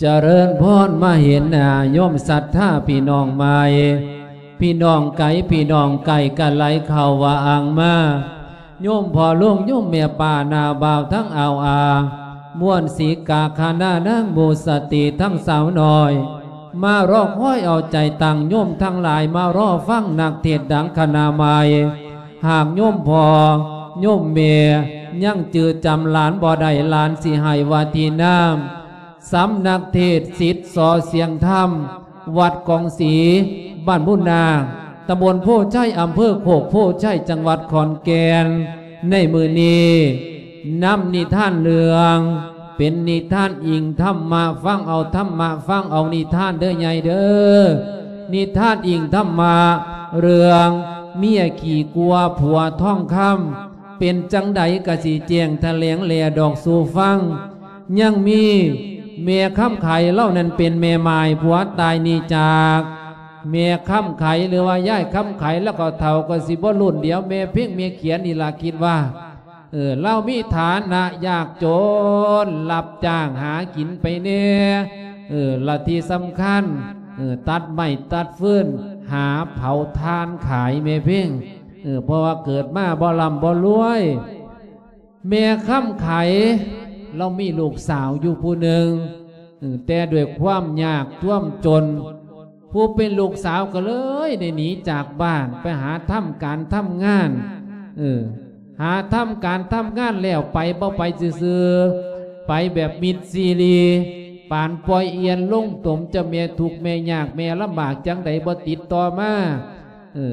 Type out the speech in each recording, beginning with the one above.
ຈະເລີນພອນ ມາເຫັນໜ້າໂຍມສັດທາພີ່ນ້ອງໃໝ່ ພີ່ນ້ອງໄກ ພີ່ນ້ອງໃກ້ກະໄຫຼເຂົ້າວ່າອ່າງມາ ໂຍມພໍ່ລຸງ ໂຍມແມ່ປ້າ ນ້າບ່າວທັງອາວອາ ມ່ວນສີກາຄະນະນາງໝູ່ສະຕີທັງສາວນ້ອຍ ມາລໍຄອຍເອົາໃຈຕັ້ງໂຍມທັງຫຼາຍ ມາລໍຟັງນັກເທດດັງຄະນະໃໝ່. ຫາກໂຍມພໍ່ໂຍມແມ່ຍັງຈື່ຈຳຫຼານບໍ່ໄດ້ ຫຼານຊິໃຫ້ວ່າທີ່ນາມ ສຳນັກເທດສິດ ສ ສຽງທຳ ວັດກອງສີ ບ້ານບຸນນາງ ຕຳບົນໂພໄຊ ອຳເພີໂຄກໂພໄຊ ຈັງຫວັດຂອນແກ່ນ. ໃນມື້ນີ້ ນຳນິທານເລື່ອງ ເປັນນິທານອີງທຳມະ ຟັງເອົາທຳມະ ຟັງເອົານິທານເດີໃຫຍ່ເດີ ນິທານອີງທຳມະ ເລື່ອງເມຍຂີ້ກົວຜົວທອງຄຳ ເປັນຈັ່ງໃດກະຊິແຈ້ງຖະແຫຼງແຫຼດອກສູ່ຟັງ. ຍັງມີແມ່ຄຳໄຂ ລາວນັ້ນເປັນແມ່ໝ້າຍ ຜົວຕາຍໜີຈາກ ແມ່ຄຳໄຂ ຫຼືວ່າຍາຍຄຳໄຂ ລາວກໍເຖົ້າກໍຊິບໍ່ລຸ້ນດຽວແມ່ເພັງແມ່ຂຽນນີ້ລະ ຄິດວ່າ ເອີ ລາວມີຖານະຍາກຈົນ ຮັບຈ້າງຫາກິນໄປແດ່ ເອີ ລະທີ່ສຳຄັນ ເອີ ຕັດໄມ້ຕັດຟືນ ຫາເຜົາຖ່ານຂາຍແມ່ເພັງ ເອີ ເພາະວ່າເກີດມາບໍ່ລ່ຳບໍ່ລວຍ. ແມ່ຄຳໄຂ ລາວມີລູກສາວຢູ່ຜູ້ໜຶ່ງ ເອີ ແຕ່ດ້ວຍຄວາມຍາກຈວມຈົນ ຜູ້ເປັນລູກສາວກໍເລີຍໄດ້ໜີຈາກບ້ານ ໄປຫາທຳການທຳງານ ເອີ ຫາທຳການທຳງານແລ້ວ ໄປບໍ່ໄປຊື່ໆ ໄປແບບມິດຊີຣີ ປານປ່ອຍອຽນລົງຕົມ ເຈົ້າແມ່ທຸກແມ່ຍາກແມ່ລຳບາກຈັ່ງໃດບໍ່ຕິດຕໍ່ມາ ເອີ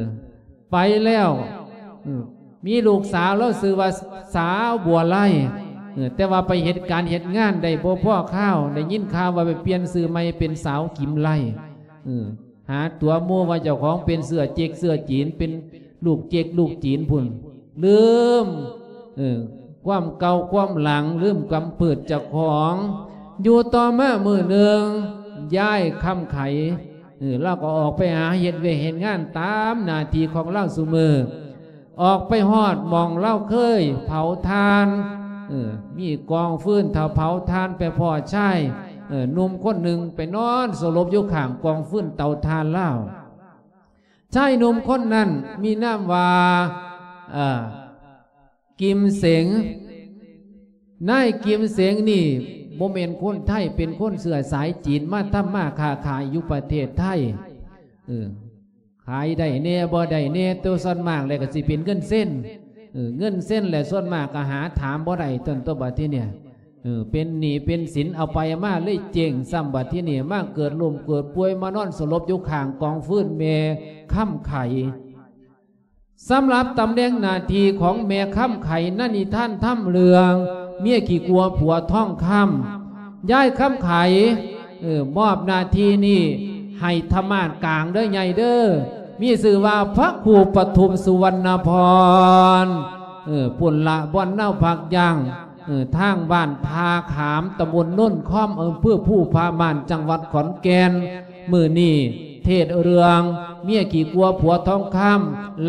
ໄປແລ້ວ ເອີ ມີລູກສາວ ລາວຊື່ວ່າສາວບົວໄລ ເອີ ແຕ່ວ່າໄປເຮັດການເຮັດງານໄດ້ບໍ່ພໍຄາວ ໄດ້ຍິນຂ່າວວ່າໄປປ່ຽນຊື່ໃໝ່ເປັນສາວກິມໄລ ເອີ ຫາຕົວໂມ້ວ່າເຈົ້າຂອງເປັນເຊື້ອເຈັກເຊື້ອຈີນ ເປັນລູກເຈັກລູກຈີນພຸ້ນ ລືມ ເອີ ຄວາມເກົ່າຄວາມຫຼັງ ລືມກຳພືດເຈົ້າຂອງ. ຢູ່ຕໍ່ມາມື້ໜຶ່ງ ຍາຍຄຳໄຂ ເອີ ລາວກໍອອກໄປຫາເຮັດວຽກເຮັດງານຕາມໜ້າທີ່ຂອງລາວຊຸມື້ ອອກໄປຮອດໝ່ອງລາວເຄີຍເຜົາຖ່ານ ເອີ ມີກອງຟືນ ຖ້າເຜົາຖ່ານໄປພໍ້ຊາຍ ເອີ ໜຸ່ມຄົນໜຶ່ງໄປນອນສະຫຼົບຢູ່ຂ້າງກອງຟືນເຕົາຖ່ານລາວ. ຊາຍໜຸ່ມຄົນນັ້ນມີນາມວ່າ ເອີ ກິມເສັງ. ນາຍກິມເສັງນີ້ບໍ່ແມ່ນຄົນໄທ ເປັນຄົນເຊື້ອສາຍຈີນ ມາທຳມາຄ້າຂາຍຢູ່ປະເທດໄທ ເອີ ຂາຍໄດ້ແດ່ບໍ່ໄດ້ແດ່ ແຕ່ສ່ວນມາກແລ້ວກໍຊິເປັນເງິນເຊັນ ເອີ ເງິນເຊັນແຫຼະ ສ່ວນມາກກໍຫາຖາມບໍ່ໄດ້ ຕົນຕົວບັດທີເນີ້ຍ ເອີ ເປັນໜີ້ເປັນສິນ ເອົາໄປເອົາມາເລີຍເຈັງຊ້ຳ ບັດທີນີ້ມາເກີດລົ້ມເກີດປ່ວຍ ມານອນສະຫຼົບຢູ່ຂ້າງກອງຟືນແມ່ຄຳໄຂ. ສຳລັບຕຳແໜ່ງໜ້າທີ່ຂອງແມ່ຄຳໄຂໃນນິທານທຳເລື່ອງເມຍຂີ້ກົວຜົວທອງຄຳ ຍາຍຄຳໄຂ ເອີ ມອບໜ້າທີ່ນີ້ໃຫ້ທະມາດກາງເດີໃຫຍ່ເດີ ມີຊື່ວ່າພະຄູປະທຸມສຸວັນນະພອນ ເອີ ພຸ້ນລະ ບ່ອນເຮົາພັກຢ່າງ ເອີ ທາງບ້ານທ່າຂາມ ຕຳບົນໂນນຄອມ ອຳເພີພູຜາມ່ານ ຈັງຫວັດຂອນແກ່ນ. ມື້ນີ້ເທດເລື່ອງເມຍຂີ້ກົວຜົວທອງຄຳ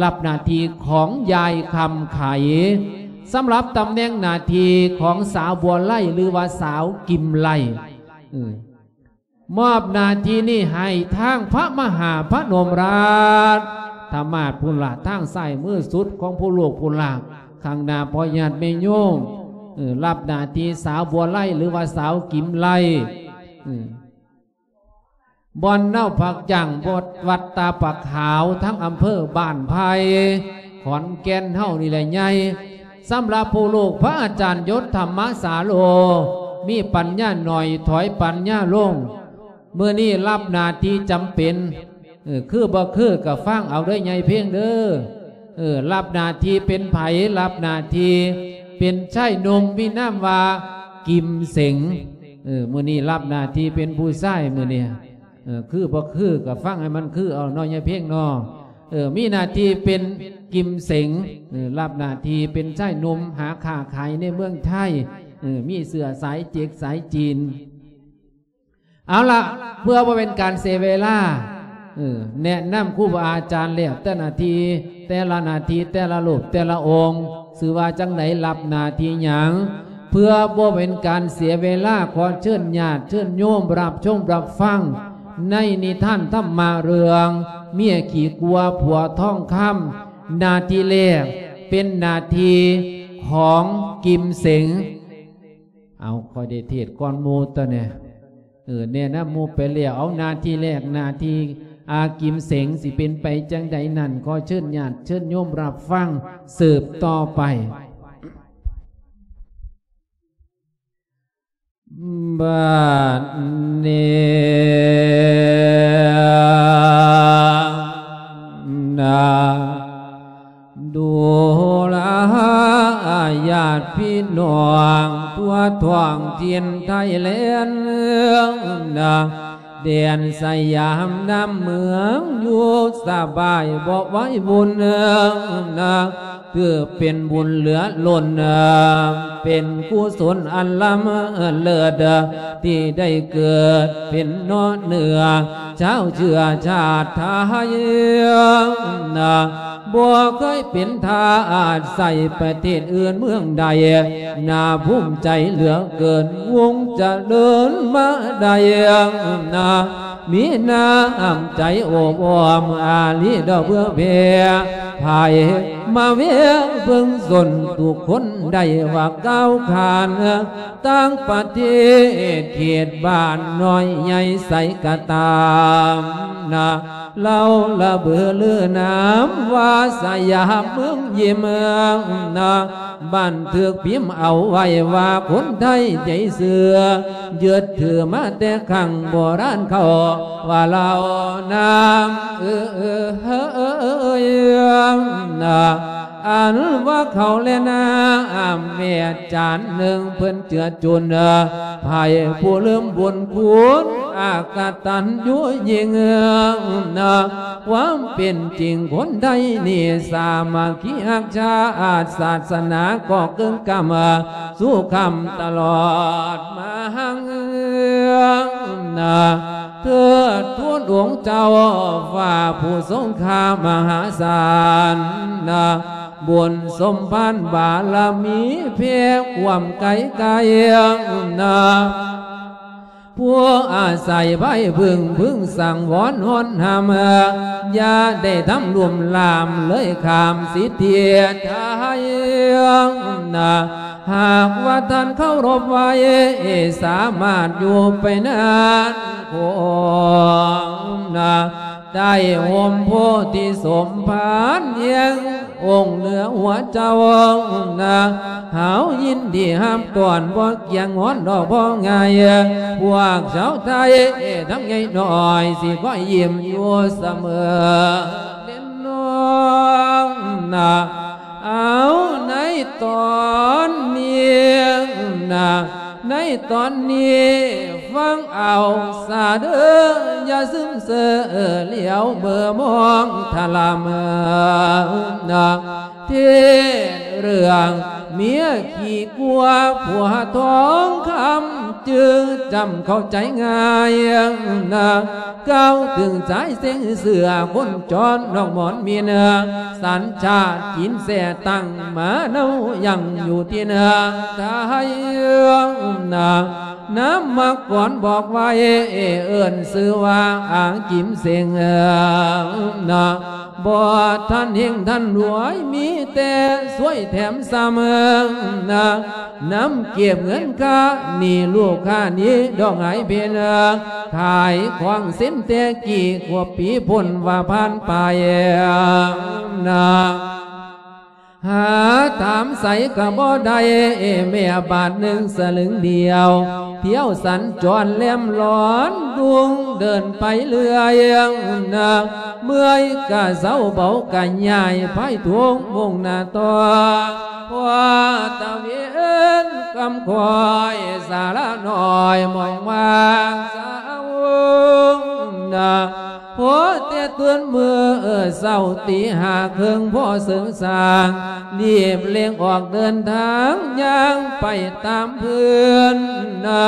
ຮັບໜ້າທີ່ຂອງຍາຍຄຳໄຂ. ສຳລັບຕຳແໜ່ງໜ້າທີ່ຂອງສາວບົວໄລ ຫຼືວ່າສາວກິມໄລ ເອີ ມອບໜ້າທີ່ນີ້ໃຫ້ທາງພະມະຫາພະນົມລາຊທະມາດພຸ້ນລະ ທາງຊ້າຍມືສຸດຂອງຜູ້ລູກພຸ້ນລະ ຂ້າງໜ້າພໍ່ຍາດແມ່ໂຍມ ເອີ ຮັບໜ້າທີ່ສາວບົວໄລ ຫຼືວ່າສາວກິມໄລ ເອີ ບ່ອນເຮົາພັກຢ່າງ ວັດຕາປາຂາວ ທັງອຳເພີບ້ານໄຜ່ ຂອນແກ່ນເຮົານີ້ແຫຼະໃຫຍ່. ສຳລັບຜູ້ລູກພະອາຈານຍົດທຳມະສາໂລ ມີປັນຍາໜ້ອຍ ຖອຍປັນຍາລົງ ມື້ນີ້ຮັບໜ້າທີ່ຈຳເປັນ ເອີ ຄືບໍ່ຄືກໍຟັງເອົາເດີໃຫຍ່ເພັງເດີ. ເອີ ຮັບໜ້າທີ່ເປັນໃຜ? ຮັບໜ້າທີ່ເປັນຊາຍໜຸ່ມ ມີນາມວ່າກິມເສັງ. ເອີ ມື້ນີ້ຮັບໜ້າທີ່ເປັນຜູ້ຊາຍ ມື້ນີ້ ເອີ ຄືບໍ່ຄືກໍຟັງໃຫ້ມັນຄືເອົາເນາະ ຍາຍເພັງເນາະ. ເອີ ມີໜ້າທີ່ເປັນກິມເສັງ ເອີ ຮັບໜ້າທີ່ເປັນຊາຍໜຸ່ມ ຫາຄ້າຂາຍໃນເມືອງໄທ ເອີ ມີເຊື້ອສາຍເຈັກສາຍຈີນ. ເອົາລະ ເພື່ອບໍ່ເປັນການເສຍເວລາ ເອີ ແນະນຳຄູບາອາຈານແລ້ວ ແຕ່ໜ້າທີ່ ແຕ່ລະໜ້າທີ່ ແຕ່ລະຮູບ ແຕ່ລະອົງ ຊື່ວ່າຈັ່ງໃດ ຮັບໜ້າທີ່ຫຍັງ? ເພື່ອບໍ່ເປັນການເສຍເວລາ ຂໍເຊີນຍາດເຊີນໂຍມຮັບຊົມຮັບຟັງໃນນິທານທຳມະເລື່ອງເມຍຂີ້ກົວຜົວທອງຄຳ. ໜ້າທີ່ແລກເປັນໜ້າທີ່ຂອງກິມເສັງ. ເອົາ ຂ້ອຍໄດ້ເທດກ່ອນໝູ່ຕົວນີ້. ເອີ ແນະນຳໝູ່ໄປແລ້ວ. ເອົາ ໜ້າທີ່ແລກ ໜ້າທີ່ ອາ ກິມເສັງ ຊິເປັນໄປຈັ່ງໃດນັ້ນ ຂໍເຊີນຍາດເຊີນໂຍມຮັບຟັງສືບຕໍ່ໄປ. ບັດນີ້ນະ ດູລາຍາດພີ່ນ້ອງທົ່ວທ້ອງຖິ່ນໄທແລນນະ ແດນສະຫຍາມນຳເມືອງຢູ່ສະບາຍບໍ່ໄຫວບຸນນະ ຖືເປັນບຸນເຫຼືອລົ້ນນະ ເປັນກຸສົນອັນລ້ຳເລີດ ທີ່ໄດ້ເກີດເປັນເນາະເນື້ອ ຊາວເຊື້ອຊາດໄທນະ ບໍ່ເຄີຍເປັນທາດໃສ່ປະເທດອື່ນເມືອງໃດ ໜ້າພູມໃຈເຫຼືອເກີນ ວົງຈະເລີນມາໄດ້ນະ ມີນ້ຳໃຈໂອບອ້ອມອາລີດອກເພື່ອແຜ່ ໃຜມາແວ່ເບິ່ງສົນທຸກຄົນໄດ້ວ່າກ້າວຂານ ຕ່າງປະເທດເຂດບ້ານນ້ອຍໃຫຍ່ໃສກະຕາມນະ ລາວລະເບີລືນາມວ່າສະຫຍາມເມືອງຍິມນະ ບັນທຶກພິມເອົາໄວ້ວ່າຄົນໄທໃຈເຊື່ອ ຍຶດຖືມາແຕ່ຄັ້ງໂບລານເຂົາວ່າລາວນາມເອີຍນະ ອັນວ່າເຂົ້າແລະນ້ຳແມ່ຈານໜຶ່ງເພິ່ນເຈື່ອຈຸນ ໃຜຜູ້ລືມບຸນຄຸນ ອາກະຕັນຍູຍິ່ງນະ ຄວາມເປັນຈິງຄົນໄທນີ້ ສາມັກຄີຮັກຊາດ ສາສະໜາກໍເກີງກຳ ສູ່ຄຳຕະຫຼອດມາຫັງນະ ເທີດທູນອົງເຈົ້າຟ້າຜູ້ຊົງຄ່າມະຫາສານນະ ບຸນສົມພານບາລະມີແຜ່ຄວາມໄກໄກນະ ຜູ້ອາໄສໄພເພິ່ງ ເພິ່ງສັງວອນຮອນຫ້າມ ຢ່າໄດ້ທຳລຸ່ມລາມເລີຍຂ້າມສິດທິໄທນະ ຫາກວ່າທ່ານເຄົາລົບໄວ້ ສາມາດຢູ່ໄປນານຄົງນະ ໃຕ້ຮົ່ມໂພທິສົມພານແຫ່ງອົງເໜືອຫົວເຈົ້ານະ ເຮົາຍິນດີຮັບຕ້ອນ ບໍ່ກຽງງອນດອກບໍ່ງ່າຍ ພວກຊາວໄທທັງໃຫຍ່ນ້ອຍ ຊິຄອຍຍິ້ມຢູ່ສະເໝີເດນນ້ອງນະ ເອົາໃນຕອນນີ້ນະ ໃນຕອນນີ້ຟັງເອົາຊະເດີ ຢ່າຊຶມເຊີຫຼຽວເມີມອງທະລາມນະ ເທດເລື່ອງເມຍຂີ້ກົວຜົວທອງຄຳ ຈື່ຈຳເຂົ້າໃຈງ່າຍນະ ກ່າວເຖິງຊາຍເສັງເສື້ອຄົນຈອນນອກໝອນມິນ ສັນຊາດຈີນແຊຕັ້ງມາເນົາຍັງຢູ່ທີ່ນະ ໄທນະ ນາມມາກ່ອນບອກໄວ້ ເອີ້ນຊື່ວ່າອາກິມເສັງນະ ບໍ່ທັນເຮັງທັນລວຍ ມີແຕ່ຊ່ວຍແຖມຊ້ຳນະ ນຳເກັບເງິນຄ່າໜີ້ລູກຄ້າໜີ້ດອກຫາຍເພັນ ຂາຍຂອງເຊັ່ນແຕ່ກີ້ກວ່າປີພົ້ນວ່າຜ່ານໄປນະ ຫາຖາມໃສກໍບໍ່ໄດ້ ແມ້ບາດໜຶ່ງສະລຶງດຽວ ທ່ຽວສັນຈອນແລມລອນດຸ່ງເດີນໄປເລື້ອຍນະ ເມື່ອຍກະເຊົາເບົາກະຍ້າຍພາຍທຸງມຸ່ງໜ້າຕໍ່ ພໍຕາເວັນຄ່ຳຄ່ອຍສາລານ້ອຍໝ່ອງວ່າງເຊົານະ ພໍແຕ່ຕື່ນມື້ເຊົ້າຕີຫ້າເຄິ່ງພໍເສີງສ້າງ ລີບເລັ່ງອອກເດີນທາງຍ່າງໄປຕາມພື້ນນະ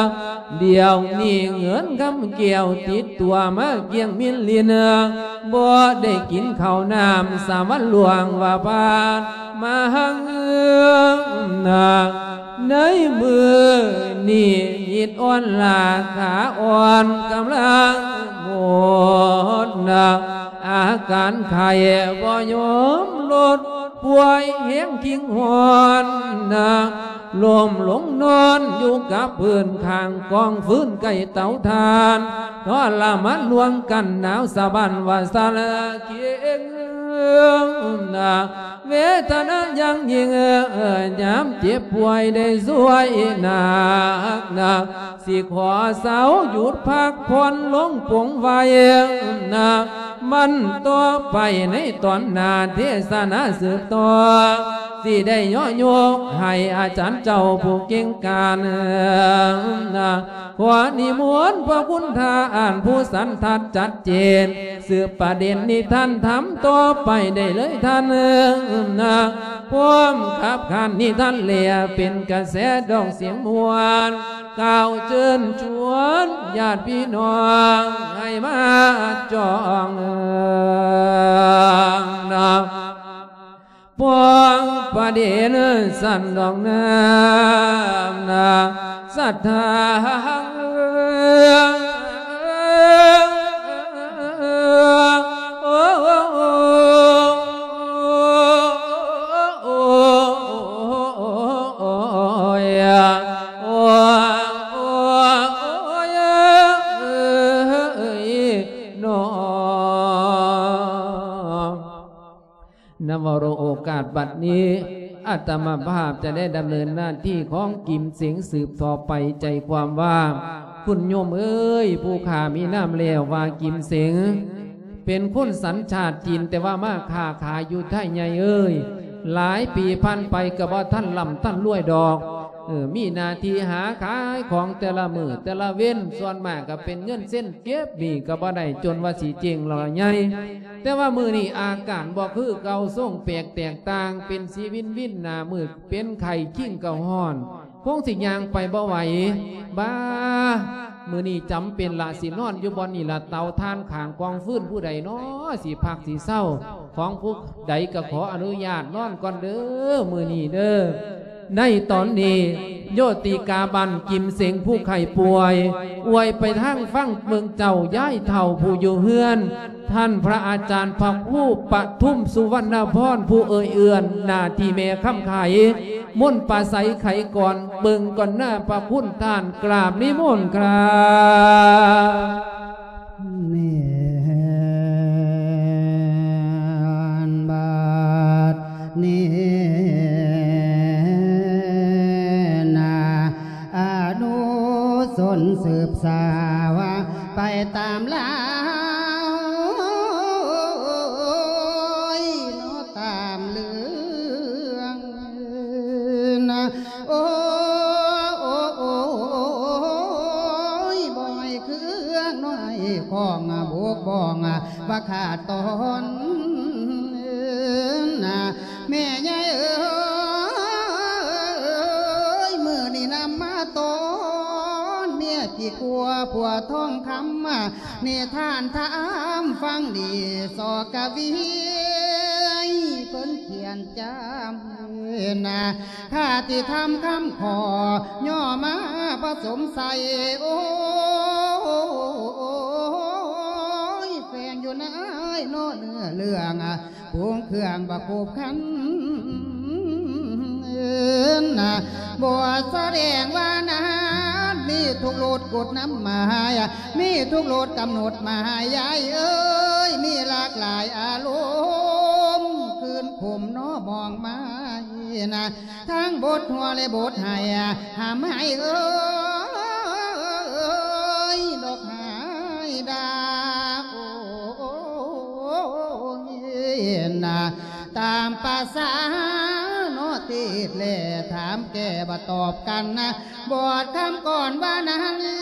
ດຽວນີ້ເງິນຄຳແກ້ວຕິດຕົວມາກ້ຽງມິນລິນ ບໍ່ໄດ້ກິນເຂົ້ານ້ຳສາມວັນລ່ວງວ່າຜ່ານ ມາຫັງນາ ໃນມື້ນີ້ ຮີດອ່ອນລາຄາອ່ອນກຳລັງໝົດນາ ອາການໄຂ້ບໍ່ຍອມລົດ ປ່ວຍແຮງຄິງຮ້ອນນາ ລົ້ມລົງນອນຢູ່ກັບພື້ນຂ້າງກອງຟືນໃກ້ເຕົາຖ່ານ ທໍລະມານລວງກັນໜາວສະບັ້ນວ່າສະລະເຄງນາ ເວທະນາຢ່າງຍິ່ງ ຍາມເຈັບປ່ວຍໄດ້ຊ່ວຍໜັກນາ ຊິຂໍເຊົາຢຸດພັກຜ່ອນລົງປົງໄວ້ນາ ມັນຕໍ່ໄປໃນຕອນໜ້າເທສະນາສືບຕໍ່ ຊິໄດ້ຍໍຍົກໃຫ້ອາຈານເຈົ້າຜູ້ເກັ່ງການນາ ຂໍນິມົນພະຄຸນທ່ານຜູ້ສັນທັດຈັດເຈນ ສືບປະເດັນນິທານທຳຕໍ່ໄປໄດ້ເລີຍທ່ານ ພ້ອມຂັບຂານນິທານແລເປັນກະແສດອກສຽງມ່ວນ ກ່າວເຊີນຊວນຍາດພີ່ນ້ອງໃຫ້ມາຈອງນາ ປ້ອງປະເດັນສັນດອກນ້ຳນາ ສັດທາ ນຳເອົາໂອກາດບັດນີ້ ອາດຕະມາພາບຈະໄດ້ດຳເນີນໜ້າທີ່ຂອງກິມເສັງສືບຕໍ່ໄປ ໃຈຄວາມວ່າ ຄຸນໂຍມເອີຍ ຜູ້ຂ້າມີນາມແລ້ວວ່າກິມເສັງ ເປັນຄົນສັນຊາດຈີນ ແຕ່ວ່າມາຄ້າຂາຍຢູ່ໄທໃຫຍ່ເອີຍ ຫຼາຍປີຜ່ານໄປກໍບໍ່ທັນລ່ຳທັນລວຍດອກ ເອີ ມີໜ້າທີ່ຫາຂາຍຂອງແຕ່ລະມື້ແຕ່ລະເວັນ ສ່ວນມາກກໍເປັນເງິນເຊັນ ເກັບໜີ້ກໍບໍ່ໄດ້ ຈົນວ່າຊິເຈັງລະໃຫຍ່ ແຕ່ວ່າມື້ນີ້ອາການບໍ່ຄືເກົ່າ ຊົງແປກແຕກຕ່າງ ເປັນສີວິນວິນໜ້າມືດ ເປັນໄຂ້ຄິງເກົາຮ້ອນ ຄົງຊິຍ່າງໄປບໍ່ໄຫວ ບາ ມື້ນີ້ຈຳເປັນລະ ຊິນອນຢູ່ບ່ອນນີ້ລະ ເຕົາຖ່ານຂ້າງກອງຟືນ ຜູ້ໃດນໍ ຊິພັກຊິເຊົາ ຂອງຜູ້ໃດກໍຂໍອະນຸຍາດນອນກ່ອນເດີ ມື້ນີ້ເດີ. ໃນຕອນນີ້ ໂຍຕິກາບ້ານກິມເສັງຜູ້ໄຂ້ປ່ວຍ ອວຍໄປທາງຝັ່ງເມືອງເຈົ້າ ຍາຍເຖົ້າຜູ້ຢູ່ເຮືອນ ທ່ານພະອາຈານພະຄູປະທຸມສຸວັນນະພອນ ຜູ້ເອີ່ຍເອື້ອນໜ້າທີ່ແມ່ຄຳໄຂ ມົນປາໄສໄຂກ່ອນ ເບິ່ງກ່ອນໜ້າພະຄຸນທ່ານ ກາບນິມົນຄາບ. ແມ່ນບາດນີ້ນາ ອະນຸຊົນສືບສາວ ໄປຕາມລາວ ເນາະ ຕາມເລື່ອງນາ ໂອ້ ໂອ້ ໂອ້ ໂອ້ຍ ບໍ່ໃຫ້ເຄື່ອງນ້ອຍຂອງບົກບ້ອງ ວ່າຂາດຕອນນາ ແມ່ໃຫຍ່ເອີຍ ມື້ນີ້ນຳມາຕ້ອນເມຍຂີ້ກົວຜົວທອງຄຳ ນິທານທຳຟັງດີ ສອກະວີ ເພິ່ນຂຽນຈຳນາ ຄາຕິທຳຄຳຂໍ ຍໍມາປະສົມໃສ່ ໂອ້ຍ ແຝງຢູ່ໃນເນາະເນື້ອເລື່ອງ ປຸງເຄື່ອງບໍ່ຄົບຄັນນາ ບົດສະແດງວ່ານັ້ນ ມີທຸກລົດກົດນຳໝາຍ ມີທຸກລົດກຳນົດໝາຍ ຍາຍເອີຍ ມີຫຼາກຫຼາຍອາລົມ ຄືນຂົມເນາະມອງມາຍນາ ທັງບົດຫົວ ແລະ ບົດໄຫ້ ຫາມໃຫ້ເອີຍ ດອກໄຫ້ດາ ໂອ້ຍນາ ຕາມປະສາເນາະ ຕິດແລຖາມແກ່ບໍ່ຕອບກັນນາ ບອດຄຳກ່ອນວ່ານັ້ນ ເອີ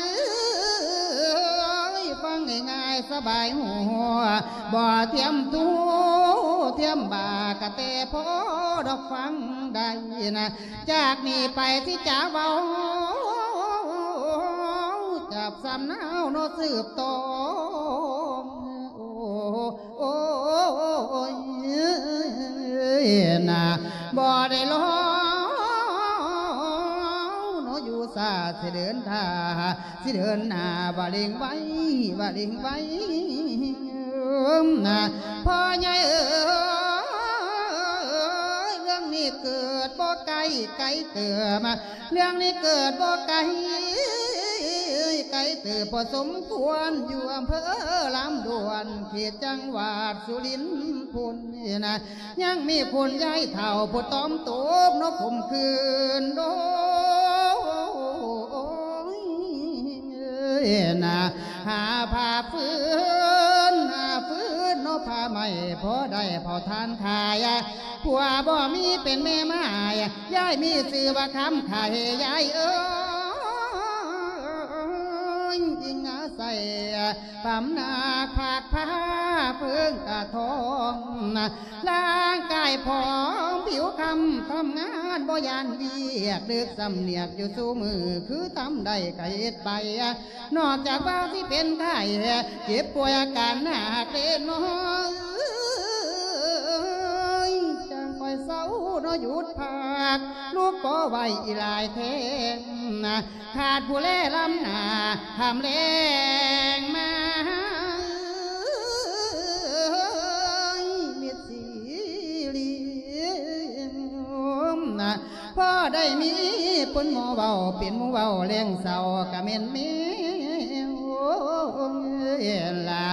ຍ ຟັງງ່າຍໆ ສະບາຍຫົວ ບໍ່ທຽມທູທຽມບາ ກະແຕ່ພໍດອກຟັງໄດ້ນາ ຈາກນີ້ໄປທີ່ຈະເວົ້າ ຈັບສຳເນົາເນາະສືບຕໍ່ ໂອ້ ໂອ້ຍ ນາ ບໍ່ໄດ້ລໍເນາະຢູ່ສາ ຊິເດີນທ່າ ຊິເດີນໜ້າ ວ່າເລັ່ງໄວ ວ່າເລັ່ງໄວ ນະ ພໍ່ໃຫຍ່ເອີຍ ເລື່ອງນີ້ເກີດບໍ່ໄກ ໄກເຕີບ ເລື່ອງນີ້ເກີດບໍ່ໄກ ໄກເຕີບພໍສົມຄວນ ຢູ່ອຳເພີລຳດວນ ເຂດຈັງຫວັດສຸລິນພຸ້ນນະ ຍັງມີຄຸນຍາຍເຖົ້າຜູ້ຕ້ອມໂຕບເນາະ ຂົ່ມຂືນໂດຍນະ ຫາຜ້າຟືນ ຫາຟືນເນາະ ຜ້າໄມ້ພໍໄດ້ເຜົາຖ່ານຂາຍ ຜົວບໍ່ມີເປັນແມ່ໝ້າຍ ຍາຍມີຊື່ວ່າຄຳໄຂ ຍາຍເອີຍ ອີງອາໄສ ປຳນາຄາກຜ້າເພິ່ງກະທອງ ຮ່າງກາຍຜອມຜິວຄຳ ທຳງານບໍ່ຢ້ານວຽກ ດຶກສຳນຽກຢູ່ສູ່ມື້ ຄືທຳໄດ້ກະເຮັດໄປ ນອກຈາກວ່າຊິເປັນໄຂ້ ເຈັບປ່ວຍອາການໜັກເດເນາະ ຈັ່ງຄ່ອຍເຊົາເນາະ ຢຸດພັກ ລູກກໍໄວອີຫຼາຍແທ້ ຂາດຜູ້ແລລຳໜ້າ ຄຳແລງມາ ມິດຊີລີ ພໍໄດ້ມີຄົນໝໍເວົ້າ ເປັນໝູ່ເວົ້າແລງເຊົາ ກະແມ່ນແມວລະ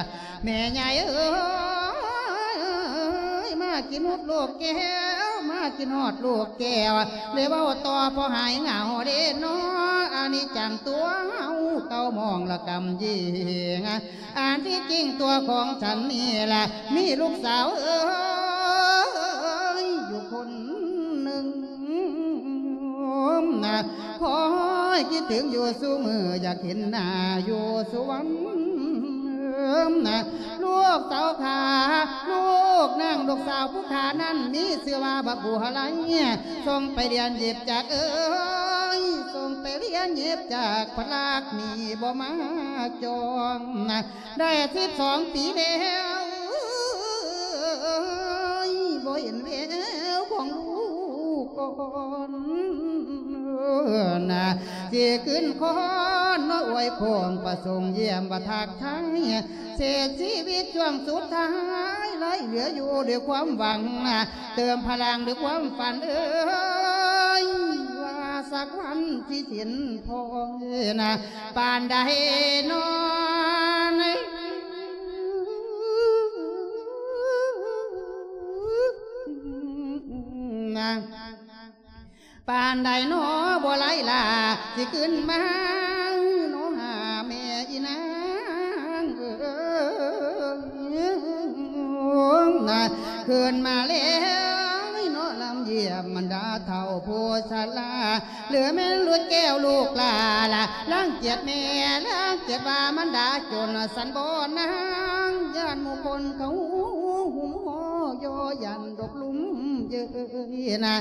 ແມ່ໃຫຍ່ເອີຍ ມາກິນຮອດລູກແກ້ວ ມາກິນຮອດລູກແກ້ວ ໄດ້ເວົ້າຕໍ່ພໍຫາຍເຫງົາເດເນາະ ອານິດຈັງຕົວເຮົາ ເກົ່າມອງລະກຳຍິງ ອັນທີ່ຈິງຕົວຂອງສັນນີ້ລະ ມີລູກສາວເອີຍ ຢູ່ຄົນໜຶ່ງ ຄອຍຄິດເຖິງຢູ່ສູ່ມື້ ຢາກເຫັນໜ້າຢູ່ສູ່ວັນ ລູກສາວຂ້າ ລູກນາງ ລູກສາວຜູ້ຂ້ານັ້ນ ມີຊື່ວ່າບັກບົວໄລ ສົ່ງໄປຮຽນເຢັບຈັກເອີຍ ສົ່ງໄປຮຽນເຢັບຈັກ ພະລັກນີ້ບໍ່ມາຈອງ ໄດ້ສິບສອງປີແລ້ວ ບໍ່ເຫັນແວວຂອງລູກກ່ອນ ນະ ຊິຂຶ້ນຄອນເນາະ ອວຍພອນປະສົງຢ້ຽມວ່າທັກທາຍ ເສດຊີວິດຊ່ວງສຸດທ້າຍ ໄຫຼເຫຼືອຢູ່ດ້ວຍຄວາມຫວັງນະ ເຕີມພະລັງດ້ວຍຄວາມຝັນເອີຍ ວ່າສັກວັນຊິເຫັນພໍ່ນະ ປານໃດນອນ ນະ ປານໃດໜໍບໍ່ໄຫຼລາ ຊິຂຶ້ນມາໜໍຫາແມ່ອີນາງເອີຍ ນະ ຂຶ້ນມາແລ້ວໜໍລຳຢ້ຽມບັນດາເຖົ້າຜູ້ຊະລາ ຫຼືແມ່ນລູກແກ້ວລູກຫຼາລະ ລັງກຽດແມ່ ລັງກຽດວ່າມັນດາຈົນ ສັນບໍ່ນາງ ຢ້ານໝູ່ຄົນເຂົາຫຸ້ມຫໍ່ຍໍ ຢ້ານດົບລຸມເຍີຍນະ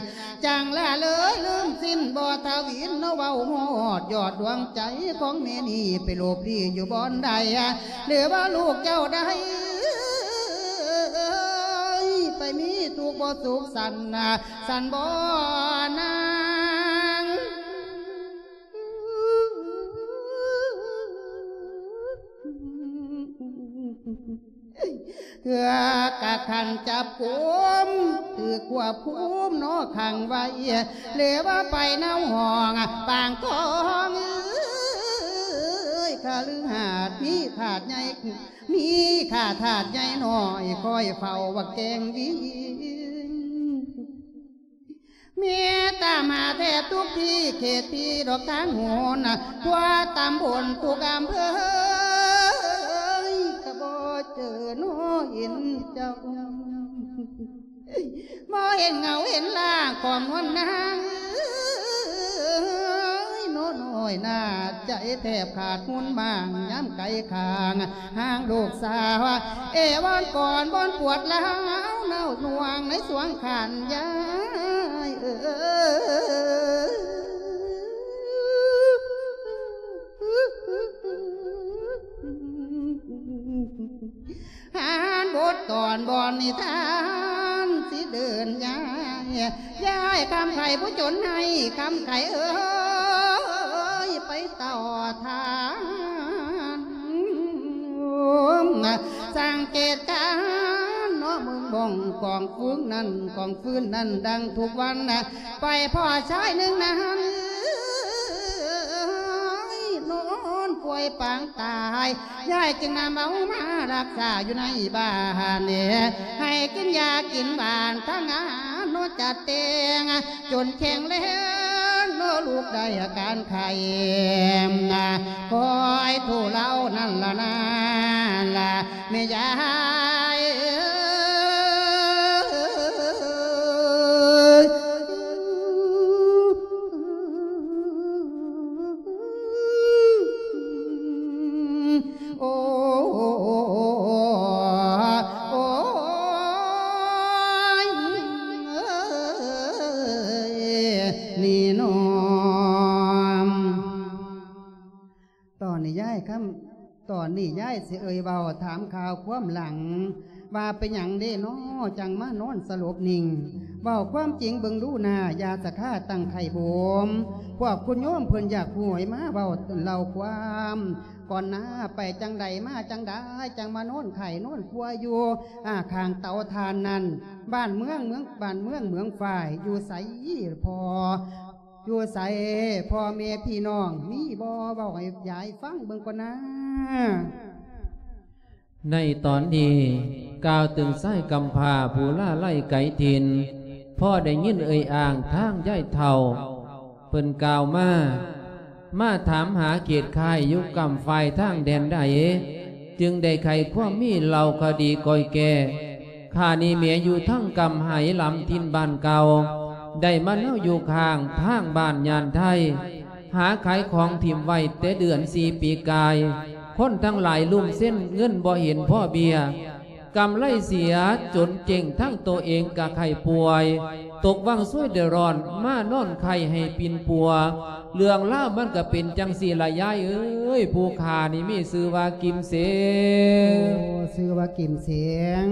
ຈັ່ງລະເລີຍລືມສິ້ນບໍ່ທະວິນເນາະ ເວົ້າຮອດຍອດດວງໃຈຂອງແມ່ນີ້ ໄປຫຼົບຫຼີ້ຢູ່ບ່ອນໃດ ຫຼືວ່າລູກເຈົ້າໃດ ໄປມີທຸກບໍ່ສຸກສັນນະ ສັນບໍ່ນາງ ເທື່ອກະຄັນຈັບກຸມ ຖືກຄວບຄຸມເນາະຂັງໄວ້ ຫຼືວ່າໄປນຳຫ້ອງປາງທອງເອີຍ ຄະລືຫາດມີທາດໃຫຍ່ ມີຂ້າທາດໃຫຍ່ນ້ອຍ ຄອຍເຝົ້າວ່າແກງວິງ ແມ່ຕາມຫາແທບທຸກທີ່ ເຂດທີ່ດອກທາງໂຫນ ທົ່ວຕຳບົນທຸກອຳເພີ ກະບໍ່ເຈີນ້ອເຫັນເຈົ້າ ບໍ່ເຫັນເງົາເຫັນຮ່າງຂອງນວນນາງເອີຍ ນ້ອຍໜ້າໃຈແທບຂາດຮຸນບາງ ຍາມໄກຂ້າງ ຫາງລູກສາວ ເອວອນກອນບ່ອນປວດຮ້າວ ເນົ່າໜ່ວງໃນສວງຂັນຍາຍເອີຍ ອ່ານບົດຕອນບ່ອນນິທານ ຊິເດີນຍາຍ ຍາຍຄຳໄຂຜູ້ຈົນໃຫ້ຄຳໄຂເອີຍ ໄປຕໍ່ທາງ ສັງເກດການເນາະ ເບິ່ງບ້ອງກອງຟືນນັ້ນ ກອງຟືນນັ້ນ ດັ່ງທຸກວັນນະ ໄປພໍ້ຊາຍໜຶ່ງນັ້ນ ນອນປ່ວຍປາງຕາຍ ຍາຍຈຶ່ງນຳເອົາມາຮັກສາຢູ່ໃນບ້ານ ໃຫ້ກິນຢາກິນຫວານ ທັງອານຸຈັດແຕ່ງ ຈົນແຂງແຮງເນາະ ລູກໄດ້ອາການໄຂ້ ຄອຍທຸເລົານັ້ນລະນາ ລະແມ່ຍາຍເອີຍ. ໂອ້ ໂອ້ຍ ນີ້ນ້ອງ ຕອນນີ້ຍາຍຄຳ ຕອນນີ້ຍາຍຊິເອີ່ຍເວົ້າຖາມຂ່າວຄວາມຫຼັງ ວ່າເປັນຫຍັງເດເນາະ ຈັ່ງມານອນສະຫຼົບນິ່ງ ເວົ້າຄວາມຈິງເບິ່ງດູໜ້າ ຢ່າສະຄາຕັ້ງໄຂ້ໂບມ ພວກຄຸນໂຍມເພິ່ນຢາກຮູ້ໃຫ້ມາເວົ້າເລົ່າຄວາມ ກ່ອນໜ້າໄປຈັ່ງໃດມາຈັ່ງໃດ ຈັ່ງມານອນໄຂ້ນອນປ່ວຍຢູ່ ອາ ຂ້າງເຕົາຖ່ານນັ້ນ ບ້ານເມືອງ ເມືອງ ບ້ານເມືອງເມືອງຝ້າຍ ຢູ່ໃສພໍ່ ຢູ່ໃສພໍ່ແມ່ພີ່ນ້ອງ ມີບໍ່ ເວົ້າໃຫ້ຍາຍຟັງເບິ່ງກ່ອນນາ. ໃນຕອນນີ້ກ່າວເຖິງຊາຍກຳພ້າຜູ້ລາໄລໄກຖິ່ນ ພໍໄດ້ຍິນເອີ່ຍອ້າງທາງຍາຍເຖົ້າ ເພິ່ນກ່າວມາ ມາຖາມຫາເຂດຄ້າຍຢູ່ກ້ຳຝ້າຍທາງແດນໃດ ຈຶ່ງໄດ້ໄຂຄວາມມີເລົ່າຄະດີກ່ອຍແກ່ ຂ້ານີ້ແມ່ຢູ່ທາງກ້ຳໄຫຫຼຳຖິ່ນບ້ານເກົ່າ ໄດ້ມາເນົາຢູ່ຂ້າງທາງບ້ານຍານໄທ ຫາຂາຍຂອງຖິ້ມໄວ້ແຕ່ເດືອນສີ່ປີກາຍ ຄົນທັງຫຼາຍລຸມເຊັນເງິນບໍ່ເຫັນພໍເບ້ຍ ກຳໄລເສຍຈົນເຈັງ ທັງໂຕເອງກະໄຂ້ປ່ວຍ ຕົກວັງຊວຍເດືອດຮ້ອນ ມານອນໄຂ້ໃຫ້ປິ່ນປົວ ເລື່ອງລາວມັນກະເປັນຈັ່ງຊີ້ລະຍາຍເອີຍ ຜູ້ຂ້ານີ້ມີຊື່ວ່າກິມເສງ. ໂອ້ ຊື່ວ່າກິມເສງ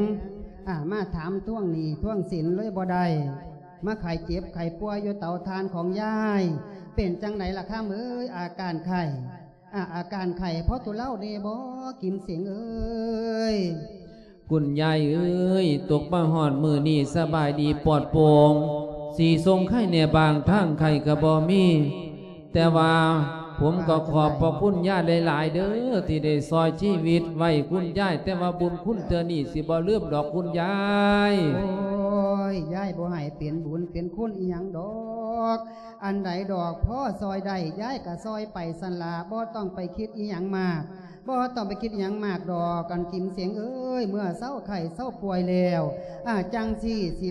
ອາ ມາຖາມທວງໜີ້ທວງສິນເລີຍບໍ່ໄດ້ ມາໄຂ້ເຈັບໄຂ້ປ່ວຍຢູ່ເຕົາຖ່ານຂອງຍາຍ ເປັນຈັ່ງໃດລະຄຳເອີຍ ອາການໄຂ້ ອາ ອາການໄຂ້ພໍທຸເລົາແດ່ບໍ່ ກິມເສງເອີຍ? ຄຸນຍາຍເອີຍ ຕົກມາຮອດມື້ນີ້ສະບາຍດີປອດໂປ່ງ ສີສົງໄຄແດ່ບາງ ທາງໄຂ້ກະບໍ່ມີ ແຕ່ວ່າຜົມກະຂອບພະຄຸນຍາຍຫຼາຍໆເດີ ທີ່ໄດ້ຊ່ອຍຊີວິດໄວ້ຄຸນຍາຍ ແຕ່ວ່າບຸນຄຸນເທື່ອນີ້ຊິບໍ່ລືມດອກຄຸນຍາຍ. ໂອ້ຍ ຍາຍບໍ່ໃຫ້ເປັນບຸນເປັນຄຸນອີ່ຫຍັງດອກ ອັນໃດດອກພໍຊ່ອຍໄດ້ ຍາຍກະຊ່ອຍໄປຊັ້ນລະ ບໍ່ຕ້ອງໄປຄິດອີ່ຫຍັງມາກ ບໍ່ຕ້ອງໄປຄິດອີ່ຫຍັງມາກດອກ ອັນກິມເສງເອີຍ ເມື່ອເຊົາໄຂ້ເຊົາປ່ວຍແລ້ວ ອາ ຈັ່ງຊີ້ຊິ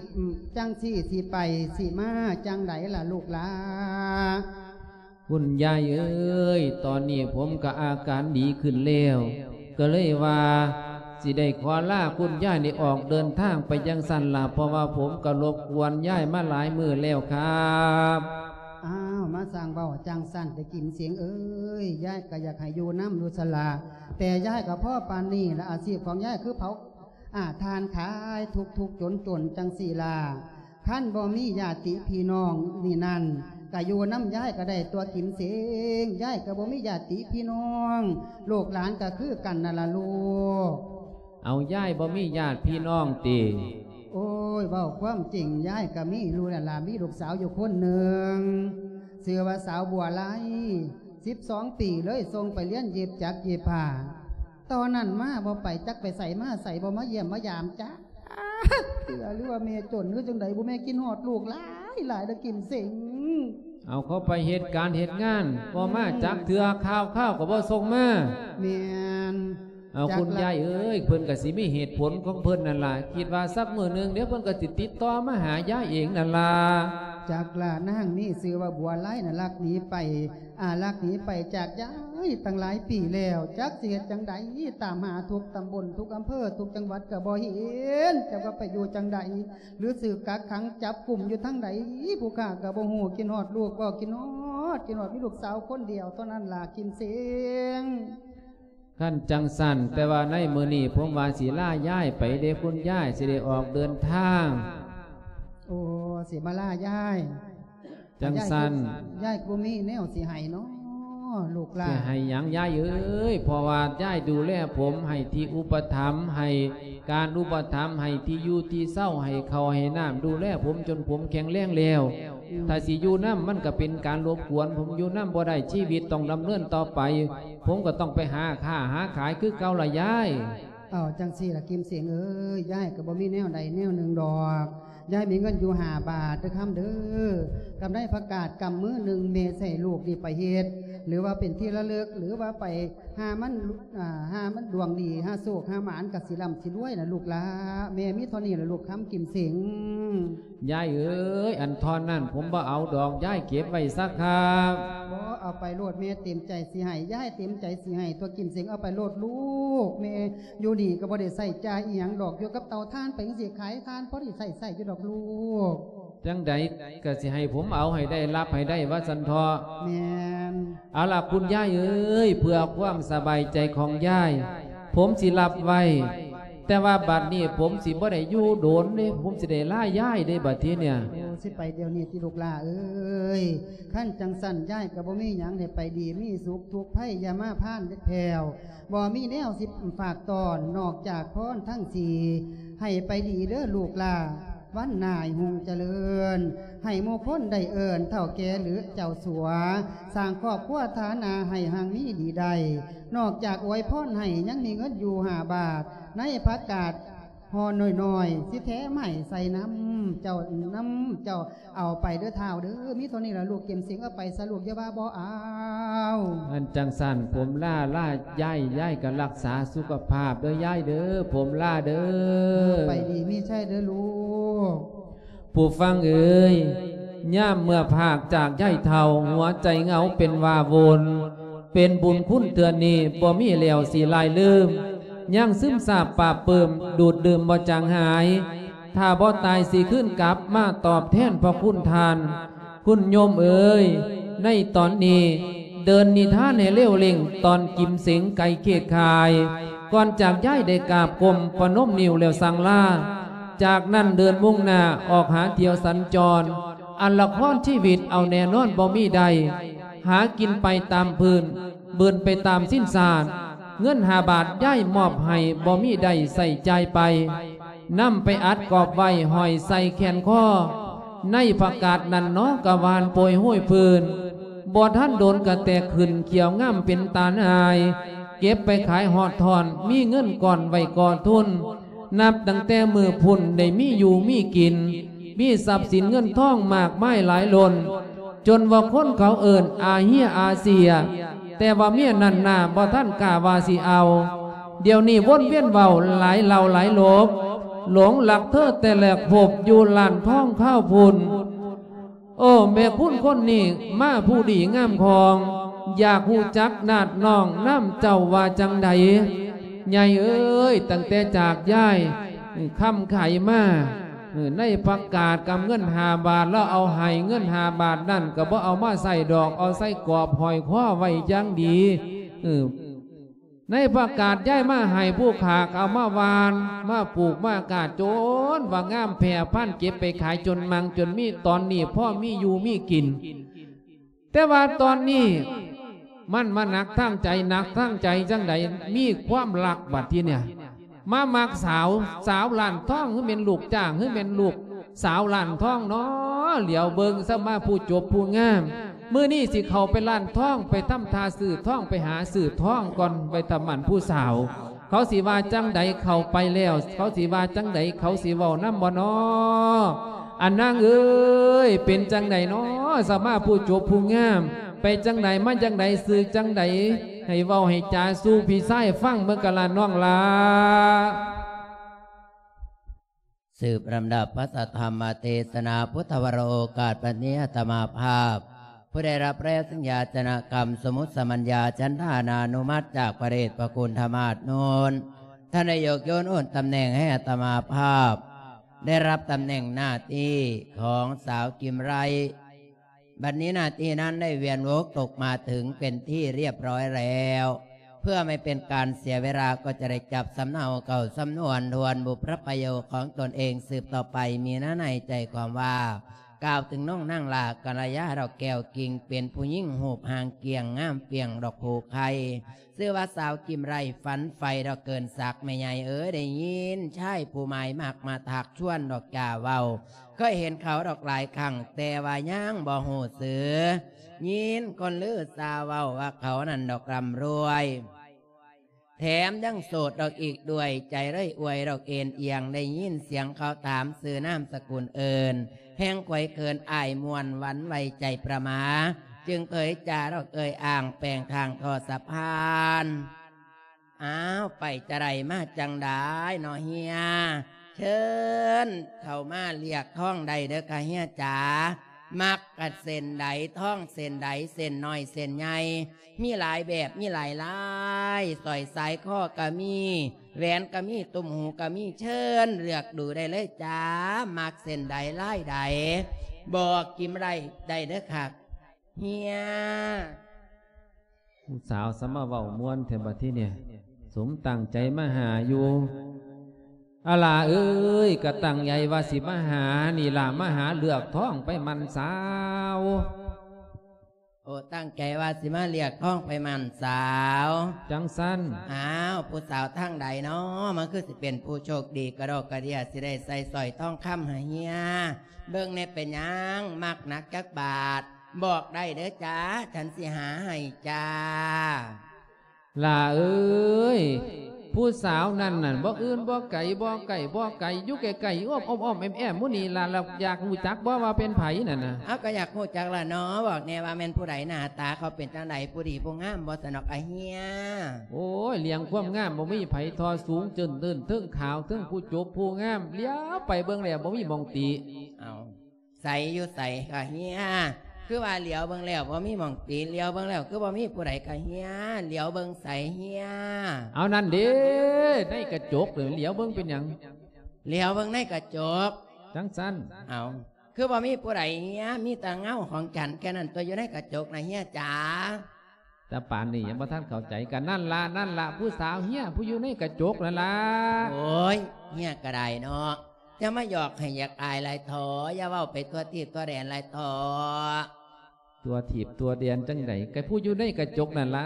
ຈັ່ງຊີ້ຊິໄປຊິມາຈັ່ງໃດລະລູກຫຼາ? ຄຸນຍາຍເອີຍ ຕອນນີ້ຜົມກະອາການດີຂຶ້ນແລ້ວ ກະເລີຍວ່າ ຊິໄດ້ຂໍລາຄຸນຍາຍນີ້ອອກເດີນທາງໄປຈັ່ງຊັ້ນລະ ເພາະວ່າຜົມກະລົບກວນຍາຍມາຫຼາຍມື້ແລ້ວຄັບ. ອ້າວ ມາສ້າງເວົ້າຈັ່ງຊັ້ນແຕ່ກິມເສງເອີຍ ຍາຍກະຢາກໃຫ້ຢູ່ນຳຢູ່ຊັ້ນລະ ແຕ່ຍາຍກະພໍປານນີ້ລະ ອາຊີບຂອງຍາຍຄືເຜົາ ອາ ຖ່ານຂາຍ ທຸກໆຈົນໆ ຈັ່ງຊີ້ລະ ຄັນບໍ່ມີຍາດຕິພີ່ນ້ອງນີ້ນັ້ນ ກະຢູ່ນຳຍາຍກະໄດ້ຕົວະກິມເສງ ຍາຍກະບໍ່ມີຍາດຕິພີ່ນ້ອງ ລູກຫຼານກະຄືກັນນັ້ນລະລູກ. ເອົາ ຍາຍບໍ່ມີຍາດພີ່ນ້ອງຕິ? ໂອ້ຍ ເວົ້າຄວາມຈິງ ຍາຍກະມີລູກແລ້ວລະ ມີລູກສາວຢູ່ຄົນໜຶ່ງ ຊື່ວ່າສາວບົວໄລ ສິບສອງປີ ເລີຍສົ່ງໄປຮຽນເຢັບຈັກເຢັບຜ້າ ຕອນນັ້ນມາບໍ່ໄປ ຈັກໄປໃສມາໃສ ບໍ່ມາຢ້ຽມມາຢາມຈັກເທື່ອ ຫຼືວ່າແມ່ຈົນ ຫຼືຈັ່ງໃດບໍ່ ແມ່ຄິດຮອດລູກຫຼາຍໆເດີກິມເສັງ. ເອົາ ເຂົາໄປເຮັດການເຮັດງານ ບໍ່ມາຈັກເທື່ອ ຂ່າວຄາວກໍບໍ່ສົ່ງມາ. ແມ່ນ. ເອົາ ຈັກລະ ຄຸນຍາຍເອີຍ ເພິ່ນກໍຊິມີເຫດຜົນຂອງເພິ່ນນັ້ນລະ ຄິດວ່າສັກມື້ໜຶ່ງ ດຽວເພິ່ນກໍຊິຕິດຕໍ່ມາຫາຍາຍເອງນັ້ນລະ. ຈັກລະ ນາງນີ້ຊື່ວ່າບົວໄລນະ ລັກໜີໄປ ອາ ລັກໜີໄປຈາກຍາຍຕັ້ງຫຼາຍປີແລ້ວ ຈັກຊິເຮັດຈັ່ງໃດ ຕາມຫາທຸກຕຳບົນ ທຸກອຳເພີ ທຸກຈັງຫວັດກໍບໍ່ເຫັນ ຈັກວ່າໄປຢູ່ຈັ່ງໃດ ຫຼືຖືກກັກຂັງຈັບກຸມຢູ່ທາງໃດ ຜູ້ຂ້າກໍບໍ່ຮູ້ ຄິດຮອດລູກບໍ່ ຄິດຮອດ ຄິດຮອດ ມີລູກສາວຄົນດຽວເທົ່ານັ້ນລະກິມເສັງ. ຄັນຈັ່ງຊັ້ນ ແຕ່ວ່າໃນມື້ນີ້ຜົມວ່າຊິລາຍາຍໄປເດ້ ຄຸນຍາຍ ຊິໄດ້ອອກເດີນທາງ. ໂອ້ ກໍຊິມາລາຍາຍ. ຈັ່ງຊັ້ນ ຍາຍກໍບໍ່ມີແນວຊິໃຫ້ເນາະລູກຫຼານ. ຊິໃຫ້ຫຍັງຍາຍເອີຍ? ເພາະວ່າຍາຍດູແລຜົມໃຫ້ທີ່ອຸປະຖຳ ໃຫ້ການອຸປະຖຳ ໃຫ້ທີ່ຢູ່ທີ່ເຊົາ ໃຫ້ເຂົ້າໃຫ້ນ້ຳ ດູແລຜົມຈົນຜົມແຂງແຮງແລ້ວ. ອືມ ຖ້າຊິຢູ່ນຳ ມັນກໍເປັນການລົບກວນ, ຜົມຢູ່ນຳບໍ່ໄດ້, ຊີວິດຕ້ອງດຳເນີນຕໍ່ໄປ, ຜົມກໍຕ້ອງໄປຫາຄ້າຫາຂາຍຄືເກົ່າລະຍາຍ. ເອົາ ຈັ່ງຊີ້ລະ ກິມເສັງເອີຍ, ຍາຍກໍບໍ່ມີແນວໃດແນວໜຶ່ງດອກ. ຍາຍມີເງິນຢູ່ຫ້າບາດເດີຄຳເດີ. ກຳໄດ້ຜັກກາດກຳມື້ໜຶ່ງ ແມ່ໃຫ້ລູກນີ້ໄປເຮັດ ຫຼືວ່າເປັນທີ່ລະລຶກ ຫຼືວ່າໄປຫາມັນ ອ່າ ຫາມັນດວງດີ ຫາໂຊກຫາໝານ ກໍຊິລ່ຳຊິລວຍລະລູກຫຼາ. ແມ່ມີເທົ່ານີ້ລະລູກຄຳ ກິມເສັງ. ຍາຍເອີຍ, ອັນທ່ອນນັ້ນຜົມບໍ່ເອົາດອກ, ຍາຍເກັບໄວ້ຊະຄັບ. ບໍ່ ເອົາໄປໂລດ, ແມ່ເຕັມໃຈຊິໃຫ້, ຍາຍເຕັມໃຈຊິໃຫ້ຕົວະ ກິມເສັງ. ເອົາໄປໂລດລູກ, ແມ່ຢູ່ນີ້ກໍບໍ່ໄດ້ໃຊ້ຈ່າຍອີ່ຫຍັງດອກ, ຢູ່ກັບເຕົາຖ່ານໄປຈັ່ງຊີ້, ຂາຍຖ່ານພໍໄດ້ໃຊ້ ໃຊ້ຢູ່ດອກລູກ. ຈັ່ງໃດກໍຊິໃຫ້ຜົມເອົາໃຫ້ໄດ້, ຮັບໃຫ້ໄດ້ ວ່າຊັ້ນເຖາະ. ແມ່ນ. ເອົາລະ ຄຸນຍາຍເອີຍ, ເພື່ອຄວາມສະບາຍໃຈຂອງຍາຍ, ຜົມຊິຮັບໄວ້. ແຕ່ວ່າບັດນີ້ຜົມຊິບໍ່ໄດ້ຢູ່ດົນເດ້, ຜົມຊິໄດ້ລາຍາຍເດ້ບັດທີເນີ້ຍ. ໂອ້ ຊິໄປດຽວນີ້ຕິລູກຫຼ້າເອີຍ? ຄັນຈັ່ງຊັ້ນ ຍາຍກໍບໍ່ມີຫຍັງໃຫ້ໄປດີມີສຸກ, ທຸກໄພຢ່າມາພານເດັດແຜ່ວ. ບໍ່ມີແນວຊິຝາກຕ້ອນ ນອກຈາກພອນທັງສີ່. ໃຫ້ໄປດີເດີລູກຫຼ້າ, ວັນໜ້າໃຫ້ຮຸ່ງຈະເລີນ, ໃຫ້ໝູ່ຄົນໄດ້ເອີ້ນເຖົ້າແກ່ຫຼືເຈົ້າສັວ, ສ້າງຄອບຄົວຖານະໃຫ້ຮັ່ງມີດີໄດ້. ນອກຈາກອວຍພອນໃຫ້ ຍັງມີເງິນຢູ່ຫ້າບາດ ໃນຜັກກາດຫໍ່ນ້ອຍໆ ຊິແຖມໃຫ້ໃສ່ນຳເຈົ້າ, ນຳເຈົ້າ. ເອົາໄປເດີທ້າວເດີ, ມີເທົ່ານີ້ລະລູກ. ເກັມເສັງເອົາໄປຊະລູກ, ຢ່າວ່າບໍ່ເອົາ. ອັນຈັ່ງຊັ້ນ ຜົມລາ, ລາຍາຍ, ຍາຍກໍຮັກສາສຸຂະພາບເດີຍາຍເດີ, ຜົມລາເດີ. ໄປດີມີໄຊເດີລູກ. ຜູ້ຟັງເອີຍ, ຍາມເມື່ອພາກຈາກຍາຍເຖົ້າ, ຫົວໃຈເຫງົາເປັນວ່າວົນ. ເປັນບຸນຄຸນເທື່ອນີ້ ບໍ່ມີແລ້ວຊິລາຍລືມ, ຍັງຊຶມຊາບປາບປຶ້ມ, ດູດດື່ມບໍ່ຈາງຫາຍ. ຖ້າບໍ່ຕາຍຊິຄືນກັບມາຕອບແທນພະຄຸນທ່ານ. ຄຸນໂຍມເອີຍ, ໃນຕອນນີ້ ເດີນນິທານໃຫ້ເລວເລັ່ງ, ຕອນກິມເສັງໄກ່ເຄດຄາຍ. ກ່ອນຈາກຍາຍໄດ້ກາບກົ້ມປະນົມນິ້ວແລ້ວສັ່ງລາ. ຈາກນັ້ນເດີນມຸ່ງໜ້າອອກຫາທ່ຽວສັນຈອນ, ອັນລະຄອນຊີວິດເອົາແນ່ນອນບໍ່ມີໄດ້. ຫາກິນໄປຕາມພື້ນ, ບືນໄປຕາມສິນສາດ. ເງິນຫ້າບາດຍາຍມອບໃຫ້, ບໍ່ມີໄດ້ໃຊ້ຈ່າຍໄປ. ນຳໄປອັດກອບໄວ້ຫ້ອຍໃສ່ແຂນຄໍ. ໃນຜັກກາດນັ້ນໜໍກະຫວ່ານໂປຍໂຮຍພື້ນ. ບໍ່ທັນດົນກະແຕກຂຶ້ນຂຽວງາມເປັນຕານອາຍ. ເກັບໄປຂາຍຮອດທ່ອນ, ມີເງິນກ້ອນໄວ້ກໍ່ທຶນ. ນັບຕັ້ງແຕ່ມື້ພຸ້ນໄດ້ມີຢູ່ມີກິນ, ມີຊັບສິນເງິນທອງມາກມາຍຫຼາຍລົ້ນ. ຈົນວ່າຄົນເຂົາເອີ້ນອາເຮຍອາເຊຍ, ແຕ່ວ່າເມຍນັ້ນໜ້າບໍ່ທັນກ້າວ່າຊິເອົາ. ດຽວນີ້ວົນວຽນເວົ້າຫຼາຍເຫຼົ່າຫຼາຍໂລບ, ຫຼົງຮັກເທີແຕ່ແລກພົບຢູ່ຮ້ານທອງຄາວພຸ້ນ. ໂອ້ ແມ່ຄຸນຄົນນີ້ມາຜູ້ດີງາມຂອງ, ຢາກຮູ້ຈັກນາດນ້ອງນຳເຈົ້າວ່າຈັ່ງໃດ? ໃຫຍ່ເອີຍ, ຕັ້ງແຕ່ຈາກຍາຍຄຳໄຂມາ, ໃນຜັກກາດກຳເງິນຫ້າບາດ ລາວເອົາໃຫ້ເງິນຫ້າບາດນັ້ນ ກໍບໍ່ເອົາມາໃຊ້ດອກ, ເອົາໃສ່ກອບຫ້ອຍຄໍໄວ້ຢ່າງດີ. ໃນຜັກກາດຍາຍມາໃຫ້ຜູ້ຂ້າ ກໍເອົາມາຫວ່ານ, ມາປູກ, ມາກາດ, ຈົນວ່າງາມແຜ່ພັນ, ເກັບໄປຂາຍຈົນມັ່ງຈົນມີ, ຕອນນີ້ພໍມີຢູ່ມີກິນ. ແຕ່ວ່າຕອນນີ້ມັນມາໜັກທາງໃຈ, ໜັກທາງໃຈຈັ່ງໃດ? ມີຄວາມລັກບັດທີເນີ້ຍ, ມາມັກສາວ, ສາວຮ້ານທອງ ຫຼືແມ່ນລູກຈ້າງ ຫຼືແມ່ນລູກສາວຮ້ານທອງເນາະ. ຫຼຽວເບິ່ງຊະມາຜູ້ຈົບຜູ້ງາມ, ມື້ນີ້ຊິເຂົ້າໄປຮ້ານທອງ, ໄປທຳທ່າຊື້ທອງ, ໄປຫາຊື້ທອງກ່ອນ, ໄປທຳໝັ້ນຜູ້ສາວ. ເຂົາຊິວ່າຈັ່ງໃດ? ເຂົ້າໄປແລ້ວເຂົາຊິວ່າຈັ່ງໃດ? ເຂົາຊິເວົ້ານຳບໍ່ນໍ? ອານາງເອີຍ, ເປັນຈັ່ງໃດນໍ? ສະມາຜູ້ຈົບຜູ້ງາມ, ໄປຈັ່ງໃດມາຈັ່ງໃດ, ຊື່ຈັ່ງໃດ? ໃຫ້ເວົ້າໃຫ້ຈາສູ່ພີ່ຊາຍຟັງເບິ່ງກະລະນ້ອງຫຼ້າ. ສືບລຳດັບພະສັດທຳມະເທສະນາພຸດທະວະໂລກາດ ບັດນີ້ອາດຕະມາພາບ ຜູ້ໄດ້ຮັບແລ້ວສັນຍາຈະນະກຳ ສົມມຸດສະມັນຍາ ສັນທານານຸມັດ ຈາກພະເດດພະຄຸນທະມາດໂນນ ທ່ານໄດ້ຍົກໂຍນໂອນຕຳແໜ່ງໃຫ້ອາດຕະມາພາບ ໄດ້ຮັບຕຳແໜ່ງໜ້າທີ່ຂອງສາວກິມໄລ. ບັດນີ້ໜ້າທີ່ນັ້ນໄດ້ວຽນວົນຕົກມາເຖິງເປັນທີ່ລຽບຮ້ອຍແລ້ວ. พื่อไม่เป็นการเสียเวลา ก็จะได้จับสำเนาเข้าสำนวนทวนบุพพระประโยคของตนเองสืบต่อไป มีเนื้อในใจความว่า กล่าวถึงน้องนางหล้ากัลยาดอกแก้วกิ่ง เป็นผู้หญิงรูปร่างเกี้ยง งามเปรียงดอกผู้ไข่ ชื่อว่าสาวกิมไล ฝันใฝ่ดอกเกินศักดิ์ แม่ใหญ่เอ๋ย ได้ยินชายผู้หมายมักมาทักชวนดอกจ้าเว้า เคยเห็นเขาดอกหลายครั้ง แต่ว่ายังบ่ฮู้ชื่อ ยินคนลือซาเว้าว่าเขานั้นดอกร่ำรวย แถมยังโสดดอกอีกด้วย ใจเลยอวยดอกเอนเอียง ได้ยินเสียงเขาถามชื่อนามสกุลเอิ้น แฮงไขว่เขินอ้ายม่วนหวั่นไหวใจประหม่า จึงเผยจาดอกเอ่ยอ้างแปลงทางท่อสะพาน อ้าว ไปจะใดมาจั่งใดเนาะเฮีย เชิญเข้ามาเรียกทองได้เด้อค่ะเฮียจ๋า มักกะเส้นใด ทองเส้นใด เส้นน้อยเส้นใหญ่ มีหลายแบบ มีหลายลาย สร้อยสายคอกะมี แหวนกะมี ตุ้มหูกะมี เชิญเลือกดูได้เลยจ้า มักเส้นใดลายใด บอกกิมไลได้เด้อค่ะเฮีย ผู้สาวสะมาเว้าม่วนแท้บัดทีเนี่ย สมตั้งใจมาหาอยู่ อาหล้าเอ้ย กะตั้งใจว่าสิมาหานี่ล่ะ มาหาเลือกทองไปหมั้นสาว โอ้ ตั้งใจว่าสิมาเลือกทองไปหมั้นสาว จั่งซั้น อ้าว ผู้สาวทางใดน้อ มันคือสิเป็นผู้โชคดีกระดอกกระเดี้ย สิได้ใส่สร้อยทองคำให้เฮีย เบิ่งแน่เป็นหยัง มักหนักจักบาท บอกได้เด้อจ้า ฉันสิหาให้จ้า หล้าเอ้ย ผู้สาวนั่นน่ะ บ่อื่นบ่ไกล บ่ใกล้บ่ไกล อยู่ใกล้ๆ อ้อมๆ อ้อมๆ แอ้มๆ หมู่นี่ล่ะ แล้วอยากรู้จักบ่ว่าเป็นไผนั่นน่ะ เอ้า ก็อยากรู้จักล่ะเนาะ บอกแน่ว่าแม่นผู้ใด หน้าตาเขาเป็นจั่งใด ผู้ดีผู้งามบ่ สนอกอาเฮีย โอ้ย เรื่องความงามบ่มีไผท่อ สูงเจิ่นเติ่น เทิงขาว เทิงผู้จบผู้งาม เหลียวไปเบิ่งแล้วบ่มีหม่องติ เอ้า ใสอยู่ใสค่ะเฮีย คือว่าเหลียวเบิ่งแล้วบ่มีหม่องติ เหลียวเบิ่งแล้วคือบ่มีผู้ใดค่ะเฮีย เหลียวเบิ่งใสเฮีย เอานั่นเด้ ในกระจกเด้อ เหลียวเบิ่งเป็นหยัง เหลียวเบิ่งในกระจก จั่งซั้น เอา คือบ่มีผู้ใดเฮีย มีแต่เงาของฉันแค่นั้นตัวอยู่ในกระจกนะเฮียจ๋า แต่ปานนี้ยังบ่ทันเข้าใจ กันนั่นล่ะ นั่นล่ะ ผู้สาวเฮีย ผู้อยู่ในกระจกนั่นล่ะ โอ้ย เฮียก็ได้เนาะ อย่ามาหยอกให้อยากอายหลายเถาะ อย่าเว้าไปทั่วทีปทั่วแดนหลายเถาะ ทั่วทีปทั่วแดนจั่งใด ก็ผู้อยู่ในกระจกนั่นล่ะ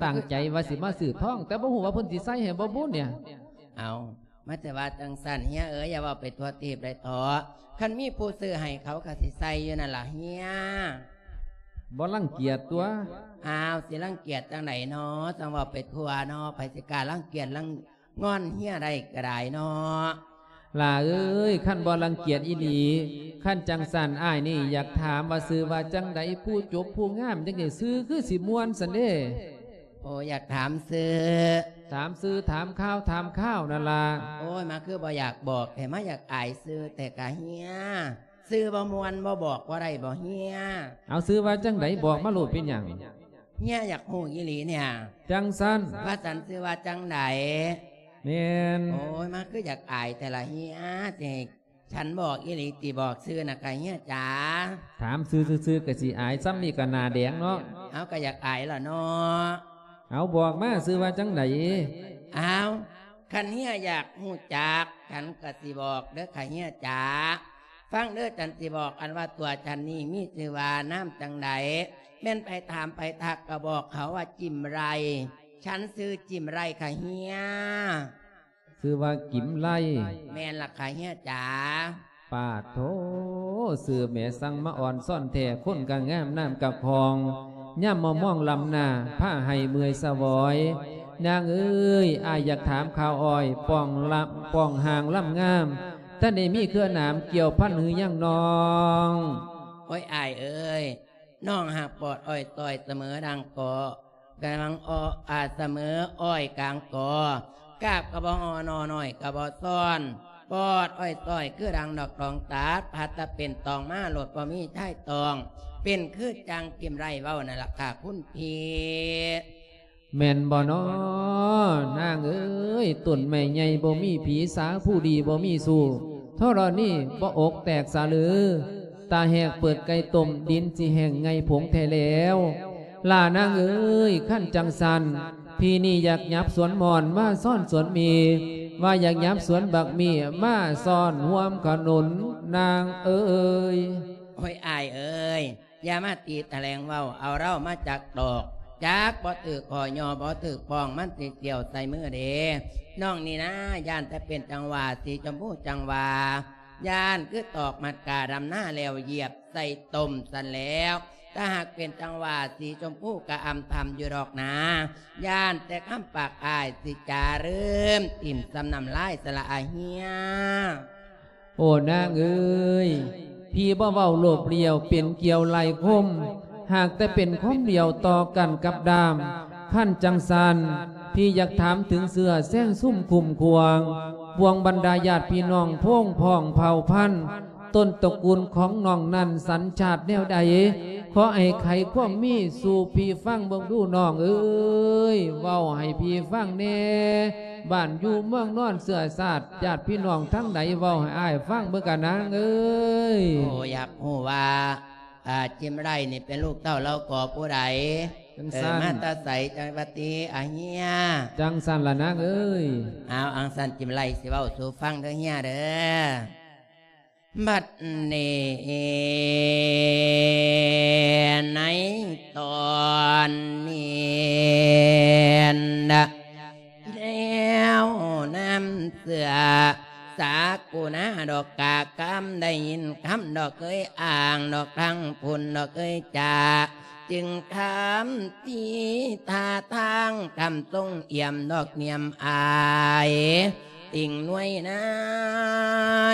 ตั้งใจว่าสิมาซื้อทอง แต่บ่ฮู้ว่าเพิ่นสิใส่ให้บ่บุเนี่ย เอา มาแต่ว่าจั่งซั้นเฮียเอ๋ย อย่าเว้าไปทั่วทีปหลายเถาะ คันมีผู้ซื้อให้เขาก็สิใส่อยู่นั่นล่ะเฮีย บ่รังเกียจตั๊ว อ้าว สิรังเกียจจั่งใดน้อ จั่งเว้าไปทั่วน้อ ไผสิกล้ารังเกียจรังงอนเฮียได้ก็ได้น้อ หล้าเอ้ย คันบ่รังเกียจอีหลี คันจั่งซั้นอ้ายนี่อยากถามว่าชื่อว่าจั่งใด ผู้จบผู้งามจั่งใด ชื่อคือสิม่วนซั้นเด้ โอ้ อยากถามชื่อ ถามชื่อ ถามข่าว ถามคราวนั่นล่ะ โอ้ย มาคือบ่อยากบอกแท้ มาอยากอายชื่อแท้กะเฮีย ชื่อบ่ม่วนบ่บอกบ่ได้บ่เฮีย เอาชื่อว่าจั่งใด บอกมาโลด เป็นหยัง เฮียอยากฮู้อีหลีเนี่ย จั่งซั้น ว่าฉันชื่อว่าจั่งใด แม่น โอ้ย มาคืออยากอายแท้ละเฮีย สิให้ฉันบอกอีหลีติ บอกชื่อน่ะกะเฮียจ๋า ถามชื่อซื่อๆ ก็สิอาย ซ่ำนี่ก็หน้าแดงเนาะ เอา ก็อยากอายล่ะเนาะ เอา บอกมา ชื่อว่าจั่งใด อ้าว คันเฮียอยากฮู้จัก ฉันก็สิบอกเด้อค่ะเฮียจ๋า ฟังเด้อ ฉันสิบอก อันว่าตัวฉันนี่มีชื่อว่านามจั่งใด แม่นไผถามไผทักก็บอกเขาว่าจิมไล ฉันชื่อจิมไลค่ะเฮีย ชื่อว่ากิมไล แม่นล่ะค่ะเฮียจ๋า ปาดโธ่ ชื่อแหมสั่งมาอ่อนซ่อนแท้ คนก็งาม น้ำก็คล่อง ยามมามองล้ำหน้า พาให้เมื่อยสะหวอย นางเอ้ย อ้ายอยากถามข่าวอ้อย ป้องลำ ป้องห่างล้ำงาม ท่านได้มีเครือหนามเกี่ยวพันหรือยังน้อง โอ้ย อ้ายเอ้ย น้องหากปอดอ้อยต้อยเสมอดังเกาะ กำลังออ อาจเสมออ้อยกลางกอ กาบกะบ่งอ หน่อน้อยกะบ่ซ้อน ปอดอ้อยต้อยคือดังดอกตองตัด พัดตะเป็นตองมาโลดบ่มีชายตอง เป็นคือจั่งกิมไลเว้านั่นล่ะค่ะคุณพี่ แม่นบ่น้อ นางเอ้ย ต้นไม้ใหญ่บ่มีผี สาผู้ดีบ่มีสู้ ธรณีบ่อกแตกสะเลือ ตาแหกเปิดไก่ต้ม ดินสิแห้งไงผงแท้แล้ว ຫຼ້ານາງເອີຍ ຄັນຈັ່ງຊັ້ນ ພີ່ນີ້ຢາກຫຍັບສວນມ່ອນມາຊ້ອນສວນໝີ່ ວ່າຢາກຫຍັບສວນບັກໝີ່ມາຊ້ອນຮ່ວມຂະໜູນນາງເອີຍ. ໂອ້ຍ ອ້າຍເອີຍ ຢ່າມາຕີຖະແຫຼງເວົ້າເອົາເຮົາມາຈັກດອກ ຈັກບໍ່ຖືກຂໍ້ຍໍບໍ່ຖືກປ້ອງ ມັນຊິສ່ຽວໃສ່ມືເດ້. ນ້ອງນີ້ນາ ຢ້ານແຕ່ເປັນຈັ່ງຫວ່າ ສີຊົມພູຈັ່ງຫວ່າ ຢ້ານຄືຕອກມັດກາດຳນາແລ້ວຢຽບໃສ່ຕົ້ມຊັ້ນແລ້ວ. ຖ້າຫາກເປັນຈັ່ງຫວ່າ ສີຊົມພູກະອຳທຳຢູ່ດອກນາ ຢ້ານແຕ່ຄຳປາກອ້າຍຊິຈາລືມ ຖິ້ມສ່ຳນ້ຳລາຍສະລະອາເຮຍ. ໂອ້ ນາງເອີຍ ພີ່ບໍ່ເວົ້າໂລບລ້ຽວເປັນກ່ຽວໄລ່ຄົມ ຫາກແຕ່ເປັນຄວາມດຽວຕໍ່ກັນກັບດາມ. ຄັນຈັ່ງຊັ້ນ ພີ່ຢາກຖາມເຖິງເຊື້ອແຊງຊຸມຄຸ້ມຄວາງ ພວງບັນດາຍາດພີ່ນ້ອງໂພງພ້ອງເຜົ່າພັນ ຕົ້ນຕະກູນຂອງນ້ອງນັ້ນສັນຊາດແນວໃດ? ຂໍໃຫ້ໄຂຄວາມມີສູ່ພີ່ຟັງເບິ່ງດູນ້ອງເອີຍ ເວົ້າໃຫ້ພີ່ຟັງແດ່ ບ້ານຢູ່ເມືອງນອນ ເຊື້ອຊາດຍາດພີ່ນ້ອງທາງໃດ ເວົ້າໃຫ້ອ້າຍຟັງເບິ່ງກະນາງເອີຍ. ໂອ້ ຢາກຮູ້ວ່າ ອາ ຈິມໄລນີ້ເປັນລູກເຕົ້າລາວກໍຜູ້ໃດ? ຈັ່ງ ເອີ ຊັ້ນ ມາແຕ່ໃສ ຈັງຫວັດດີອາເຮຍ? ຈັ່ງຊັ້ນລະນາງເອີຍ. ເອົາ ອັງຊັ້ນຈິມໄລຊິເວົ້າສູ່ຟັງເດີເຮຍເດີ. ບັດນີ້ໃນຕອນນີ້ນະ ແລ້ວນຳເສື້ອສາກຸນາດອກກາກຳ ໄດ້ຍິນຄຳດອກເອີຍອ້າງດອກທາງພຸ້ນດອກເອີຍຈາ ຈຶ່ງຄຳທີ່ທ່າທາງຄຳຊົງອຽມດອກນຽມອາຍ ຕິ່ງໜວຍນາ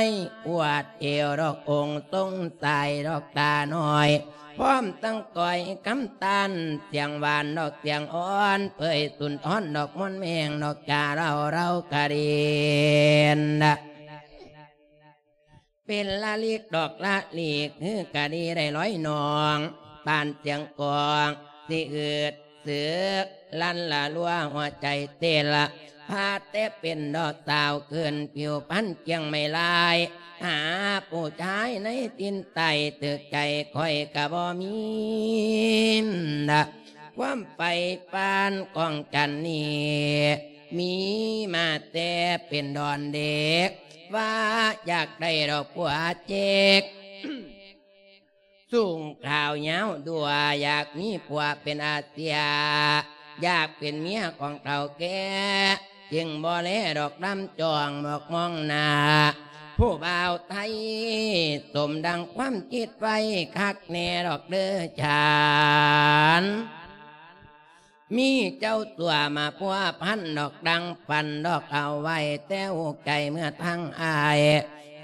ຍ ອວດເອວດອກອົງຊົງຊາຍດອກຕານ້ອຍ ພ້ອມທັງກ້ອຍຄຳຕານ ສຽງຫວານດອກສຽງອ່ອນ ເຜີຍສຸນທອນດອກມ່ວນແມງດອກຈາເລົ່າເລົ່າກະເດັນ ເປັນລະລິກດອກລະລິກ ຄືກະດີໄດ້ລອຍນ້ອງ ປານສຽງກອງ ຊິອືດ ສຶກ ລັນລະລົວ ຫົວໃຈເຕັ້ນລະ ພາແຕ່ເປັນດອກສາວຂຶ້ນ ຜິວພັນກຽງໄມ້ລາຍ ຫາຜູ້ຊາຍໃນຖິ່ນໃຕ້ ຖືກໃຈຂ້ອຍກະບໍ່ມີ ຄວາມໃຝ່ຝັນຂອງຈັນນີ້ ມີມາແຕ່ເປັນດອນເດັກ ວ່າຢາກໄດ້ດອກຜົວເຈັກ ສູງຂາວຍາວດ້ວຍ ຢາກມີຜົວເປັນອາເຊຍ ຢາກເປັນເມຍຂອງເຖົ້າແກ່ ຈຶ່ງບໍ່ແລດອກລຳຈ້ອງມອກມອງໜ້າ ຜູ້ບ່າວໄທ ສົມດັ່ງຄວາມຄິດໄວ້ຄັກແນ່ດອກເດີຈານ. ມີເຈົ້າຕົວມາພົວພັນດອກ ດັ່ງຝັນດອກເອົາໄວ້ແຕ່ຫົວໃຈເມື່ອທາງອ້າຍ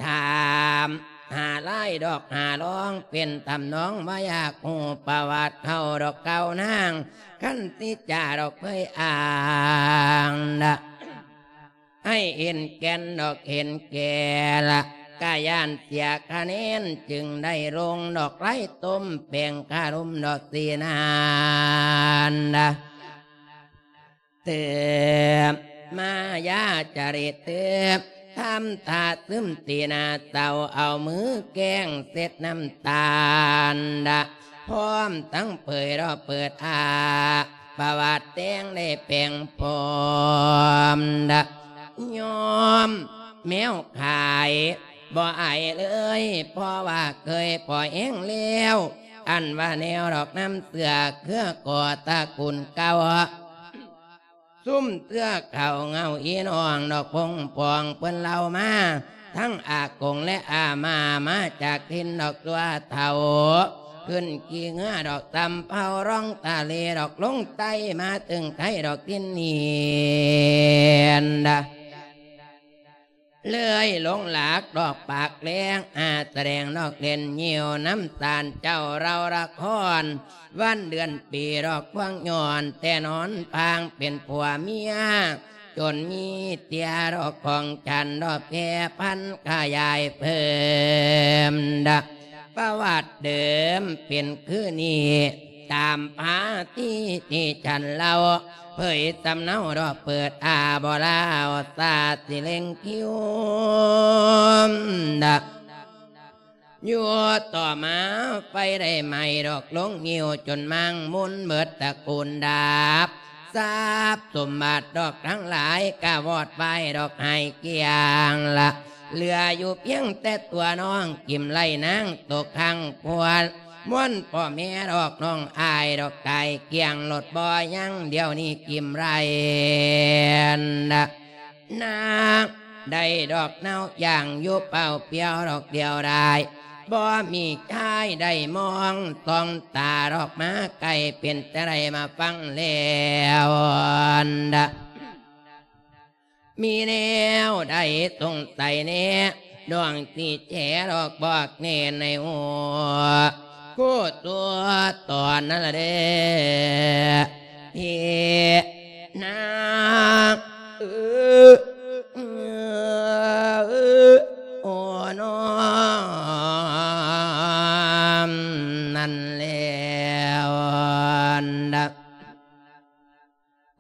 ຖາມຫາລາຍດອກຫາລອງ ເປັນທຳນອງວ່າຢາກຮູ້ປະຫວັດເຂົາດອກເກົ່ານາງ ຄັນຊິຈາດອກເຜີຍອ້າງນະ ໃຫ້ເຫັນແກ່ນດອກເຫັນແກ່ລະ ກະຢ້ານເສຍຄະແນນ ຈຶ່ງໄດ້ລົງດອກໄລ່ຕົ້ມແປງຄາລົມດອກສີນານນະ ເຕີມມາຢາຈະລິດເຕີມ ທຳທ່າຊຶມຕີໜ້າເສົ້າ ເອົາມືແກ້ງເຊັດນ້ຳຕານນະ ພ້ອມທັງເຜີຍລອບເປີດອ້າ ປະຫວັດແຕ່ງໄດ້ແປງພ້ອມດະ ຍອມແມວຂາຍບໍ່ອາຍເລີຍ ເພາະວ່າເຄີຍພໍແຮງແລ້ວ ອັນວ່າແນວດອກນ້ຳເສື້ອເຄືກໍຕະກຸນເກົ່າ ຊຸມເທື່ອເຂົາເງົາອີນ້ອງດອກພົງປອງ ເພິ່ນເລົ່າມາ ທັງອາກົງແລະອາມ່າ ມາຈາກຖິ່ນດອກຕົວເຖົ້າ ຂຶ້ນຂີ່ເຮືອດອກຕຳເພົາ ລ່ອງທະເລດອກລົງໃຕ້ ມາເຖິງໄທດອກຖິ່ນນີ້ນະ ເລີຍຫຼົງຫຼັກດອກປາກແລງ ອາສະແດງດອກເຫຼັ້ນຍິ້ວ ນຳສານເຈົ້າເລົ່າລະຄອນ ວັນເດືອນປີດອກພວງຍ້ອນ ແຕ່ນອນພາງເປັນຜົວເມຍ ຈົນມີເຕຍດອກຂອງສັນດອກແຜ່ພັນຂະຫຍາຍເພີ່ມດະ ປະຫວັດເດີມເປັນຄືນີ້ ຕາມພາທີ່ທີ່ສັນເລົ່າ ເຜີຍສຳເນົາດອກເປີດອາບໍລາວສາດຊິເລັງຄິວດະ ຢູ່ຕໍ່ມາໄຟໄດ້ໄໝ້ດອກລົງງິ້ວ ຈົນມ້າງມຸນເໝິດຕະກູນດັບ ຊັບສົມບັດດອກທັງຫຼາຍກະວອດວາຍດອກຫາຍກ້ຽງລະ ເຫຼືອຢູ່ພຽງແຕ່ຕົວນ້ອງກິມໄລນາງຕົກຂ້າງພວນ ມ່ວນພໍ່ແມ່ດອກນ້ອງອ້າຍດອກຕາຍກ້ຽງໂລດບໍ່ຍັງ ດຽວນີ້ກິມໄລນາງ ໄດ້ດອກເນົ່າຢ່າງຢູ່ເປົ່າປ່ຽວດອກດຽວດາຍ ບໍ່ມີຊາຍໄດ້ມອງສ່ອງຕາດອກມາໃກ້ ເປັນຈັ່ງໃດມາຟັງແລ້ວນະ ມີແນວໃດສົງໄສແດ່ ນ້ອງຊິແຈດອກບອກແນ່ໃນຫົວ ຄູ່ຕົວຕອນນັ້ນລະເດ້ ເພນາງ ເອີ ໂອ້ ນ້ອງ ນັ້ນແລ້ວນະ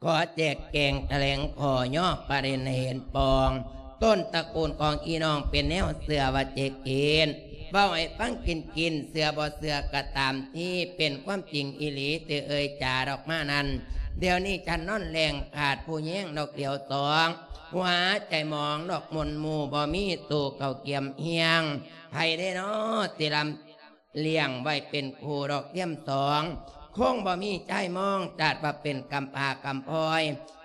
ຂໍແຈກແຈງຖະແຫຼງຂໍ້ຍໍປະເດັນໃຫ້ເຫັນປ່ອງ ຕົ້ນຕະກູນຂອງອີນ້ອງເປັນແນວເຊື່ອວ່າເຈັກເຫັນ ເວົ້າໃຫ້ຟັງກິນໆ ເຊື່ອບໍ່ເຊື່ອກໍຕາມທີ່ ເປັນຄວາມຈິງອີ່ຫຼີທີ່ເອີ່ຍຈາດອກມານັ້ນ ດຽວນີ້ສັນນອນແລງຂາດຜູ້ແຍງດອກດຽວສອງ ຫົວໃຈໝອງດອກມົນໝູ່ ບໍ່ມີໂຕເຂົ້າກຽມຮຽງ ໃຜເດ້ນໍທີ່ລຳ ລ້ຽງໄວ້ເປັນຄູ່ດອກທຽມສອງ ຄົງບໍ່ມີຊາຍມອງ ຈັດວ່າເປັນກຳພ້າກຳພ້ອຍ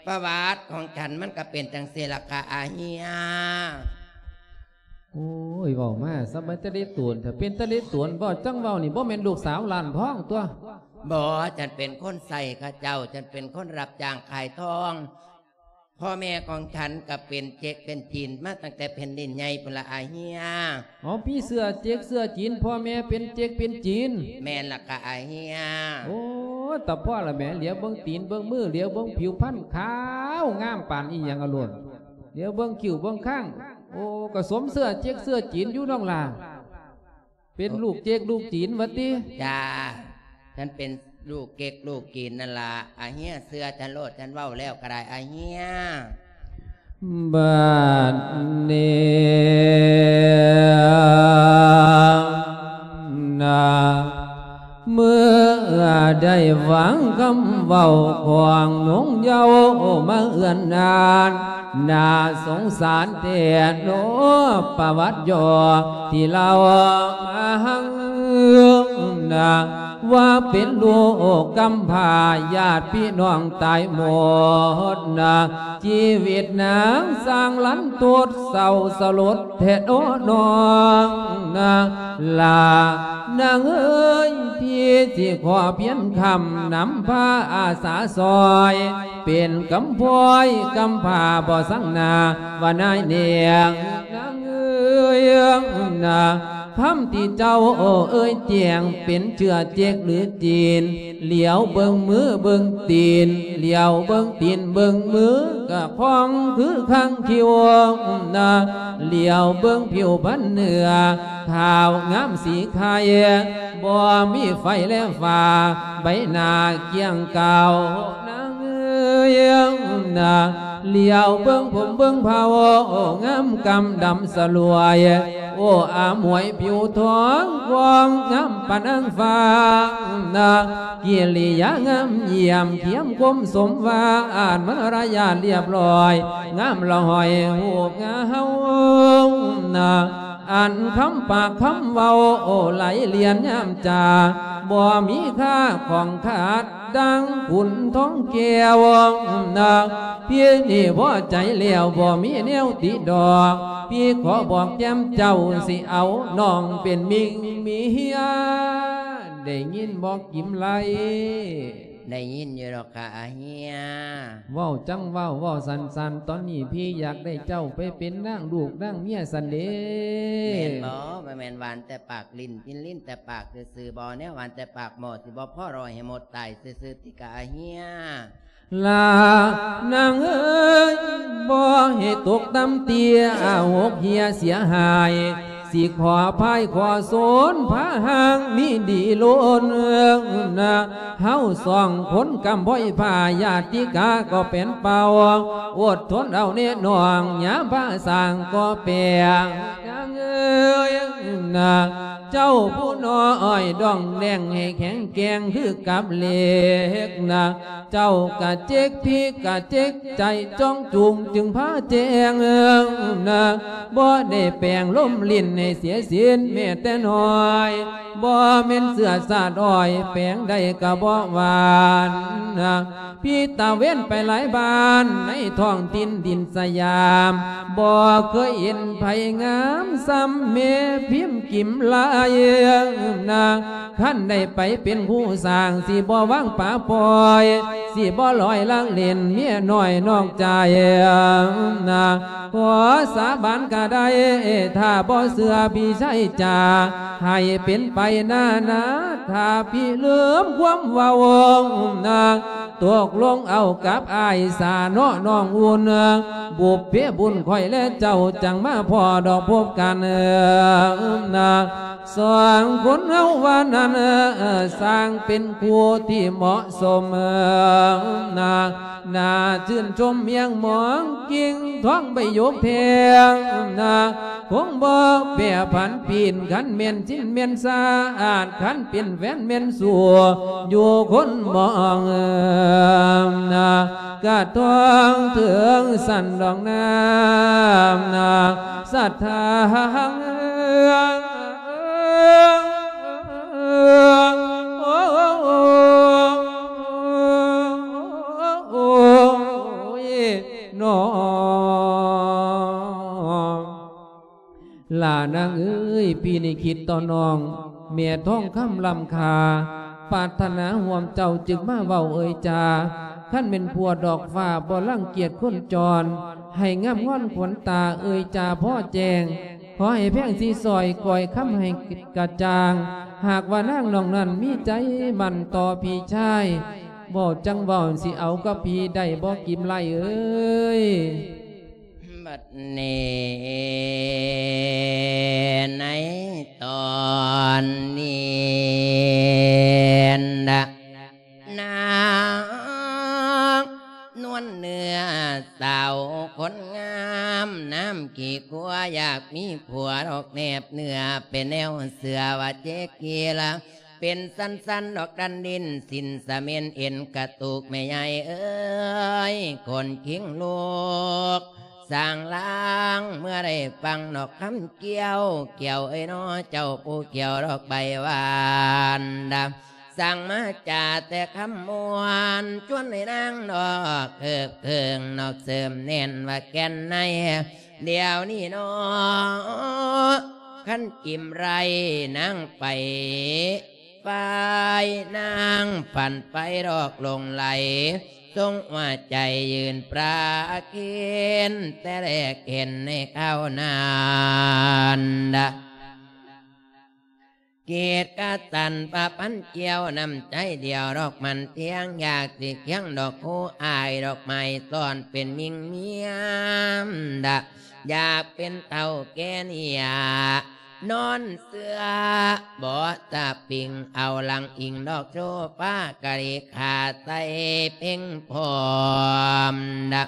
ປະຫວັດຂອງສັນມັນກໍເປັນຈັ່ງຊີ້ລະກະອາເຮຍ. ໂອ້ຍ ເວົ້າມາສະເປັນຕາເລດຕວນ ຖ້າເປັນຕາເລດຕວນ ເວົ້າຈັ່ງເວົ້ານີ້ ບໍ່ແມ່ນລູກສາວລ້ານທອງຕົວະ? ບໍ່ ສັນເປັນຄົນໃຊ້ເຂົາເຈົ້າ ສັນເປັນຄົນຮັບຈ້າງຂາຍທອງ ພໍ່ແມ່ຂອງສັນກໍເປັນເຈັກເປັນຈີນມາຕັ້ງແຕ່ແຜ່ນດິນໃຫຍ່ພຸ້ນລະອາເຮຍ. ເອົາ ມີເຊື້ອເຈັກເຊື້ອຈີນ ພໍ່ແມ່ເປັນເຈັກເປັນຈີນ? ແມ່ນລະກະອາເຮຍ. ໂອ້ ຕາພໍ່ລະແໝ ຫຼຽວເບິ່ງຕີນເບິ່ງມື ຫຼຽວເບິ່ງຜິວພັນຂາວງາມປານອີ່ຫຍັງອະໂລດ ຫຼຽວເບິ່ງຄິ້ວເບິ່ງຄາງ ໂອ້ ກໍສົມເຊື້ອເຈັກເຊື້ອຈີນຢູ່ນ້ອງຫຼ້າ. ເປັນລູກເຈັກລູກຈີນຫວາຕິ? ຈ້າ ຄັນເປັນລູກເຈັກລູກຈີນນັ້ນລະ ອາເຮຍເຊື່ອສັນໂລດ ສັນເວົ້າແລ້ວກໍໄດ້ອາເຮຍ. ບັດນີ້ນາ ເມື່ອໄດ້ຟັງຄຳເວົ້າຂອງນົງເຍົາມາເອື້ອນນານ ໜ້າສົງສານແທ້ເນາະ ປະຫວັດຫຍໍ້ທີ່ເລົ່າມາຫັ້ນນະ ວ່າເປັນລູກກຳພ້າ ຍາດພີ່ນ້ອງຕາຍໝົດນະ ຊີວິດນາງຊ່າງລັນທົດເສົ້າສະຫຼົດແທ້ເນາະນ້ອງນະ ຫຼ້ານາງເອີຍ ພີ່ຊິຂໍພຽງຄຳນຳພາອາສາຊ່ອຍ ເປັນກຳພ້ອຍກຳພ້າບໍ່ສັງໜ້າວ່ານາຍແນງ ນາງເອີຍນາ ຄຳທີ່ເຈົ້າເອີ່ຍແຈ້ງເປັນເຊື້ອເຈັກຫຼືຈີນ ຫຼຽວເບິ່ງມືເບິ່ງຕີນ ຫຼຽວເບິ່ງຕີນເບິ່ງມື ກະຂອງຄືຄາງຄິວນາ ຫຼຽວເບິ່ງຜິວພັນເນື້ອ ຂາວງາມສີໄຂ່ ບໍ່ມີໄຟແລະຟ້າ ໃບໜ້າກ້ຽງກາວ ນາງເອີຍນາ ຫຼຽວເບິ່ງຜົມເບິ່ງເຜົ່າ ງາມກຳດຳສະຫຼວຍ ໂອ້ ອາໝວຍຜິວທອງ ຄວາມງາມປານນາງຟ້ານາ ກິລິຍາງາມຢ້ຽມ ຄຽມຄົມສົມຫວານ ມາລະຍາດລຽບລ້ອຍ ງາມລະຫ້ອຍຮູບງາມນາ ອັນຄຳປາກຄຳເວົ້າ ໂອ້ ໄຫຼລຽນຍາມຈາ ບໍ່ມີຄ່າຂອງຂາດ ດັ່ງຂຸນທອງແກ້ວນາ ພີ່ນີ້ພໍໃຈແລ້ວ ບໍ່ມີແນວຕິດອກ ພີ່ຂໍບອກແກ້ມເຈົ້າ ຊິເອົານ້ອງເປັນມິກເມຍ ໄດ້ຍິນບໍ່ກິມໄລ? ໄດ້ຍິນຢູ່ດອກ ກະອາເຮຍ. ເວົ້າຈັ່ງເວົ້າ ເວົ້າສັ້ນໆ ຕອນນີ້ພີ່ຢາກໄດ້ເຈົ້າໄປເປັນນາງລູກນາງເມຍຊັ້ນເດ. ແມ່ນບໍ່? ບໍ່ແມ່ນຫວານແຕ່ປາກ ຫຼິ້ນກິນຫຼິ້ນແຕ່ປາກຊື່ໆບໍ? ແນວຫວານແຕ່ປາກໝໍ້ ຊິບໍ່ພໍລອຍໃຫ້ໝົດຕາຍຊື່ໆຕິ ກະອາເຮຍ. ລານາງເອີຍ ບໍ່ໃຫ້ຕົກຕ່ຳເຕ້ຍ ຫົກເຮ່ຍເສຍຫາຍ ຊິຂໍພາຍຂໍໂສນ ພາຫ່າງມີດີລົ້ນນາ ເຮົາສອງຄົນກຳພ້ອຍພາ ຍາດຕິກາກໍເປັນເປົ່າ ອົດທົນເອົາແນ່ນ້ອງ ຍາມພາສ້າງກໍແປງ ນາງເອີຍນາ ເຈົ້າຜູ້ນ້ອຍດອງແດງໃຫ້ແຂງແກ່ງຄືກັບເຫຼັກນະ ເຈົ້າກະເຈັກພິກກະເຈັກໃຈ ຈ້ອງຈູງຈຶ່ງພາແຈ້ງນະ ບໍ່ໄດ້ແປງລົມຫຼິ້ນໃຫ້ເສຍສິນແມ້ແຕ່ນ້ອຍ ບໍ່ແມ່ນເຊື້ອຊາດອ້ອຍ ແປງໃດກະບໍ່ຫວານນະ ພິຕາເວັນໄປຫຼາຍບ້ານໃນທ້ອງຖິ່ນດິນສະຫຍາມ ບໍ່ເຄີຍເຫັນໃຜງາມສ່ຳແມ່ພິມກິມລາຍນາ. ຄັນໄດ້ໄປເປັນຄູ່ສ້າງ ຊິບໍ່ວາງປະປ່ອຍ ຊິບໍ່ລອຍລາກເຫຼັ້ນເມຍນ້ອຍນອກໃຈນາ. ຂໍສາບານກະໄດ້ ຖ້າບໍ່ເຊື່ອພີ່ຊາຍຈາ ໃຫ້ເປັນໄປໜ້ານາ ຖ້າພີ່ລືມຄວາມເວົ້ານາ ຕົກລົງເອົາກັບອ້າຍສາເນາະນ້ອງອຸ່ນ ບຸບເພບຸນຂ້ອຍແລະເຈົ້າ ຈັ່ງມາພໍ້ດອກພົບກັນນາ. ສອງຄົນເຮົາວ່ານັ້ນ ຊ່າງເປັນຄູ່ທີ່ເໝາະສົມນາ. ໜ້າຊື່ນຊົມຮຽງມອງ ກິ່ງທອງໃບຢົກແພງນາ ຄົງບໍ່ແປຜັນປີນ ຄັນແມ່ນຊິນແມ່ນສະອາດ ຄັນເປັນແຟນແມ່ນສູ່ຢູ່ຄົນມອງນາ ກະຕ້ອງເຖິງຊັ້ນດອກນາ ນາ ສະຖານ ໂອ້ຍ ນ້ອງ ຫຼ້ານາງເອີຍ ພີ່ນີ້ຄິດຕໍ່ນ້ອງ ແມ່ທອງຄຳລ້ຳຄ່າ ປາດຖະໜາຮ່ວມເຈົ້າຈຶ່ງມາເວົ້າເອີຍຈາ. ຄັນແມ່ນພົວດອກຟ້າບໍ່ລັງກຽດຄົນຈອນ ໃຫ້ງາມງອນຂວັນຕາເອີຍຈາພໍແຈ້ງ. ຂໍໃຫ້ແພງສີສ້ອຍກ້ອຍຄຳໃຫ້ກະຈ່າງ. ຫາກວ່ານາງນ້ອງນັ້ນມີໃຈໝັ້ນຕໍ່ພີ່ຊາຍ ເວົ້າຈັ່ງເວົ້າ ຊິເອົາກັບພີ່ໄດ້ບໍ່ກິມໄລເອີຍ? ບັດນີ້ໃນຕອນນີ້ນະ ນາງນວນເນື້ອສາວຄົນງາມ ນ້ຳຂີ້ຂົວຢາກມີຜົວດອກແນບເນື້ອ ເປັນແນວເຊື່ອວ່າເຈກີລະ ເປັນສັນໆ ດອກດັນດິນ ສິ້ນສະເໝັນເອັນກະຕຸກ ແມ່ໃຫຍ່ເອີຍ ຄົນຄິງລູກສ້າງລາງ ເມື່ອໄດ້ຟັງດອກຄຳກ່ຽວ ກ່ຽວເອີຍນໍ ເຈົ້າຜູ້ກ່ຽວດອກໃບຫວານດາ ສ້າງມາຈາແຕ່ຄຳມ່ວນ ຊວນໃຫ້ນາງດອກເຄີບເຄີງ ດອກເສີມແໜ້ນວ່າແກ່ນໃນ ດຽວນີ້ນໍ ຄັນກິມໄລນາງໄປ ຝ່າຍນາງຝັນໄປດອກຫຼົງໄຫຼ ຊົງຫົວໃຈຢືນປາເຄນ ແຕ່ແລກເຫັນໃນຄາວນັ້ນດາ ເກດກະສັນປະພັນກ່ຽວ ນ້ຳໃຈດຽວດອກໝັ້ນທ່ຽງ ຢາກຊິຄຽງດອກຄູອ້າຍ ດອກໄມ້ຊ້ອນເປັນມິ່ງເມຍມດາ ຢາກເປັນເຖົ້າແກ່ເໜ້ຍ ນອນເຊື່ອບໍ່ສະປິງ ເອົາຫຼັງອີງດອກໂຊຟາ ກະລິຂາໃສ່ເພັງພ້ອມດະ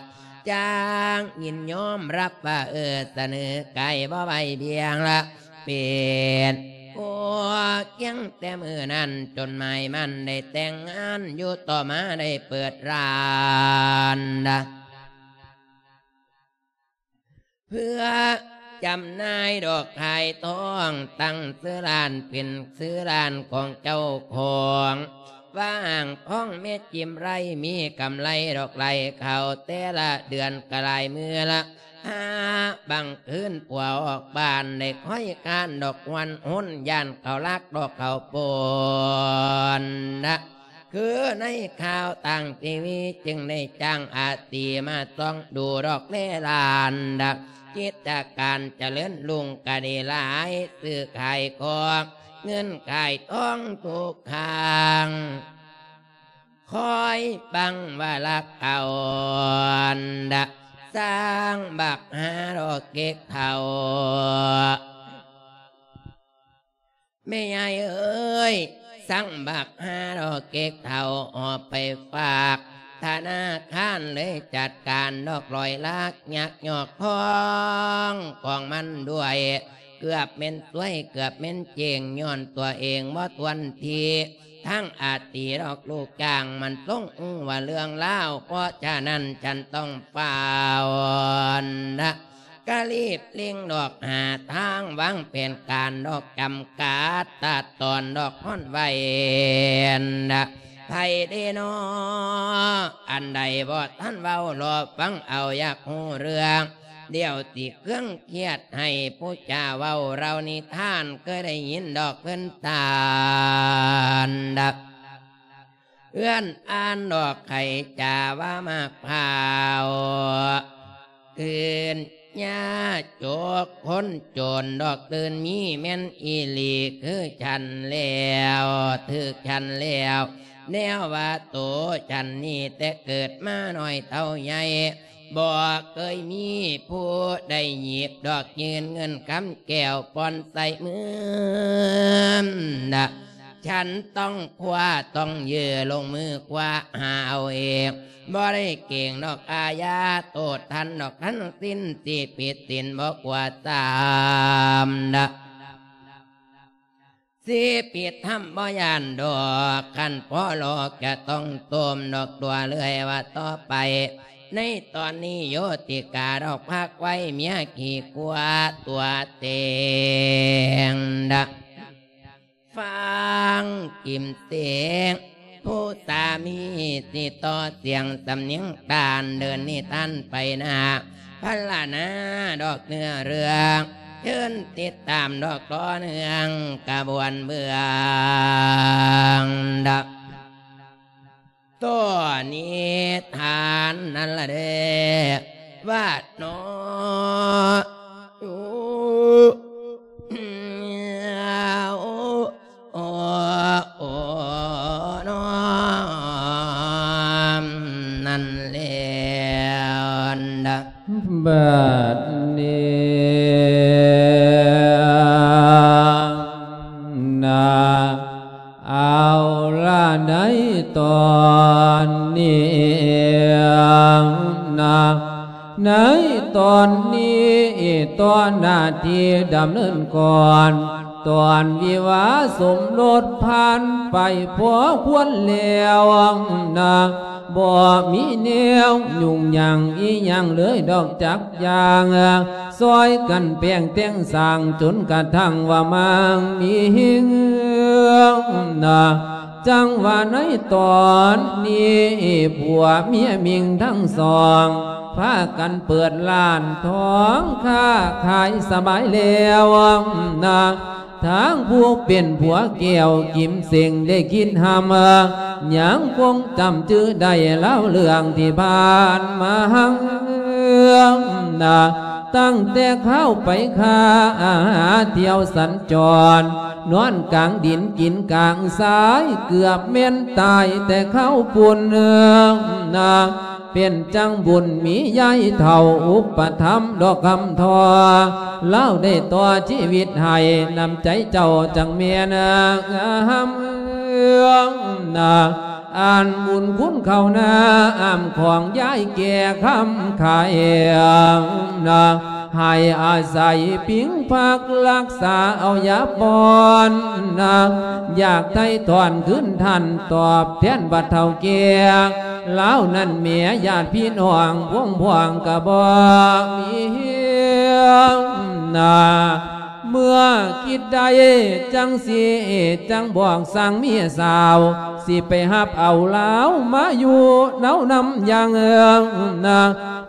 ຈາງຍິນຍອມຮັບວ່າ ເອີ ສະເໜີໄກ່ບໍ່ໄຫວບຽງລະ ເປັນຜູ້ຄຽງແຕ່ມື້ນັ້ນ ຈົນໝາຍໝັ້ນໄດ້ແຕ່ງງານ ຢູ່ຕໍ່ມາໄດ້ເປີດຮ້ານດະ ເພື່ອຈຳໜ່າຍດອກຂາຍທອງ ຕັ້ງຊື່ຮ້ານເປັນຊື່ຮ້ານຂອງເຈົ້າຂອງ ວ່າອ່າງທອງແມ່ຈິ້ມໄລ ມີກຳໄລດອກໄຫຼເຂົ້າແຕ່ລະເດືອນກະຫຼາຍມື້ລະ ຫາບາງຄືນຜົວອອກບ້ານ ໄດ້ຄອຍຄານດອກຫວນຫົນ ຢ້ານເຂົາລັກດອກເຂົ້າປົນນະ ຄືໃນຂ່າວທາງທີວີ ຈຶ່ງໄດ້ຈ້າງອາຕີມາສ່ອງດູດອກແລລ້ານດະ ກິດຈະການຈະເລີນຮຸ່ງກະດີຫຼາຍ ຊື້ຂາຍຂອງ ເງິນຂາຍທອງທຸກຄັ້ງ ຄອຍບັງວ່າລັກເອົາດະ ສ້າງບັກຫາດອກເກັກເຖົ້າ ແມ່ຍາຍເອີຍ ສັ່ງບັກຫາດອກເກັກເຖົ້າ ຫອບໄປຝາກທະນາຄານ ເລີຍຈັດການດອກລອຍລາກ ຍັກຍອກຂອງຂອງມັນດ້ວຍ ເກືອບແມ່ນຊວຍ ເກືອບແມ່ນເຈັງ ຍ້ອນຕົວເອງບໍ່ທວນທີ. ທັງອາຕີດອກລູກຈ້າງມັນຊົງຮູ້ວ່າເລື່ອງລາວ ເພາະສະນັ້ນສັນຕ້ອງຟ້າວນະ ກະລີບເລັ່ງດອກຫາທາງ ວາງແຜນການດອກ ຈຳກັດຕັດຕອນດອກ ຮ້ອນໄວນະ ໃຜເດນໍ ອັນໃດບໍ່ທັນເວົ້າ ລໍຟັງເອົາ ຢາກຮູ້ເລື່ອງ ດຽວຊິເຄື່ອງຄຽດໃຫ້ຜູ້ຈາເວົ້າເລົ່ານິທານ ເຄີຍໄດ້ຍິນດອກເພິ່ນທ່ານດະ ເຮືອນອ່ານດອກໄຂ່ຈາວ່າໝາກພ້າວ ຄືນຍາຈົກຄົນໂຈນດອກຕື່ນມີແມ່ນອີ່ຫຼີ ຄືສັນແລ້ວ ຖືກສັນແລ້ວ ແນວວ່າໂຕສັນນີ້ ແຕ່ເກີດມານ້ອຍເທົ່າໃຫຍ່ ບໍ່ເຄີຍມີຜູ້ໃດຫຍິບດອກ ຍື່ນເງິນຄຳແກ້ວປ່ອນໃສ່ມືນະ ສັນຕ້ອງຄວ້າ ຕ້ອງຢື້ ລົງມືຄວ້າຫາເອົາເອງ ບໍ່ໄດ້ເກງດອກອາຍາ ໂທດທັນດອກທັງສິ້ນ ຊິຜິດສິນບໍ່ກົວຕາມນະ ຊິຜິດທຳບໍ່ຢ້ານດອກ ຄັນພໍລອກຈະຕ້ອງໂຕມດອກຕົວເລື້ອຍວ່າຕໍ່ໄປ ໃນຕອນນີ້ໂຍຕິກາດອກພັກໄວ້ ເມຍຂີ້ກົວຕົວເຕັງດະ ຟັງກິມເສງ ຜູ້ສາມີຊິຕໍ່ສຽງສຳນຽງຕານ ເດີນນິທານໄປໜ້າ ພັນລະນາດອກເນື້ອເລື່ອງ ເຊີນຕິດຕາມດອກຕໍ່ເນື່ອງກະບວນເບື້ອງດະ ຕໍ່ນິທານນັ້ນລະເດ້ ວ່າໜໍ ໂອ ໂອ ໂອ ໂອ ນ້ອມນັ້ນແລ້ວນະ ບັດນີ້ນະ ເອົາລະໃນຕອນນີ້ນະ ໃນຕອນນີ້ຕໍ່ໜ້າທີ່ດຳເນີນກ່ອນ ຕອນວິວາສົມລົດຜ່ານໄປພໍຄວນແລ້ວນະ ບໍ່ມີແນວຫຍຸ້ງຫຍັງອີ່ຫຍັງເລີຍດອກຈັກຢ່າງ ຊ່ອຍກັນແປງແຕ່ງສ້າງ ຈົນກະທັ່ງວ່າມາງມີເຮງນະ ຈັ່ງວ່າໃນຕອນນີ້ ຜົວເມຍມິ່ງທັງສອງ ພາກັນເປີດຮ້ານທອງຄ້າຂາຍສະບາຍແລ້ວນະ ທາງຜູ້ເປັນຜົວແກ້ວກິມເສັງໄດ້ຄິດຮ່ຳ ຍັງຄົງຈຳຈື່ໄດ້ລາວເລື່ອງທີ່ຜ່ານມານະ ຕັ້ງແຕ່ຄາວໄປຄ້າ ຫາທ່ຽວສັນຈອນ ນອນກາງດິນກິນກາງຊາຍ ເກືອບແມ່ນຕາຍແຕ່ຄາວພຸ້ນນະ ເປັນຈັ່ງບຸນມີຍາຍເຖົ້າອຸປະຖຳດອກຄຳທໍ່ ລາວໄດ້ຕໍ່ຊີວິດໃຫ້ ນ້ຳໃຈເຈົ້າຈັ່ງແມ່ນງາມນະ ອັນບຸນຄຸນເຂົ້ານາອ້າມຂອງຍາຍແກ່ຄຳຂາຍນະ ໃຫ້ອາໄສພິງພັກລັກສາເອົາຢາປ້ອນນະ ຢາກໄຖ່ຖອນຄືນທ່ານຕອບແທນບັດເຖົ້າແກ່ ລາວນັ້ນແໝຍຍາດພີ່ນ້ອງພວງພວງກະບໍ່ມີນະ ເມື່ອຄິດໄດ້ຈັ່ງຊີ້ ຈັ່ງບອກສັ່ງເມຍສາວ ຊິໄປຮັບເອົາລາວມາຢູ່ເນົານຳຢ່າງເອີງນະ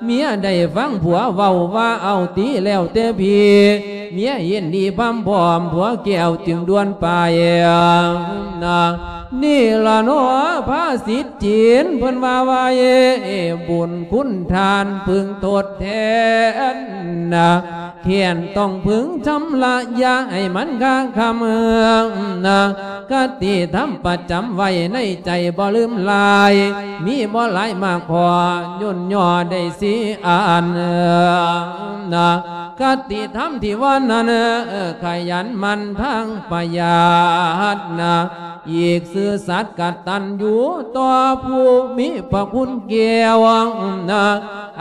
ເມຍໄດ້ຟັງຜົວເວົ້າວ່າເອົາຕິແລ້ວແຕ່ພີ້ ເມຍຍິນດີພຳພ້ອມ ຜົວແກ້ວຈຶ່ງດ່ວນໄປນະ ນີ້ລະເນາະພາສິດຈີນເພິ່ນວ່າໄວ້ ບຸນຄຸນທ່ານເພິ່ງທົດແທນນະ ແຄ້ນຕ້ອງເພິ່ງຊຳລະຢ່າໃຫ້ມັນຄ້າງຄຳນະ ຄະຕິທຳປະຈຳໄວ້ໃນໃຈບໍ່ລືມລາຍ ມີບໍ່ຫຼາຍມາກພໍ ຫຍຸ້ນຍໍໄດ້ສີ່ອັນນະ ຄະຕິທຳທີ່ວ່ານັ້ນ ຂະຫຍັນໝັ່ນທາງປະຢັດນະ ອີກຊື່ສັດກະຕັນຢູ່ຕໍ່ຜູ້ມີພະຄຸນແກ່ວນະ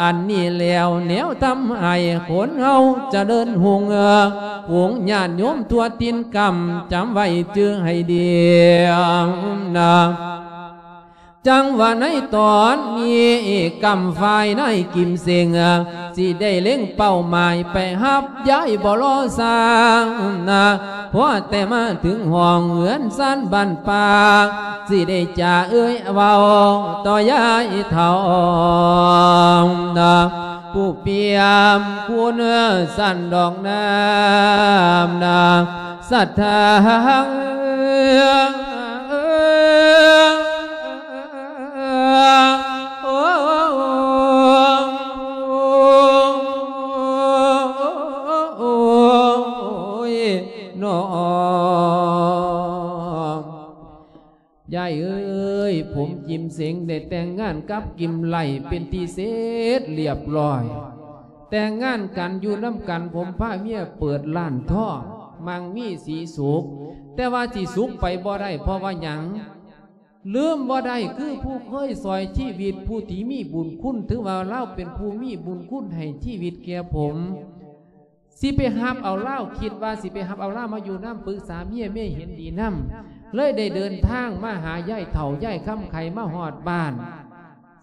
ອັນນີ້ແລ້ວແນວທຳໃຫ້ຄົນເຮົາຈະເລີນຮຸ່ງ ຝູງຍາດໂຍມທົ່ວຖິ່ນກຳ ຈຳໄວ້ຈື່ໃຫ້ດີນະ. ຈັ່ງວ່າໃນຕອນນີ້ ກຳຝ່າຍນາຍກິມເສັງ ຊິໄດ້ເລັງເປົ້າໝາຍໄປຮັບ ຍາຍບໍ່ລໍຊ້ານະ. ພໍແຕ່ມາເຖິງຫ້ອງເຮືອນຊານບ້ານປ່າ ຊິໄດ້ຈາເອີ່ຍເວົ້າຕໍ່ຍາຍເຖົ້ານະ. ຜູ້ປ່ຽມຄຸນຊັ້ນດອກນາມນາ ສັດທາ ໂອ້ຍ ນ້ອງ ຍາຍເອີຍ ຜົມກິມເສັງໄດ້ແຕ່ງງານກັບກິມໄຫຼເປັນທີ່ເສັດລຽບລ້ອຍ. ແຕ່ງງານກັນຢູ່ນຳກັນ ຜົມພາເມຍເປີດຮ້ານທອງ ມັ່ງມີສີສຸກ, ແຕ່ວ່າຊິສຸກໄປບໍ່ໄດ້ ເພາະວ່າຫຍັງ? ລືມບໍ່ໄດ້ ຄືຜູ້ເຄີຍຊ່ອຍຊີວິດ ຜູ້ທີ່ມີບຸນຄຸນ ຖືວ່າລາວເປັນຜູ້ມີບຸນຄຸນໃຫ້ຊີວິດແກ່ຜົມ. ຊິໄປຮັບເອົາລາວ ຄິດວ່າຊິໄປຮັບເອົາລາວມາຢູ່ນຳ ປຶກສາເມຍ ເມຍເຫັນດີນຳ ເລີຍໄດ້ເດີນທາງມາຫາຍາຍເຖົ້າ ຍາຍຄຳໄຂ ມາຮອດບ້ານ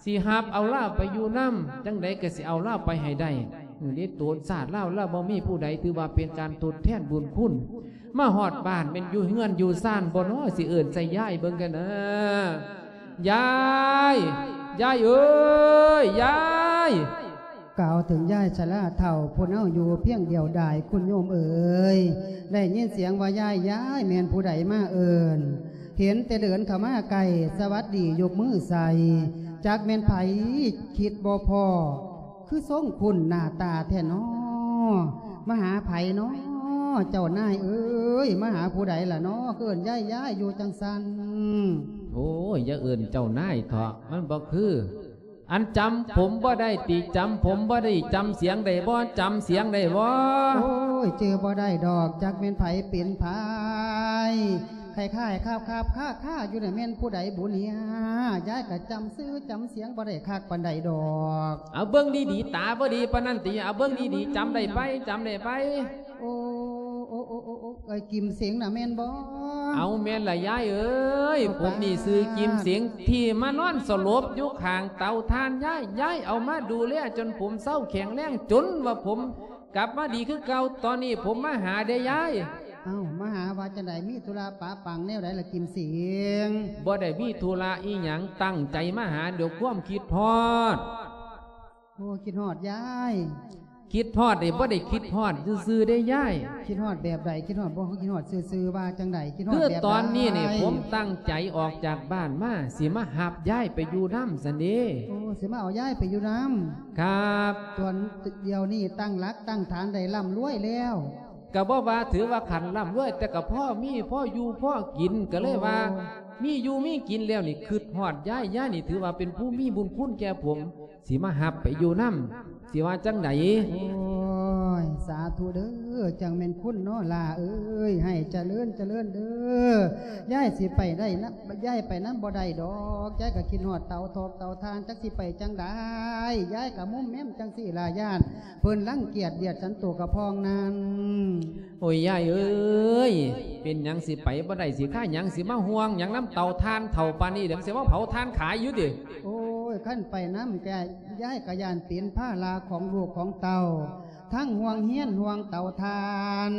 ຊິຮັບເອົາລາວໄປຢູ່ນຳ ຈັ່ງໃດກໍຊິເອົາລາວໄປໃຫ້ໄດ້. ເອີ ໃນໂຕນຊາດລາວ ລາວບໍ່ມີຜູ້ໃດ ຖືວ່າເປັນການທົດແທນບຸນຄຸນ. ມາຮອດບ້ານແມ່ນຢູ່ເຮືອນຢູ່ຊານບໍ່ນໍ ຊິເອີ້ນໃສ່ຍາຍເບິ່ງກັນນາ. ຍາຍ ຍາຍເອີຍ ຍາຍ! ກ່າວເຖິງຍາຍຊະລາເຖົ້າ ຜູ້ເນົາຢູ່ພຽງດຽວດາຍ ຄຸນໂຍມເອີຍ ໄດ້ຍິນສຽງວ່າ ຍາຍ ຍາຍ ແມ່ນຜູ້ໃດມາເອີ້ນ? ເຫັນແຕ່ເດີນເຂົ້າມາໃກ້ ສະຫວັດດີຍົກມືໃສ່ ຈັກແມ່ນໃຜ ຄິດບໍ່ພໍ້ ຄືຊົງຄຸ້ນໜ້າຕາແທ້ນໍ. ມາຫາໃຜນໍ ເຈົ້ານາຍເອີຍ ມາຫາຜູ້ໃດລະນໍ ຄືເອີ້ນ ຍາຍ ຍາຍ ຢູ່ຈັ່ງຊັ້ນ? ໂອ້ຍ ຢ່າເອີ້ນເຈົ້ານາຍເຖາະ ມັນບໍ່ຄື. ອັນຈຳຜົມບໍ່ໄດ້ຕິ? ຈຳຜົມບໍ່ໄດ້ ຈຳສຽງໄດ້ບໍ່? ຈຳສຽງໄດ້ບໍ່? ໂອ້ຍ ຈື່ບໍ່ໄດ້ດອກ ຈັກແມ່ນໃຜເປັນໃຜ ຄ້າຍໆ ຄາບໆ ຄ້າໆ ຢູ່ນະ ແມ່ນຜູ້ໃດບຸເນຍ? ຍາຍກະຈຳຊື່ຈຳສຽງບໍ່ໄດ້ຄັກປານໃດດອກ. ເອົາເບິ່ງດີໆ ຕາບໍ່ດີປານນັ້ນຕິ? ເອົາເບິ່ງດີໆ ຈຳໄດ້ໄປ ຈຳໄດ້ໄປ? ໂອ້ ໂອ້ ໂອ້ ໂອ້ ໂອ້ ເອີຍ ກິມເສັງນະແມ່ນບໍ່? ເອົາ ແມ່ນລະຍາຍເອີຍ ໂອ້ ຜົມນີ້ຊື່ກິມເສັງ ປາດ ທີ່ມານອນສະຫຼົບຢູ່ຂ້າງເຕົາຖ່ານຍາຍ. ຍາຍເອົາມາດູແລຈົນຜົມເຊົາແຂງແຮງ ຈົນວ່າຜົມກັບມາດີຄືເກົ່າ. ຕອນນີ້ຜົມມາຫາເດ້ຍາຍ. ເອົ້າ ມາຫາວ່າຈັ່ງໃດ? ມີທຸລະປະປັງແນວໃດລະກິມເສັງ? ບໍ່ໄດ້ມີທຸລະອີ່ຫຍັງ ຕັ້ງໃຈມາຫາດ້ວຍຄວາມຄິດຮອດ. ໂອ້ ຄິດຮອດຍາຍ. ຄິດຮອດນີ້ບໍ່ໄດ້ຄິດຮອດຊື່ໆເດ້ຍາຍ. ຄິດຮອດແບບໃດ? ຄິດຮອດບໍ່ ຄືຄິດຮອດຊື່ໆ ວ່າຈັ່ງໃດ? ຄິດຮອດແບບໃດ? ຄືຕອນນີ້ນີ້ ຜົມຕັ້ງໃຈອອກຈາກບ້ານມາ ຊິມາຮັບຍາຍໄປຢູ່ນຳຊັ້ນເດ້. ໂອ້ ຊິມາເອົາຍາຍໄປຢູ່ນຳ. ຄັບ. ຕອນດຽວນີ້ຕັ້ງຫຼັກຕັ້ງຖານໄດ້ລ່ຳລວຍແລ້ວ. ກະບໍ່ວ່າຖືວ່າຂັ້ນລ່ຳລວຍ ແຕ່ກະພໍມີ ພໍຢູ່ພໍກິນ ກະເລີຍວ່າ ໂອ້ ມີຢູ່ມີກິນແລ້ວນີ້ ຄຶດຮອດຍາຍ. ຍາຍນີ້ຖືວ່າເປັນຜູ້ມີບຸນຄຸນແກ່ຜົມ ຊິມາຮັບໄປຢູ່ນຳ ຊິວ່າຈັ່ງໃດ? ໂອ້ຍ ສາທຸເດີ ຈັ່ງແມ່ນຄຸນເນາະຫຼ້າເອີຍ ໃຫ້ຈະເລີນ ຈະເລີນເດີ. ຍາຍຊິໄປໄດ້ນຳ ຍາຍໄປນຳບໍ່ໄດ້ດອກ ຍາຍກະຄິດຮອດເຕົາຖອກເຕົາຖ່ານ ຈັກຊິໄປຈັ່ງໃດ. ຍາຍກະມຸມແມມຈັ່ງຊີ້ລະ ຢ້ານເພິ່ນລັງກຽດບຽດສັນໂຕກະພອງນັ້ນ. ໂອ້ຍ ຍາຍເອີຍ ເປັນຫຍັງຊິໄປບໍ່ໄດ້ ຊິຄາຫຍັງ ຊິມາຫ່ວງຫຍັງນຳເຕົາຖ່ານເຖົ້າປານນີ້ ດຽວມັນຊິມາເຜົາຖ່ານຂາຍຢູ່ຕິ? ໂອ້ຍ ຄັນໄປນຳກະ ຍາຍກະຢ້ານເປັນພາລະຂອງລູກຂອງເຕົ້າ ທັງຫ່ວງຮຽນຫ່ວງເຕົາຖ່ານ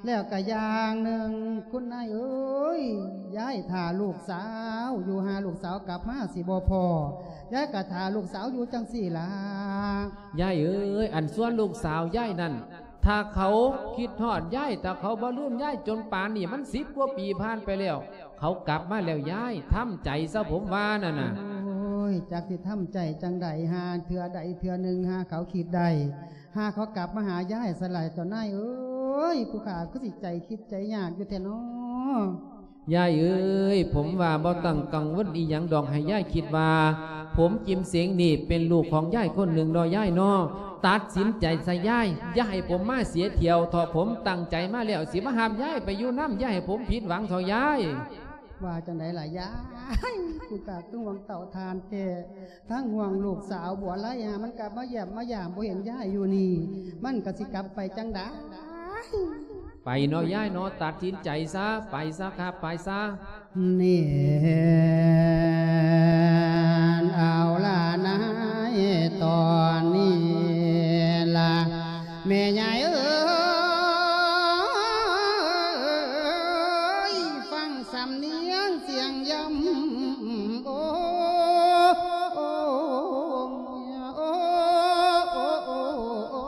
ແລ້ວກະຢ່າງໜຶ່ງ ຄຸນນາຍເອີຍ ຍາຍຖ້າລູກສາວຢູ່ ຫາລູກສາວກັບມາຊິບໍ່ພໍ້ ຍາຍກະຖ້າລູກສາວຢູ່ຈັ່ງຊີ້ລະ. ຍາຍເອີຍ ອັນສ່ວນລູກສາວຍາຍນັ້ນ ຖ້າເຂົາຄິດຮອດຍາຍ ຖ້າເຂົາບໍ່ລືມຍາຍ ຈົນປານນີ້ມັນສິບກວ່າປີຜ່ານໄປແລ້ວ ເຂົາກັບມາແລ້ວຍາຍ ທຳໃຈຊະ ຜົມວ່ານັ້ນນະ. ໂອ້ຍ ຈັກຊິທຳໃຈຈັ່ງໃດ ຫາເທື່ອໃດເທື່ອໜຶ່ງ ຫາເຂົາຄິດໄດ້ ຫາເຂົາກັບມາຫາຍາຍຊະລະ ເຈົ້ານາຍເອີຍ ຜູ້ຂ້າຄືຊິໃຈຄິດໃຈຍາກຢູ່ແທ້ນໍ. ຍາຍເອີຍ ຜົມວ່າບໍ່ຕ້ອງກັງວົນອີ່ຫຍັງດອກ ໃຫ້ຍາຍຄິດວ່າ ຜົມກິມເສັງນີ້ເປັນລູກຂອງຍາຍຄົນໜຶ່ງເນາະ ຍາຍເນາະ. ຕັດສິນໃຈຊະຍາຍ ຢ່າໃຫ້ຜົມມາເສຍຖ້ຽວເຖາະ ຜົມຕັ້ງໃຈມາແລ້ວ ຊິມາຮັບຍາຍໄປຢູ່ນຳ ຢ່າໃຫ້ຜົມຜິດຫວັງເຖາະຍາຍ. ວ່າຈັ່ງໃດລະຍາຍ ກູກະຄືຫ່ວງເຕົາຖ່ານແທ້ ທັງຫ່ວງລູກສາວບົວໄລຫາ ມັນກະມາຢ້ຽມມາຢາມ ບໍ່ເຫັນຍາຍຢູ່ນີ້ ມັນກະຊິກັບໄປຈັ່ງໃດ? ໄປເນາະຍາຍເນາະ ຕັດສິນໃຈຊະ ໄປຊະຄັບ ໄປຊະ. ນີ້ເອົາລະນາຍ ຕອນນີ້ລະແມ່ຍາຍເອີຍ ຟັງສຳນຽງສຽງຢ້ຳ ໂອ້ ໂອ້ ໂອ້ ໂອ້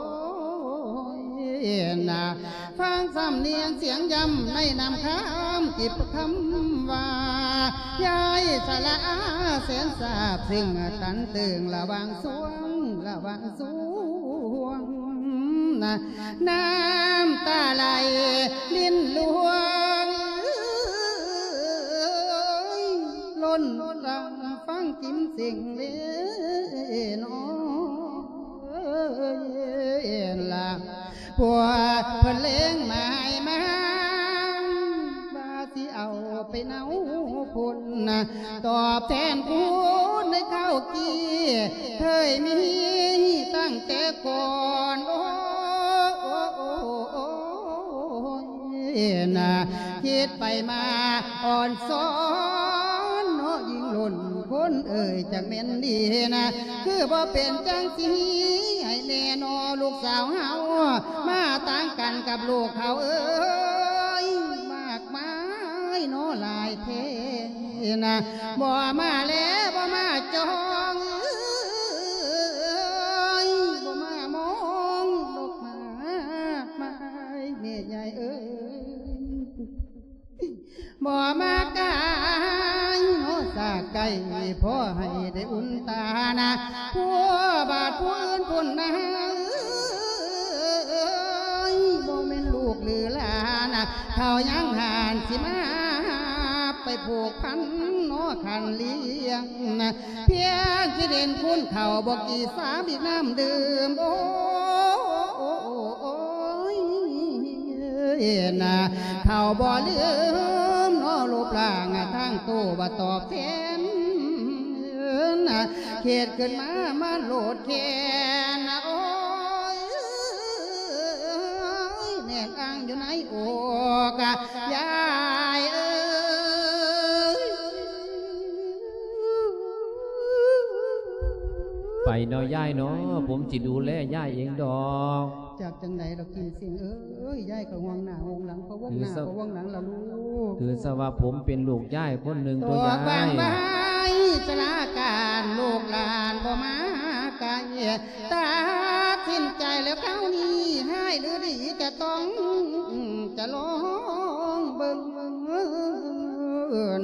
ນະ ຟັງສຳນຽງສຽງຢ້ຳໃນນ້ຳຄຳ ຈິບຄຳວ່າ ຍາຍສະຫຼະອາແສນຊາບ ຊຶ່ງຕັນຕຶງລະຫວ່າງສວງ ລະຫວ່າງສວງ ນະ ນ້ຳຕາໄຫຼລິນລວງ ລົ້ນຫຼັງຟັງກິມເສັງເລນອ ເອີຍລະ ພວກເພິ່ນເລັງໝາຍມາ ວ່າຊິເອົາໄປເນົາພຸ້ນນະ ຕອບແທນຄຸນໃນຄາວກີ້ ເຄີຍມີຕັ້ງແຕ່ກ່ອນ ໂອ້ ໂອ້ ໂອ້ ໂອ້ ນະ ຄິດໄປມາອ່ອນຊອນເນາະ ຍິ່ງລົ້ນຄົນເອີຍ ຈັກແມ່ນດີນະ ຄືບໍ່ເປັນຈັ່ງຊີ້ໃຫ້ແນ່ໜໍ ລູກສາວເຮົາ ມາຕ່າງກັນກັບລູກເຂົາເອີຍ ມາກມາຍເນາະ ຫຼາຍແທ້ນະ ບໍ່ມາແລ ບໍ່ມາຈອງເອີຍ ບໍ່ມາມອງດອກໝາກໄມ້ ແມ່ໃຫຍ່ເອີຍ ບໍ່ມາກາຍເນາະ ສາກໄກ່ ພໍໃຫ້ໄດ້ອຸ່ນຕານະ ຜົວບາດຜູ້ອື່ນພຸ້ນນະ ເອີຍ ບໍ່ແມ່ນລູກຫຼືຫຼານນະ ເຖົ້າຍັງຫານຊິມາ ໄປຜູກພັນເນາະ ຄັນລ້ຽງນະ ພຽງຊິເດັ່ນຄູນເຂົ້າ ບໍ່ກີ່ສາບີກນ້ຳດື່ມ ໂອ້ ໂອ້ ໂອ້ ໂອ້ຍ ນະ ເຂົາບໍ່ລືມເນາະ ຮູບຮ່າງທາງໂຕວ່າຕອບແທນ ນະ ເຂດຂຶ້ນມາ ມາໂລດແຄ້ນ ນະ ໂອ້ຍ ແໜ້ນອັ່ງຢູ່ໃນ ໂອກ ຍາຍເອີຍ. ໄປເນາະຍາຍເນາະ ຜົມຊິດູແລຍາຍເອງດອກ. ຈາກຈັ່ງໃດດອກກິມເສັງເອີຍ ຍາຍກໍຫ່ວງໜ້າຫ່ວງຫຼັງ ພະວົງໜ້າພະວົງຫຼັງລະລູກ. ຖືຊະວ່າຜົມເປັນລູກຍາຍຄົນໜຶ່ງຕົວຍາຍ. ຕອບວ່າໄວ້ສະລາການ ລູກຫຼານບໍ່ມາໃກ້ ຕັດສິນໃຈແລ້ວຄາວນີ້ ຮ້າຍຫຼືດີຈະຕ້ອງ ຈະລອງເບິ່ງ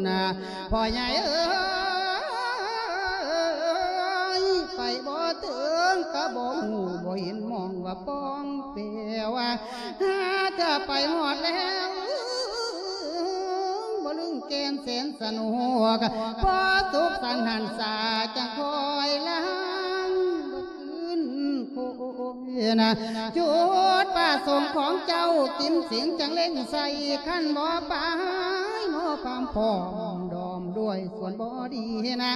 ນະ ພໍ່ໃຫຍ່ເອີຍ ໄປບໍ່ເຖິງກະບໍ່ຮູ້ ບໍ່ເຫັນມອງວ່າປ່ອງແປວ່າ ຫາເທື່ອໄປຮອດແລ້ວ ບໍ່ລຶ້ງແກ່ນແສນສະໜວກ ພໍສຸກສັນຫັນສາ ຈັ່ງຄ່ອຍລາງຄືນໂຄຍນະ ຈຸດປະສົງຂອງເຈົ້າ ກິມເສັງຈັ່ງເລັງໃສ່ ຄັນບໍ່ໄປເນາະ ຄວາມພ້ອມດອມດ້ວຍສ່ວນບໍ່ດີນະ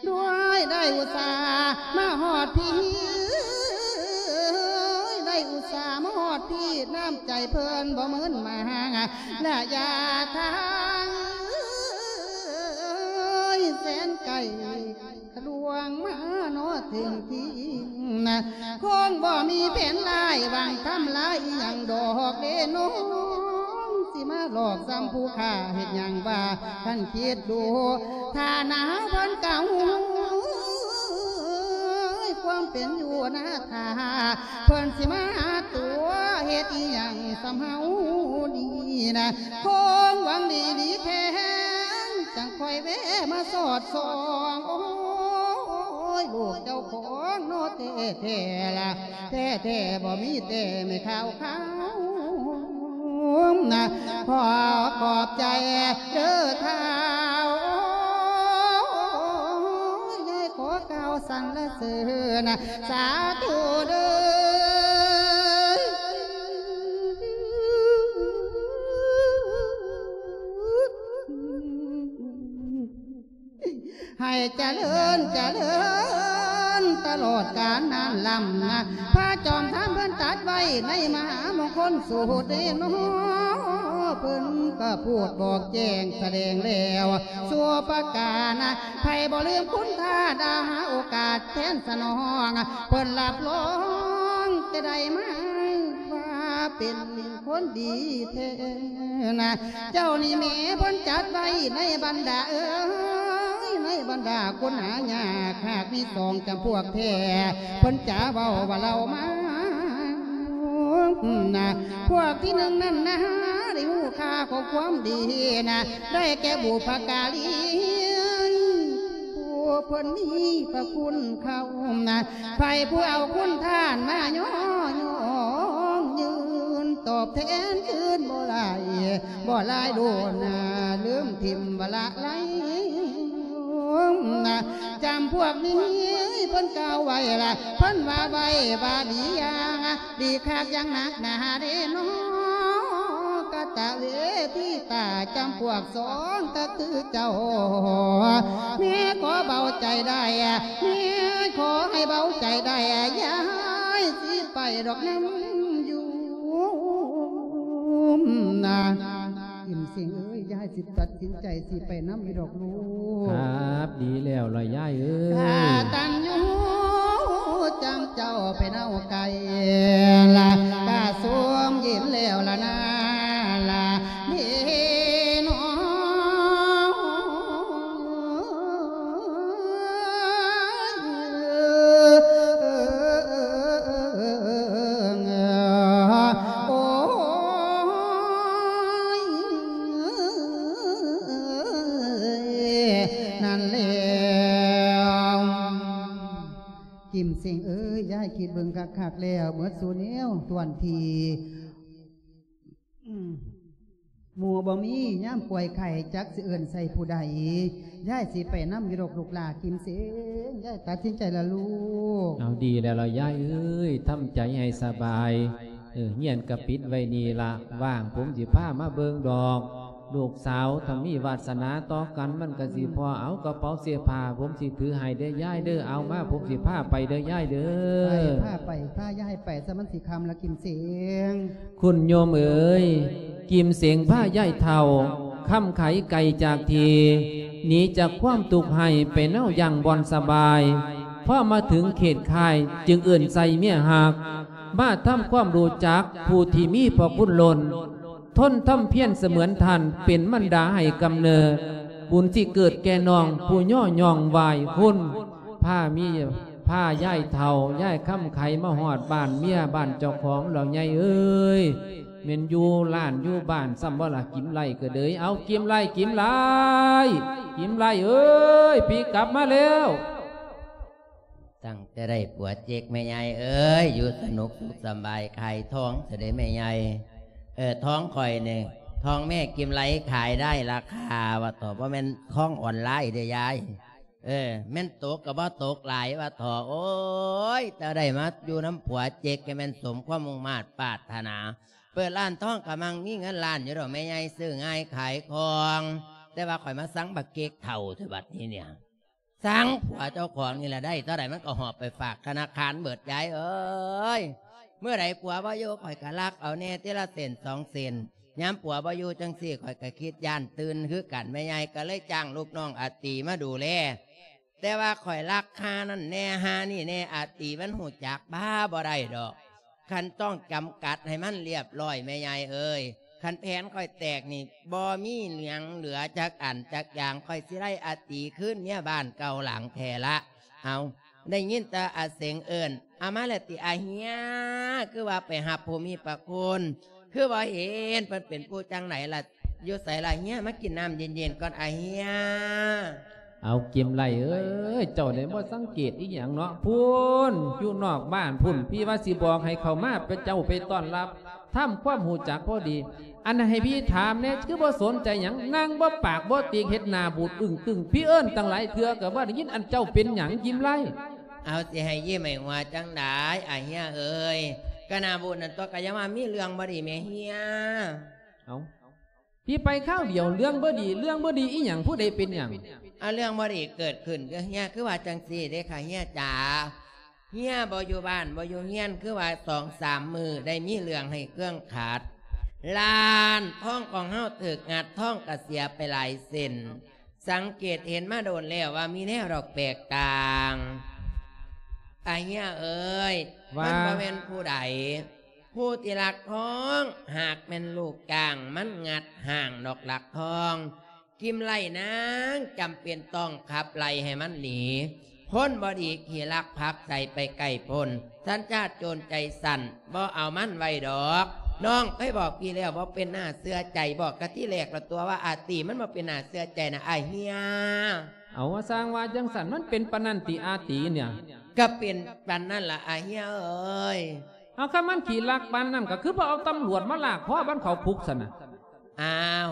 ດ້ວຍໄດ້ອຸດສ່າມາຮອດພີ້ ໄດ້ອຸດສ່າມາຮອດພີ້ ນ້ຳໃຈເພິ່ນບໍ່ເມີນມາຫາ ລະຍະທາງແສນໄກ ລວງມາເນາະເຖິງທີ່ນະ ຄົງບໍ່ມີແຜນຮ້າຍຫວັງທຳລາຍອີ່ຫຍັງດອກເດ້ນ້ອງ ຊິມາຫຼອກຊ້ຳຜູ້ຂ້າເຮັດຫຍັງວ່າ ຄັນຄິດດູ ຖ້າໜາວເພິ່ນກະຮູ້ ຄວາມເປັນຢູ່ນາຖ້າ ເພິ່ນຊິມາຕົວະເຮັດອີ່ຫຍັງສ່ຳເຮົານີ້ນະ ຄົງຫວັງດີດີແທ້ ຈັ່ງຄ່ອຍແວະມາສອດສ່ອງ ໂອ້ຍ ລູກເຈົ້າຂອງເນາະແທ້ໆລະ ແທ້ໆບໍ່ມີແຕ່ແມ່ຂາວຂາວນະ ຂໍຂອບໃຈເດີທ້າວ ໂອ້ຍ ຂໍກ່າວສັນລະເສີນ ສາທຸເດີ. ໃຫ້ຈະເລີນຈະເລີນຕະຫຼອດການນານລ້ຳນະ ພະຈອມທຳເພິ່ນຕັດໄວ້ ໃນມະຫາມົງຄົນສູດເດເນາະ ເພິ່ນກໍພູດບອກແຈ້ງສະແດງແລ້ວຊົ່ວປະການນະ ໃຜບໍ່ລືມຄຸນທ່ານ ດາຫາໂອກາດແທນສະໜອງ ເພິ່ນຮັບຮອງຈະໄດ້ມາວ່າເປັນຄົນດີແທ້ນະ ເຈົ້ານີ້ແມ່ເພິ່ນຈັດໄວ້ໃນບັນດາເອີຍ ໃນບັນດາຄົນຫາຍາກ ຫາກມີສອງຈຳພວກແທ້ ເພິ່ນຈະເວົ້າວ່າເລົ່າມານະ ພວກທີໜຶ່ງນັ້ນນະ ໄດ້ຮູ້ຄ່າຂອງຄວາມດີນະ ໄດ້ແກ່ບຸພະກາລີ ຜູ້ເພິ່ນມີພະຄຸນເຂົານະ ໃຜຜູ້ເອົາຄຸນທານມາຍໍຍ້ອງຢືນ ຕອບແທນຄືນບໍ່ຫຼາຍ ບໍ່ຫຼາຍໂດນນະ ລືມຖິ້ມວ່າລະໄລນະ ຈຳພວກນີ້ເພິ່ນກ່າວໄວ້ລະ ເພິ່ນວ່າໄວ້ວ່າດີຢ່າງ ດີຄັກຢ່າງໜັກໜາເດເນາະ ກະຕະເວທີຕາ ຈຳພວກສອງກໍຄືເຈົ້າ ແມ່ຂໍເບົາໃຈໄດ້ ແມ່ຂໍໃຫ້ເບົາໃຈໄດ້ ຍາຍຊິໄປດອກນຳຢູ່ນະ ກິມເສັງເອີຍ ຍາຍຊິຕັດສິນໃຈຊິໄປນຳຢູ່ດອກລູກ ຄັບ ດີແລ້ວລະຍາຍເອີຍ ກະຕັນຢູ່ຈຳເຈົ້າໄປເນົາໄກ່ລະ ກະສົມຍິນແລ້ວລະນາລະເດເນາະ ໂອ້ຍ ນັ້ນແລ້ວ ກິມເສັງເອີຍ ຍາຍຄິດເບິ່ງຄັກໆແລ້ວ ໝົດສູ່ແນວ ຕວນທີ່ ອືມ ໝູ່ບໍ່ມີ ຍາມປ່ວຍໄຂ້ ຈັກຊິເອີ້ນໃສ່ຜູ້ໃດ ຍາຍຊິໄປນຳຢູ່ດອກລູກຫຼ້າ ກິມເສັງ ຍາຍຕັດສິນໃຈລະລູກ ເອົາ ດີແລ້ວລະຍາຍເອີຍ ທຳໃຈໃຫ້ສະບາຍ ເອີ ຮຽນກະປິດໄວ້ນີ້ລະ ວ່າງຜົມຊິພາມາເບິ່ງດອກ ລູກສາວ ຖ້າມີວາດສະໜາຕໍ່ກັນ ມັນກະຊິພໍ ອືມ ເອົາ ກະເປົາເສື້ອຜ້າ ຜົມຊິຖືໃຫ້ເດີຍາຍເດີ ເອົາມາ ຜົມຊິພາໄປເດີຍາຍເດີ ໄປ ພາໄປ ພາຍາຍໄປ ຊະມັນຊິຄ່ຳລະ ກິມເສັງ ຄຸນໂຍມເອີຍ ກິມເສັງພາຍາຍເຖົ້າ ຄຳໄຂໄກຈາກທີ່ ໜີຈາກຄວາມທຸກໄຮ້ ໄປເນົາຢ່າງບ່ອນສະບາຍ ພໍມາເຖິງເຂດຄ້າຍ ຈຶ່ງເອີ້ນໃສ່ເມຍຮັກ ມາທຳຄວາມຮູ້ຈັກຜູ້ທີ່ມີພະຄຸນລົ້ນ ທົນທຳພຽນສະເໝືອນທ່ານ ເປັນມັນດາໃຫ້ກຳເນີດ ບຸນຊິເກີດແກ່ນ້ອງ ຜູ້ຍໍຍ້ອງໄຫວ້ຄຸນ ພາມີ ພາຍາຍເຖົ້າ ຍາຍຄຳໄຂ ມາຮອດບ້ານເມຍບ້ານເຈົ້າຂອງແລ້ວ ຍາຍເອີຍ ແມ່ນຢູ່ລ້ານຢູ່ບ້ານຊ້ຳບໍ່ລະ ກິມໄລ່ກະເດີຍ ເອົາ ກິມໄລ່ ກິມໄລ່ ກິມໄລ່ເອີຍ ພີ່ກັບມາແລ້ວ ຕັ້ງແຕ່ໄດ້ຜົວເຈັກແມ່ໃຫຍ່ເອີຍ ຢູ່ສະໜຸກສຸກສະບາຍ ຂາຍທອງຊະເດແມ່ໃຫຍ່ ເອີ ທອງຂ້ອຍນີ້ ທອງແມ່ກິມໄລ່ຂາຍໄດ້ລາຄາວ່າເຖາະ ບໍ່ແມ່ນທອງອອນລາຍເດ້ຍາຍ ເອີ ແມ່ນຕົກກໍບໍ່ຕົກຫຼາຍວ່າເຖາະ ໂອ້ຍ ແຕ່ໄດ້ມາຢູ່ນຳຜົວເຈັກກໍແມ່ນສົມຄວາມມຸ່ງມາດປາດຖະໜາ ເປີດຮ້ານທອງກໍມັ່ງມີເງິນລ້ານຢູ່ດອກແມ່ໃຫຍ່ ຊື້ງ່າຍຂາຍຄ່ອງ ແຕ່ວ່າຂ້ອຍມາຊັງບັກເຈັກເຖົ້າແທ້ບັດນີ້ເນຍ ຊັງຜົວເຈົ້າຂອງນີ້ລະ ໄດ້ເທົ່າໃດມັນກໍຫອບໄປຝາກທະນາຄານເບິດ ຍາຍເອີຍ ມື້ໃດຜົວບໍ່ຢູ່ ຂ້ອຍກໍລັກເອົາແດ່ ເທື່ອລະເຊັນສອງເຊັນ ຍາມຜົວບໍ່ຢູ່ຈັ່ງຊີ້ ຂ້ອຍກໍຄິດຢ້ານຕື່ນຄືກັນ ແມ່ໃຫຍ່ກໍເລີຍຈ້າງລູກນ້ອງອາຕີມາດູແລ ແຕ່ວ່າຂ້ອຍລັກຄ່ານັ້ນແດ່ ຫານີ້ແດ່ ອາຕີມັນຮູ້ຈັກ ບ້າບໍ່ໄດ້ດອກ ຄັນຕ້ອງຈຳກັດໃຫ້ມັນລຽບລ້ອຍແມ່ໃຫຍ່ເອີຍ ຄັນແຜນຂ້ອຍແຕກນີ້ ບໍ່ມີຫຍັງເຫຼືອຈັກອັນຈັກຢ່າງ ຂ້ອຍຊິໄລ່ອາຕີຄືນເມຍບ້ານເກົ່າຫຼັງແທ້ລະ ເອົາ ໄດ້ຍິນແຕ່ອາເສັງເອີ້ນ ອາ ມາແລ້ວຕິອາເຮຍ ຄືວ່າໄປຮັບຜູ້ມີພະຄຸນ ຄືບໍ່ເຫັນເພິ່ນເປັນຜູ້ຈັ່ງໃດລະ ຢູ່ໃສລະເຮຍ ມາກິນນ້ຳເຢັນໆກ່ອນອາເຮຍ. ເອົາ ກິມໄລ່ເອີຍ ເຈົ້າໄດ້ບໍ່ສັງເກດອີ່ຫຍັງເນາະ ພຸ້ນ ຢູ່ນອກບ້ານພຸ້ນ ພີ່ວ່າຊິບອກໃຫ້ເຂົ້າມາ ເຈົ້າໄປຕ້ອນຮັບ ທຳຄວາມຮູ້ຈັກພໍດີ ອັນໃຫ້ພີ່ຖາມແດ່ ຄືບໍ່ສົນໃຈຫຍັງ ນັ່ງບໍ່ປາກບໍ່ຕີກ ເຮັດໜ້າບູດອຶ້ງຕຶ້ງ ພີ່ເອີ້ນຕັ້ງຫຼາຍເທື່ອກໍບໍ່ໄດ້ຍິນ ອັນເຈົ້າເປັນຫຍັງ ກິມໄລ່? ເອົາ ຊິໃຫ້ຍິ້ມໃຫ້ຫົວຈັ່ງໃດ ອາເຮຍເອີຍ ກະໜ້າບູດນັ້ນຕົວະ ກະຢ່າວ່າມີເລື່ອງບໍ່ດີແມ່ເຮຍ. ເອົາ ພີ່ໄປຄາວດຽວ ເລື່ອງບໍ່ດີ ເລື່ອງບໍ່ດີອີ່ຫຍັງ ຜູ້ໃດເປັນຫຍັງ? ອາ ເລື່ອງບໍ່ດີເກີດຂຶ້ນ ເອີ ເຮຍ ຄືວ່າຈັ່ງຊີ້ເດ້ຄະເຮຍຈ໋າ ເຮຍບໍ່ຢູ່ບ້ານບໍ່ຢູ່ເຮືອນ ຄືວ່າສອງສາມມື້ໄດ້ມີເລື່ອງໃຫ້ເຄືອງຂັດ. ລ້ານທອງຂອງເຮົາຖືກງັດ ທອງກະເສຍໄປຫຼາຍເສັ້ນ. ສັງເກດເຫັນມາໂດນແລ້ວວ່າມີແນວດອກແປກຕ່າງ. ອາເຮຍເອີຍ ວ່າ ມັນບໍ່ແມ່ນຜູ້ໃດ ຜູ້ທີ່ລັກທອງ ຫາກແມ່ນລູກຈ້າງມັນງັດຫ້າງດອກລັກທອງ. ກິມໄລນາງຈຳເປັນຕ້ອງຂັບໄລ່ໃຫ້ມັນໜີ. ຄົນບໍ່ດີຂີ້ລັກຜັກໃສ່ໄປໃກ້ພົ້ນ ສັນຊາດໂຈນໃຈສັ້ນ ບໍ່ເອົາມັນໄວ້ດອກ. ນ້ອງເຄີຍບອກພີ່ແລ້ວ ບໍ່ເປັນໜ້າເຊື່ອໃຈ ບອກກະທີແລກລະຕົວະວ່າອາຕີ ມັນບໍ່ເປັນໜ້າເຊື່ອໃຈນະອາເຮຍ. ເອົາ ວ່າຊ່າງວ່າຈັ່ງຊັ້ນ ມັນເປັນປານນັ້ນຕິອາຕີເນຍ? ກະເປັນປານນັ້ນລະອາເຮຍເອີຍ. ເອົາ ຄັນມັນຂີ້ລັກປານນັ້ນ ກະຄືບໍ່ເອົາຕຳຫຼວດມາລາກຄໍມັນເຂົ້າຄຸກຊັ້ນນະ? ອ້າວ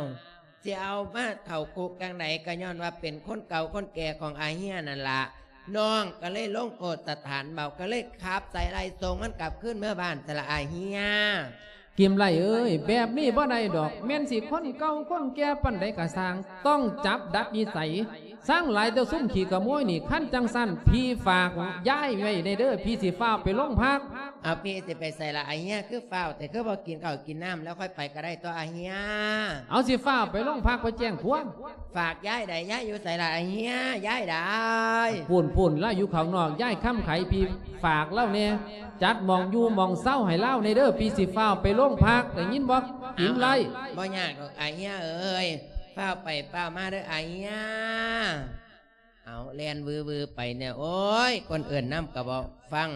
ຊິເອົາມາເຂົ້າຄຸກຈັ່ງໃດ ກະຍ້ອນວ່າເປັນຄົນເກົ່າຄົນແກ່ຂອງອາເຮຍນັ້ນລະ. ນ້ອງກະເລີຍລົງໂທດສະຖານເບົາ ກະເລີຍຂັບໃສ່ໄລ່ສົ່ງມັນກັບຄືນເມືອບ້ານຊັ້ນລະອາເຮຍ. ກິມໄລເອີຍ ແບບນີ້ບໍ່ໄດ້ດອກ ແມ່ນຊິຄົນເກົ່າຄົນແກ່ປານໃດກະຊ່າງ ຕ້ອງຈັບດັດນິໄສ. ຊ່າງຫຼາຍແຕ່ຊຸມຂີ້ຂະໂມຍນີ້ ຄັນຈັ່ງຊັ້ນ ພີ່ຝາກຍາຍໄວ້ແດ່ເດີ ພີ່ຊິຟ້າວໄປໂລງພັກ. ເອົາ ພີ່ຊິໄປໃສລະອາເຮຍ ຄືຟ້າວແຕ່ ຄືບໍ່ກິນເຂົ້າກິນນ້ຳ ແລ້ວຄ່ອຍໄປກະໄດ້ຕົວະອາເຮຍ. ເອົາ ຊິຟ້າວໄປໂລງພັກ ໄປແຈ້ງຄວາມ. ຝາກຍາຍໃດ ຍາຍຢູ່ໃສລະອາເຮຍ ຍາຍໃດ? ພຸ້ນໆ ລາວຢູ່ຂ້າງນອກ ຍາຍຄຳໄຂ ພີ່ຝາກລາວແດ່ ຈັດໝ່ອງຢູ່ໝ່ອງເຊົາໃຫ້ລາວແດ່ເດີ ພີ່ຊິຟ້າວໄປໂລງພັກ ໄດ້ຍິນບໍ່ ກິມໄລ? ບໍ່ຍາກດອກອາເຮຍເອີຍ ຟ້າວໄປຟ້າວມາເດີອາເຮຍ. ເອົາ ແລ່ນວືໆໄປແນວ ໂອ້ຍ ຄົນເອີ້ນນຳກະບໍ່ຟັງ.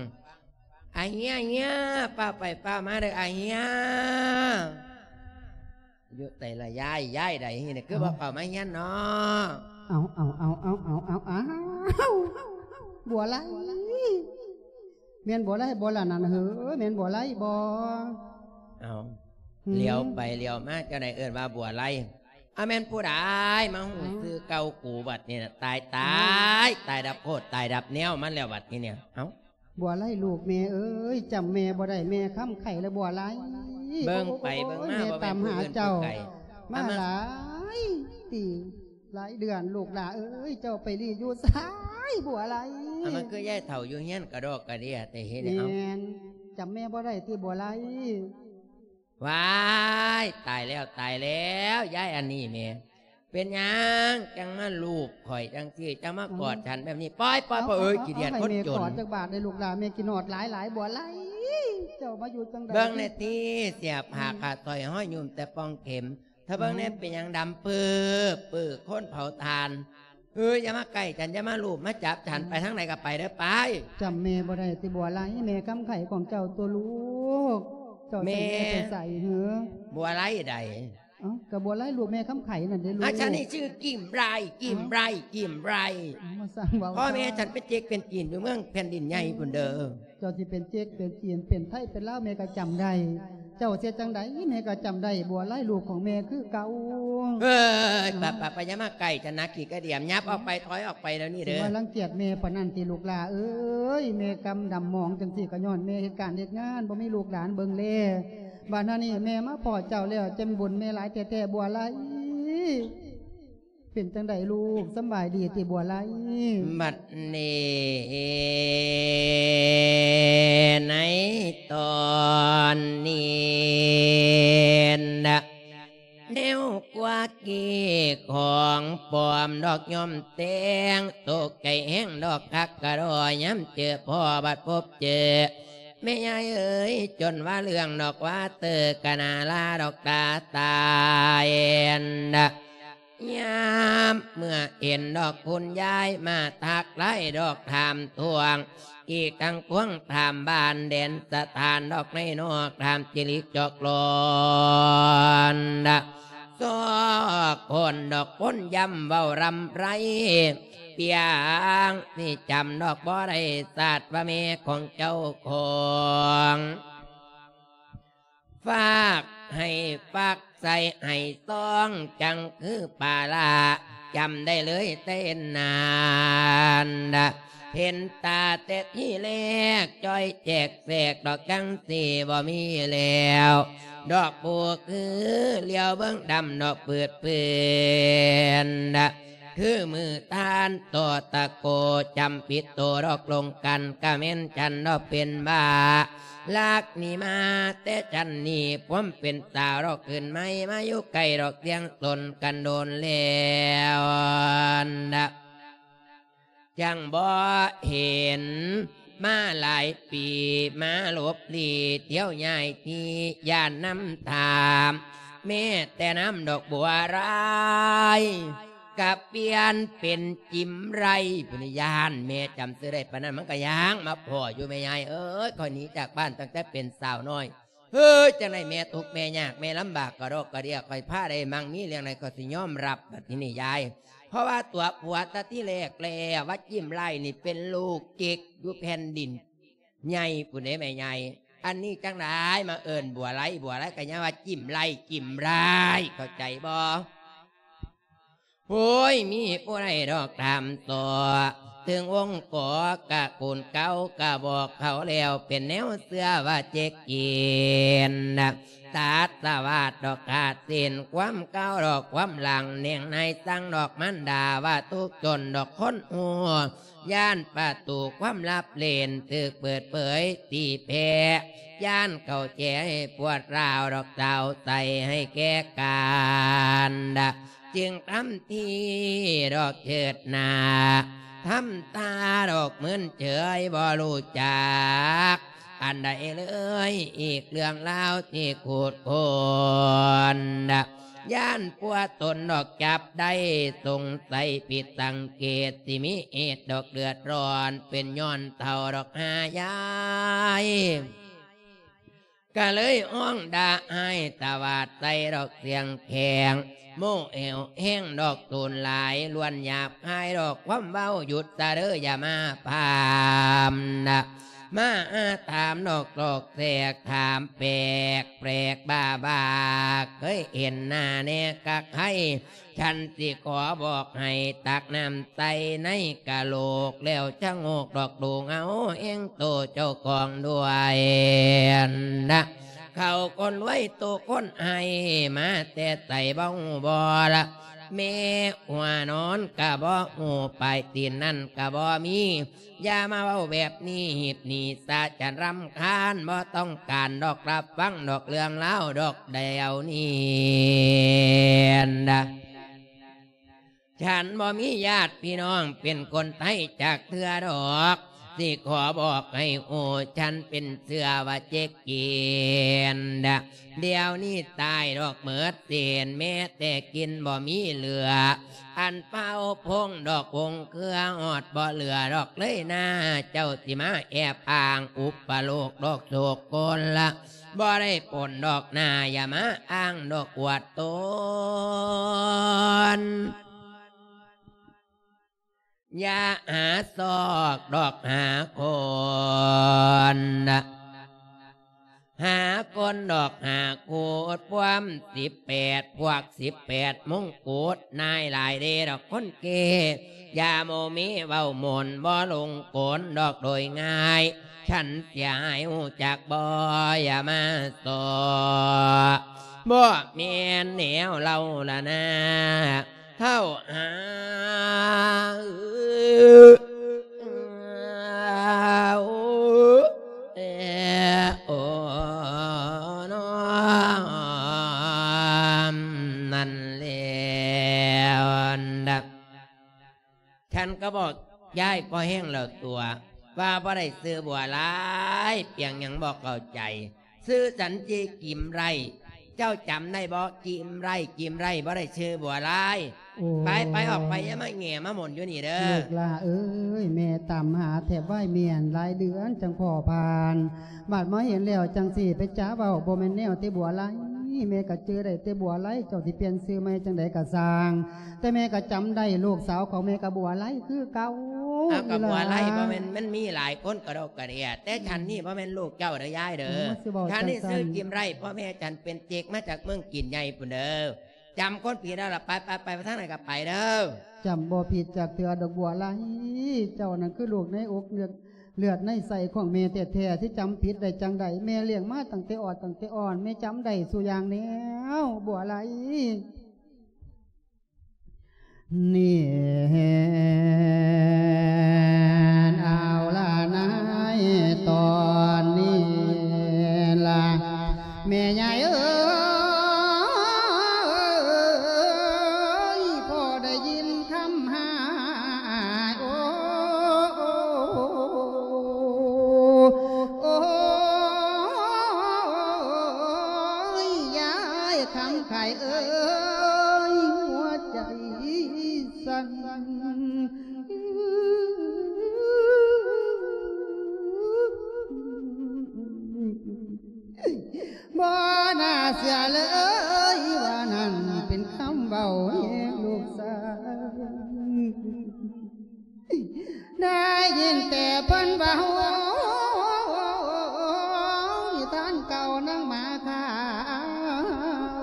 ອາເຮຍ ເຮຍ ຟ້າວໄປຟ້າວມາເດີອາເຮຍ. ຢູ່ໃສລະຍາຍ ຍາຍໃດນີ້ ຄືບໍ່ເຂົ້າມາເຮືອນເນາະ? ເອົາ ເອົາ ເອົາ ເອົາ ເອົາ ເອົາ ເອົາ ບົວໄລ ແມ່ນບົວໄລບໍ່ລະນັ້ນເຮີ ແມ່ນບົວໄລບໍ່? ເອົາ ຫືມ ຫຼຽວໄປຫຼຽວມາ ເຈົ້າໃດເອີ້ນວ່າບົວໄລ? ອາ ແມ່ນຜູ້ໃດມາຮູ້ຊື່ເກົ່າກູບັດນີ້ນະ? ຕາຍ ຕາຍ ຕາຍດັບໂຄດ ຕາຍດັບແນວມັນແລ້ວບັດນີ້ເນຍ. ເອົ້າ ບົວໄລລູກແມ່ເອີຍ ຈຳແມ່ບໍ່ໄດ້ ແມ່ຄຳໄຂລະບົວໄລ. ເບິ່ງໄປເບິ່ງມາ ແມ່ຕາມຫາເຈົ້າມາຫຼາຍປີຫຼາຍເດືອນ ລູກຫຼ້າເອີຍ ເຈົ້າໄປລີ້ຢູ່ໃສບົວໄລ? ອາ ມັນຄືຍາຍເຖົ້າຢູ່ເຮືອນກະດອກກະເດຍແຕ່ເຮັດໃຫ້ເຮົາ ແມ່ນ ຈຳແມ່ບໍ່ໄດ້ຕິບົວໄລ? ວ້າຍ ຕາຍແລ້ວ ຕາຍແລ້ວ ຍາຍອັນນີ້ແໝ່ ເປັນຫຍັງຈັ່ງມາລູບຂ້ອຍຈັ່ງຊີ້ ຈັ່ງມາກອດ ເອົ້າ ສັນແບບນີ້? ປ່ອຍ ປ່ອຍ ເອົ້າ ເອົ້າ ເອົ້າ ຂີ້ດຽດຄົນຈົນ. ເອົາ ໃຫ້ແມ່ກອດຈັກບາດເດ້ລູກຫຼ້າ ແມ່ກິນຮອດຫຼາຍໆ ບົວໄລ ເຈົ້າມາຢູ່ຈັ່ງໃດ? ເບິ່ງແດ່ຕິ ເສຍຜ້າຂາດສ້ອຍ ຫ້ອຍຫຍຸ້ມແຕ່ປ່ອງເຂັມ ຖ້າເບິ່ງແດ່ ເອົ້າ ເປັນຫຍັງດຳເປີ້ບໆ ຄືຄົນເຜົາຖ່ານ. ເອີຍ ຢ່າມາໃກ້ສັນ ຢ່າມາລູບມາຈັບສັນ ເອົ້າ ໄປທາງໃດກະໄປເດີ ໄປ. ຈຳແມ່ບໍ່ໄດ້ຕິບົວໄລ ແມ່ຄຳໄຂຂອງເຈົ້າຕົວະລູກ ເຈົ້າໃສ່ແມ່ໄປໃສເຮີ? ບົວໄລໃດ? ເອົ້າ ກະບົວໄລລູກແມ່ຄຳໄຂນັ້ນເດ້ລູກ. ອາ ສັນນີ້ຊື່ກິມໄລ ກິມໄລ ກິມໄລ. ເອົ້າ ມາສ້າງເວົ້າ ພໍ່ແມ່ສັນເປັນເຈັກເປັນຈີນຢູ່ເມືອງແຜ່ນດິນໃຫຍ່ພຸ້ນເດີ. ເຈົ້າຊິເປັນເຈັກເປັນຈີນ ເປັນໄທເປັນລາວ ແມ່ກະຈຳໄດ້. ເຈົ້າເຮັດຈັ່ງໃດແມ່ກະຈຳໄດ້ ບົວໄລລູກຂອງແມ່ຄືເກົ່າ. ເອີຍ ປະ ປະ ປະ ຢ່າມາໃກ້ ຈະໜັກຂີ້ກະດຽມ ຫຍັບອອກໄປ ຖອຍອອກໄປດຽວນີ້ເດີ. ຊິມາລັງກຽດແມ່ປານນັ້ນຕິລູກຫຼ້າເອີຍ ແມ່ກຳດຳໝອງຈັ່ງຊີ້ກະຍ້ອນແມ່ເຮັດການເຮັດງານ ບໍ່ມີລູກຫຼານເບິ່ງແລ. ບາດນີ້ແມ່ມາພໍ້ເຈົ້າແລ້ວ ຈະບຸນແມ່ຫຼາຍແທ້ໆ ບົວໄລ. ເປັນຈັ່ງໃດລູກ ສຳບາຍດີຕິບົວໄລ? ບັດນີ້ ໃນຕອນນີ້ນະ ແນວກວ່າກີ້ຂອງປອມດອກ ຍ່ອມແຕ່ງ ຕົກໃຈແຮງດອກ ຄັກກະດໍ ຍາມເຈີພໍ້ບັດພົບເຈີ ແມ່ຍາຍເອີຍ ຈົນວ່າເລື່ອງດອກວ່າເຕີ ກະໜ້າລາດອກຕາຕາຍນະ. ຍາມເມື່ອເຫັນດອກຄຸນຍາຍມາທັກທາຍດອກ ຖາມທວງ ອີກທັງພວງຖາມບ້ານແດນສະຖານດອກ ໃນນອກຖາມຈິລິກຈອກຫຼອນ ຊອກຄົນດອກຄົນຢ້ຳເວົ້າລຳໄລ ປຽງຊິຈຳດອກບໍ່ໄດ້ ຊາດວ່າແມ່ຂອງເຈົ້າຂອງ ຝາກໃຫ້ຝາກໃສ່ໃຫ້ຊອງ ຈັ່ງຄືປາລາ ຈຳໄດ້ເລີຍແຕ່ນານ ເຫັນຕາແຕ່ທີແລກ ຈ່ອຍແຈກແຊກດອກ ຈັ່ງຊິບໍ່ມີແລ້ວ ດອກຜູ້ຄື ຫຼຽວເບິ່ງດຳດອກ ປືດເປື້ອນ ຄືມື້ທ່ານໂຕຕະໂກຈຳປິດໂຕດອກລົງກັນ ກະແມ່ນຈັນດອກເປັນບ້າ. ລັກນີ້ມາແຕ່ຈັນນີ້ ຄວາມເປັນສາວດອກຂຶ້ນໃໝ່ ມາຢູ່ໃກ້ດອກທຽງຕົນກັນດົນແລ້ວນະ ຈັ່ງບໍ່ເຫັນ ມາຫຼາຍປີ ມາຫຼົບຫຼີ່ ທ່ຽວຍ້າຍທີ່ ຢ້ານນຳຖາມ ແມ້ແຕ່ນຳດອກບົວລາຍ ກະປ່ຽນເປັນຈິ້ມໄລພຸ້ນ ຢ້ານແມ່ຈຳຊື່ໄດ້ປານນັ້ນ ມັນກະຍ່າງມາພໍ້ຢູ່ ແມ່ຍາຍເອີຍ ຂ້ອຍໜີຈາກບ້ານຕັ້ງແຕ່ເປັນສາວນ້ອຍ ເຮີຍ ຈັ່ງໃດແມ່ທຸກແມ່ຍາກ ແມ່ລຳບາກກະດອກກະເດຍ ຂ້ອຍພາໄດ້ມັ່ງມີເລື່ອງໃດ ຂ້ອຍຊິຍອມຮັບ ບັດທີນີ້ຍາຍ ເພາະວ່າຕົວຜົວແຕ່ທີແລກແລ້ວ ວ່າຈິ້ມໄລນີ້ເປັນລູກເຈັກຢູ່ແຜ່ນດິນໃຫຍ່ພຸ້ນເດ້ແມ່ໃຫຍ່ ອັນນີ້ຈັ່ງໃດມາເອີ້ນບົວໄລ ບົວໄລ ກະຍັງວ່າຈິ້ມໄລ ຈິ້ມລາຍ ເຂົ້າໃຈບໍ່? ໂອ້ຍ ມີຜູ້ໃດດອກຖາມຕໍ່ ເຖິງວົງກໍກະກູນເກົ່າ ກະບອກເຂົາແລ້ວ ເປັນແນວເຊື່ອວ່າເຈັກກິນ ຕັດສະຫວາດດອກຂາດສິ້ນ ຄວາມເກົ່າດອກຄວາມຫຼັງ ແນງໃນສັ່ງດອກມານດາ ວ່າທຸກຈົນດອກຄົນຮູ້ ຢ້ານປະຕູຄວາມລັບເຫຼັ້ນ ຖືກເປີດເຜີຍຕີແຜ່ ຢ້ານເຂົ້າແຈໃຫ້ປວດຮ້າວດອກ ເຈົ້າໃສ່ໃຫ້ແກ່ການ ຈຶ່ງທຳທີດອກເຈີດໜ້າ ທຳຕາດອກມຶນເຈີຍ ບໍ່ຮູ້ຈັກອັນໃດເລີຍ ອີກເລື່ອງລາວທີ່ຂູດຄົ້ນ ຢ້ານຜົວຕົນດອກຈັບໄດ້ ສົງໄສຜິດສັງເກດ ຊິມີເຫດດອກເດືອດຮ້ອນ ເປັນຍ້ອນເຖົ້າດອກຫາຍາຍ ກະເລີຍຮ້ອງດ່າຮ້າຍຕະຫວາດໃສ່ດອກສຽງແຂງ ໂມແອວແຮງດອກໂຕນຫຼາຍ ລ້ວນຫຍາບຄາຍດອກຄວາມເວົ້າ ຢຸດຊະເດີຢ່າມາພາມນະ ມາອາຖາມດອກຊອກແຊກ ຖາມແປກແປກບ້າບາ ເຄີຍເຫັນໜ້າແດ່ກະໄຄ ສັນຊິຂໍບອກໃຫ້ຕັກນ້ຳໃສ່ໃນກະໂຫຼກ ແລ້ວຊະໂງກດອກດູເງົາແຮງໂຕເຈົ້າຂອງດ້ວຍນະ ເຂົາຄົນລວຍໂຕຄົນໃຫ້ ມາແຕ່ໃສບໍ່ຮູ້ບໍ່ລະ ແມ່ຫົວນອນກະບໍ່ຮູ້ ປາຍຕີນນັ້ນກະບໍ່ມີ ຢ່າມາເວົ້າແບບນີ້ ຮີບໜີຊະ ຈະລຳຄານ ບໍ່ຕ້ອງການດອກ ຮັບຟັງດອກເລື່ອງລາວດອກດຽວນີ້ນະ ສັນບໍ່ມີຍາດພີ່ນ້ອງເປັນຄົນໄທຈັກເທື່ອດອກ ຊິຂໍບອກໃຫ້ຮູ້ ສັນເປັນເຊື້ອວ່າເຈັກກິນ ດຽວນີ້ຕາຍດອກເໝິດເສັ້ນ ແມ້ແຕ່ກິນບໍ່ມີເຫຼືອ ອັນເຜົ່າພົງດອກວົງເຄືອ ຮອດບໍ່ເຫຼືອດອກເລີຍນາ ເຈົ້າຊິມາແອບອ້າງອຸປະໂລກດອກໂສກກົນລະ ບໍ່ໄດ້ປົນດອກໜ້າ ຢ່າມາອ້າງດອກອວດຕົນ ຢ່າຫາຊອກດອກຫາຄົນ ຫາຄົນດອກຫາໂຄດ ພວມສິບແປດ ພວກສິບແປດມົງກຸດ ນາຍຫຼາຍເດ້ດອກຄົນເກ ຢ່າໂມເມເວົ້າໝົນ ບໍ່ຫຼົງກົນດອກໂດຍງ່າຍ ສັນເສຍຫາຍຮູ້ຈັກບໍ່ ຢ່າມາສໍ້ ບໍ່ແມ່ນແນວເລົ່າລະນາ ເຖົ້າຫາ ໂອ ນອມ ນັ້ນແລ້ວນະ ສັນກະບອກຍາຍພໍແຮງແລ້ວຕົວະ ວ່າບໍ່ໄດ້ຊື່ບົວລາຍ ປຽງຫຍັງບໍ່ເຂົ້າໃຈ ຊື່ສັນຈິ້ມໄລ ເຈົ້າຈຳໄດ້ບໍ່? ຈິ້ມໄລ ຈິ້ມໄລ ບໍ່ໄດ້ຊື່ບົວລາຍ. ໂອ້ຍ ໄປ ໄປ ອອກໄປ ຢ່າມາແຫງ່ມາໝົນຢູ່ນີ້ເດີ. ລູກຫຼ້າເອີຍ ແມ່ຕາມຫາແທບວາຍແມ່ນຫຼາຍເດືອນຈັ່ງພໍຜ່ານ ບາດມາເຫັນແລ້ວຈັ່ງຊິໄປຈາເວົ້າ ບໍ່ແມ່ນແນວແຕ່ບົວລາຍ ແມ່ກະຈື່ໄດ້ແຕ່ບົວໄລ ເຈົ້າຊິປ່ຽນຊື່ໃໝ່ຈັ່ງໃດກະຊ່າງ ແຕ່ແມ່ກະຈຳໄດ້ລູກສາວຂອງແມ່ກະບົວໄລຄືເກົ່າ. ອ້າວ ກະບົວໄລ ອີ່ຫຼ້າ ບໍ່ແມ່ນ ມັນມີຫຼາຍຄົນກະດອກກະເດຍ ແຕ່ ອືມ ສັນນີ້ບໍ່ແມ່ນລູກເຈົ້າເດີຍາຍເດີ. ໂອ້ ມາຊິເວົ້າ ສັນນີ້ຊື່ຈິ້ມໄລ ພໍ່ແມ່ສັນເປັນເຈັກມາຈາກເມືອງຈີນໃຫຍ່ພຸ້ນເດີ. ຈຳຄົນຜິດແລ້ວລະ ໄປ ໄປ ໄປ ໄປທາງໃດກະໄປເດີ. ຈຳບໍ່ຜິດຈັກເທື່ອດອກບົວໄລ ເຈົ້ານັ້ນຄືລູກໃນອົກເລືອດ ເລືອດໃນໄສ້ຂອງແມ່ແທ້ໆ ຊິຈຳຜິດໄດ້ຈັ່ງໃດ? ແມ່ລ້ຽງມາຕັ້ງແຕ່ອອດຕັ້ງແຕ່ອ່ອນ ແມ່ຈຳໄດ້ສູ່ຢ່າງແລ້ວ ບົວໄລ. ນີ້ ເອົາລະນາຍ ຕອນນີ້ລະ ແມ່ໃຫຍ່ເອີຍ ພໍໄດ້ຍິນຄຳຫາຍ ໂອ້ ໂອ້ຍ ຍາຍຄຳໄຂເອີຍ ຫົວໃຈສັ່ນ ບໍ່ໜ້າເຊື່ອເລີຍວ່ານັ້ນເປັນຄຳເວົ້າແຫ່ງລູກສາວ. ໄດ້ຍິນແຕ່ເພິ່ນເວົ້າ ທ່ານເກົ່ານາງໝາຂາວ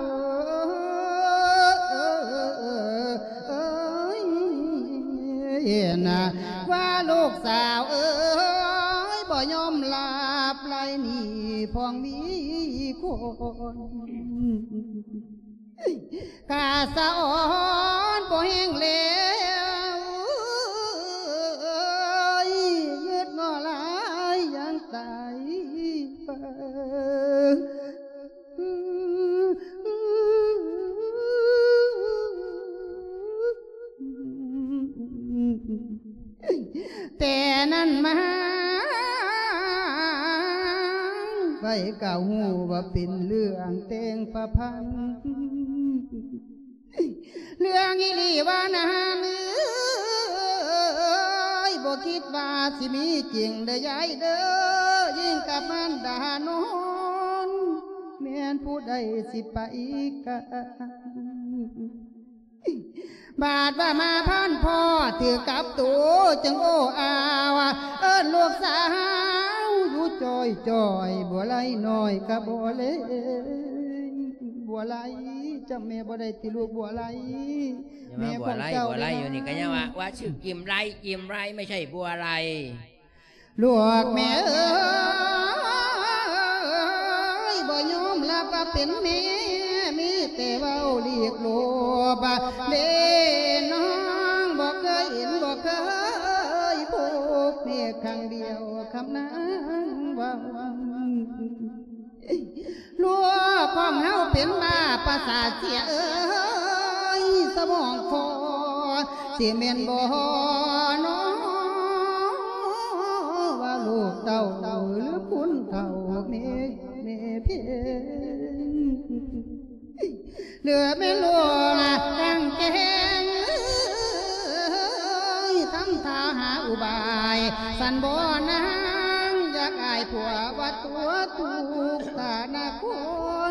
ເອີຍ ເຫັນວ່າລູກສາວເອີຍ ບໍ່ຍອມລາບໄລໜີ ພ້ອງມີຄົນ ກາສະອອນບໍ່ແຮງແລ້ວ ຍືດງໍຫຼາຍຢ່າງຕາຍໄປ. ແຕ່ນັ້ນມາ ໃຜກໍຮູ້ວ່າເປັນເລື່ອງແຕ່ງປະພັນ ເລື່ອງອີ່ຫຼີວ່ານາເອີຍ ບໍ່ຄິດວ່າຊິມີຈິງເດີຍາຍເດີ ຍິ່ງກັບມານດານອນ ແມ່ນຜູ້ໃດຊິໄປກະ ບາດວ່າມາພັນພໍ້ຖືກກັບໂຕ ຈຶ່ງໂອ້ອາວ ເອີ້ນລູກສາວຢູ່ຈ່ອຍໆ ບົວໄລນ້ອຍກະບົວເລງ ບົວໄລ ຈຳແມ່ບໍ່ໄດ້ຕິລູກບົວໄລ ແມ່ຂອງເຈົ້າ ບົວໄລຢູ່ນີ້ກະຍັງວ່າ ວ່າຊື່ກິມໄລ ກິມໄລ ໄມ່ໃຊ່ບົວໄລ. ລູກແມ່ເອີຍ ບໍ່ຍອມຮັບວ່າເປັນແມ່ ມີແຕ່ເວົ້າຫຼີກຫຼົບເດ້ ນ້ອງບໍ່ເຄີຍເຫັນ ບໍ່ເຄີຍພົບ ແມ່ຄັ້ງດຽວຄຳນາງເວົ້າ ລູກຂອງເຮົາເປັນບ້າປະສາດເສຍເອີຍ ສະໝອງພໍ ຊິແມ່ນບໍ່ນໍ ວ່າລູກເຕົ້າຫຼືຄົນເຖົ້າແມ່ ແມ່ເພັງ ຫຼືແມ່ນລູກນາງແກງ ທຳທ່າຫາອຸບາຍ ຊັ້ນບໍ່ນາງ ຢາກອາຍຜົວວ່າຕົວທຸກ ຖານະຄົ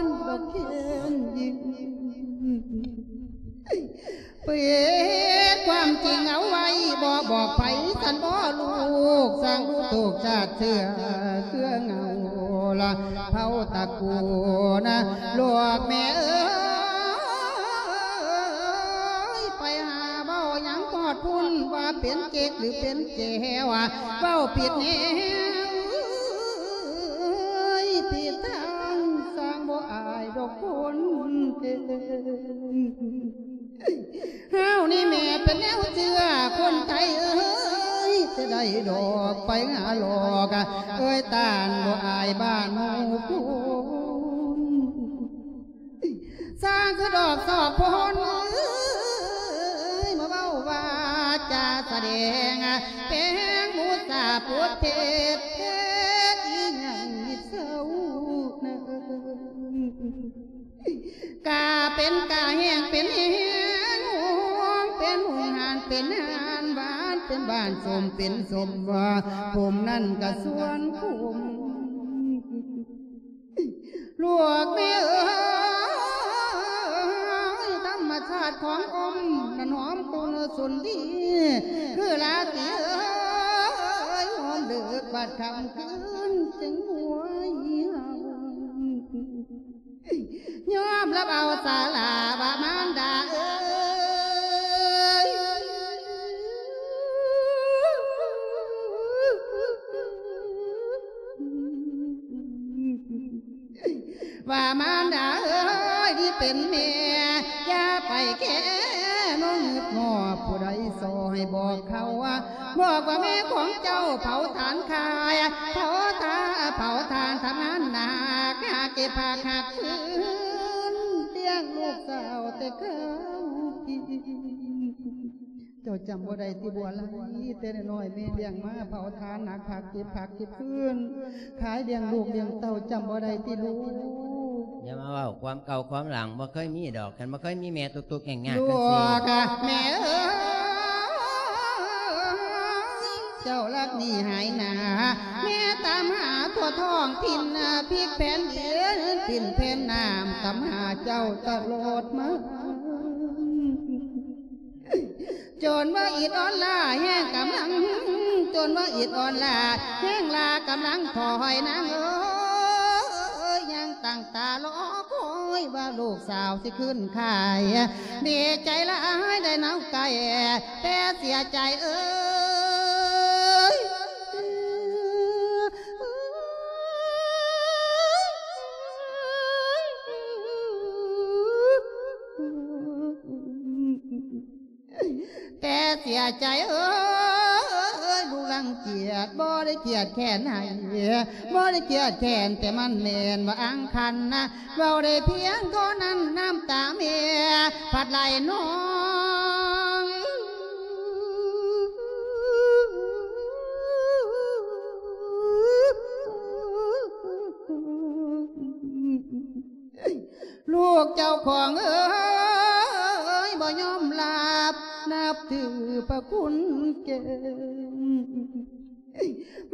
ນດອກແຄງຍິງ ປິດຄວາມຈິງເອົາໄວ້ ບໍ່ບອກໃຜ ຊັ້ນບໍ່ລູກ ສ້າງດູໂຕກຊາດເຊື້ອ ເຄືອເງົາລະເຜົ່າຕະກູນ ລູກແມ່ເອີຍ ໄປຫາເວົ້າຫຍັງຮອດພຸ້ນ ວ່າເປັນເຈັກຫຼືເປັນແຈວ ເວົ້າຜິດແນວ ເອີຍ ຜິດທາງ ສ້າງບໍ່ອາຍດອກຄົນເກັ່ງ ເຮົານີ້ແມ່ເປັນແນວເຊື່ອ ຄົນໄທເອີຍ ຈະໄດ້ດອກໄປຫາຫຼອກ ເອີຍ ຕ້ານບໍ່ອາຍບ້ານໝູ່ຄົນ ສ້າງຄືດອກຊອກພົນເອີຍ ມາເວົ້າວ່າຈາສະແດງ ແປງມຸສາປົດເທດ ເຮັດອີ່ຫຍັງມິດເຊົານະ ກາເປັນກາແຫ້ງເປັນແຫ້ງ ຫົງເປັນຫົງ ຫານເປັນຫານ ຫວານເປັນຫວານ ສົ້ມເປັນສົ້ມ ຜົມນັ້ນກະຊວນຂົມ ລູກແມ່ເອີຍ ທຳມະຊາດຂອງອົມນັ້ນຫອມກຸນຊຸນດີ ຄືລາຕີເອີຍ ຫອມເລິກບາດຄ່ຳຄືນຈຶ່ງຫວຍເຮົາ ຍອມຮັບເອົາສາລາວ່າມານດາເອີຍ ວ່າມານດາເອີຍ ນີ້ເປັນແມ່ ຢ່າໄປແຄນອງງຶດງອ ໃຫ້ບອກເຂົາວ່າ ບອກວ່າແມ່ຂອງເຈົ້າເຜົາຖ່ານຂາຍ ເຜົາຖ່ານ ເຜົາຖ່ານທຳງານໜັກ ຫາເກັບຜັກຫັກຟືນ ລ້ຽງລູກສາວແຕ່ເກົ່າ. ເຈົ້າຈຳບໍ່ໄດ້ຕິ ບົວໄລ? ແຕ່ນ້ອຍແມ່ລ້ຽງມາ ເຜົາຖ່ານໜັກ ຫາເກັບຜັກເກັບຟືນ ຂາຍລ້ຽງລູກລ້ຽງເຕົ້າ ຈຳບໍ່ໄດ້ຕິລູກ? ຢ່າມາເວົ້າຄວາມເກົ່າຄວາມຫຼັງ ບໍ່ເຄີຍມີດອກ ຄັນບໍ່ເຄີຍມີແມ່ທຸກໆຍາກໆ ລູກ ຈັ່ງຊີ້ ແມ່ເອີຍ ເຈົ້າລັກໜີຫາຍໜ້າ ແມ່ຕາມຫາທົ່ວທ້ອງຖິ່ນ ພິກແຜ່ນດິນ ປິ່ນແຜ່ນນ້ຳ ຕາມຫາເຈົ້າຕະຫຼອດມາ. ຈົນວ່າອິດອ່ອນລ້າແຮງກຳລັງ ຈົນວ່າອິດອ່ອນລ້າແຮງລ້າກຳລັງ ຂໍໃຫ້ນາງເອີຍ ຍັງຕັ້ງຕາລໍຄອຍວ່າລູກສາວຊິຄືນຂາຍ. ດີໃຈຫຼາຍໄດ້ນາງໄກ່ ແຕ່ເສຍໃຈເອີຍ ແຕ່ເສຍໃຈເອີຍ ລູກລັງກຽດ ບໍ່ໄດ້ກຽດແຄ້ນໃຫ້ ບໍ່ໄດ້ກຽດແຄ້ນ ແຕ່ມັນແມ່ນວ່າອັງຄັນນະ ເວົ້າໄດ້ພຽງເທົ່ານັ້ນ ນ້ຳຕາແມ່ພັດໄຫຼນອງ. ລູກເຈົ້າຂອງເອີຍ ບໍ່ຍອມຮັບ ນັບຖືພະຄຸນແກ່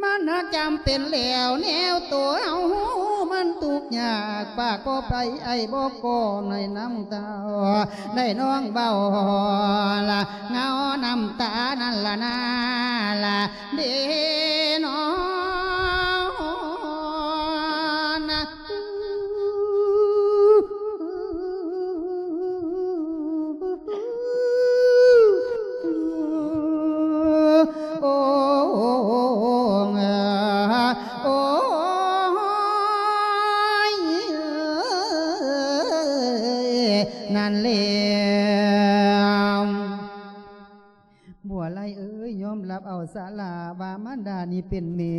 ມັນຫາກຈຳເປັນແລ້ວ ແນວໂຕເຮົາມັນທຸກຍາກ ປາກບໍ່ໄປ ໄອບໍ່ກໍໃນນ້ຳຕາ ໄດ້ນ້ອງເບົາລະ ເງົານ້ຳຕານັ້ນລະນາລະ ເດນອນນະ ໂອ້ ໂອ້ຍ ນັ້ນແຫຼະ. ບົວໄລເອີຍ ຍອມຮັບເອົາສາລາວ່າມານດານີ້ເປັນແມ່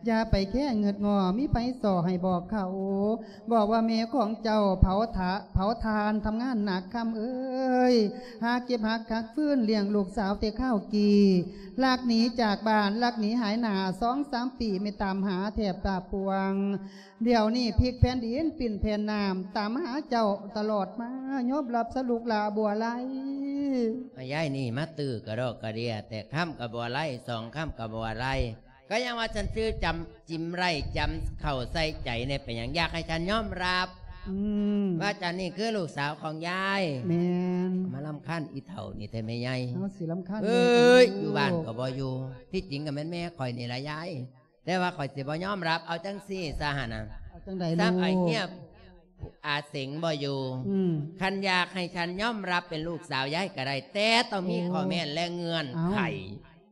ຢ່າໄປແຄງເງິດງໍ ມີໃຜສໍໃຫ້ບອກເຂົາ ບອກວ່າແມ່ຂອງເຈົ້າເຜົາຖາ ເຜົາຖ່ານທຳງານໜັກ ຄຳເອີຍ ຫາເກັບຫາຫັກຟືນລ້ຽງລູກສາວແຕ່ຄາວກີ້ ລັກໜີຈາກບ້ານ ລັກໜີຫາຍໜ້າ ສອງສາມປີ ແມ່ຕາມຫາແທບຕາປວງ. ດຽວນີ້ພິກແຜ່ນດິນປິ່ນແຜ່ນນ້ຳ ຕາມຫາເຈົ້າຕະຫຼອດມາ ຍອມຮັບຊະລູກຫຼ້າບົວໄລ. ອາ ຍາຍນີ້ມາຕື້ກະດອກກະເດຍ ແຕ່ຄຳກະບໍ່ໄລ ສອງຄຳກະບໍ່ໄລ ກະຍັງວ່າສັນຊື່ຈຳ ຈິມໄລ ຈຳເຂົ້າໃສ່ໃຈແດ່ ເປັນຫຍັງ ຢາກໃຫ້ສັນຍອມຮັບ ອືມ ວ່າສັນນີ້ຄືລູກສາວຂອງຍາຍ. ແມ່ນ. ມາລຳຄານອີເຖົ້ານີ້ແທ້ແມ່ໃຫຍ່ ເຮົາຊິລຳຄານ ເອີຍ ແມ່ນຫຍັງ ຢູ່ບ້ານກະບໍ່ຢູ່ ທີ່ຈິງກະແມ່ນແມ່ຂ້ອຍນີ້ລະຍາຍ ແຕ່ວ່າຂ້ອຍຊິບໍ່ຍອມຮັບ ເອົາຈັ່ງຊີ້ຊະຫັ້ນນະ ເອົາຈັ່ງໃດລູກ? ຊ້ຳອ້າຍເຮຍອາເສັງບໍ່ຢູ່ ອືມ ຄັນຢາກໃຫ້ສັນຍອມຮັບເປັນລູກສາວຍາຍກະໄດ້ ແຕ່ຕ້ອງມີ ໂອ້ ຂໍ້ແມ້ແລະເງື່ອນໄຂ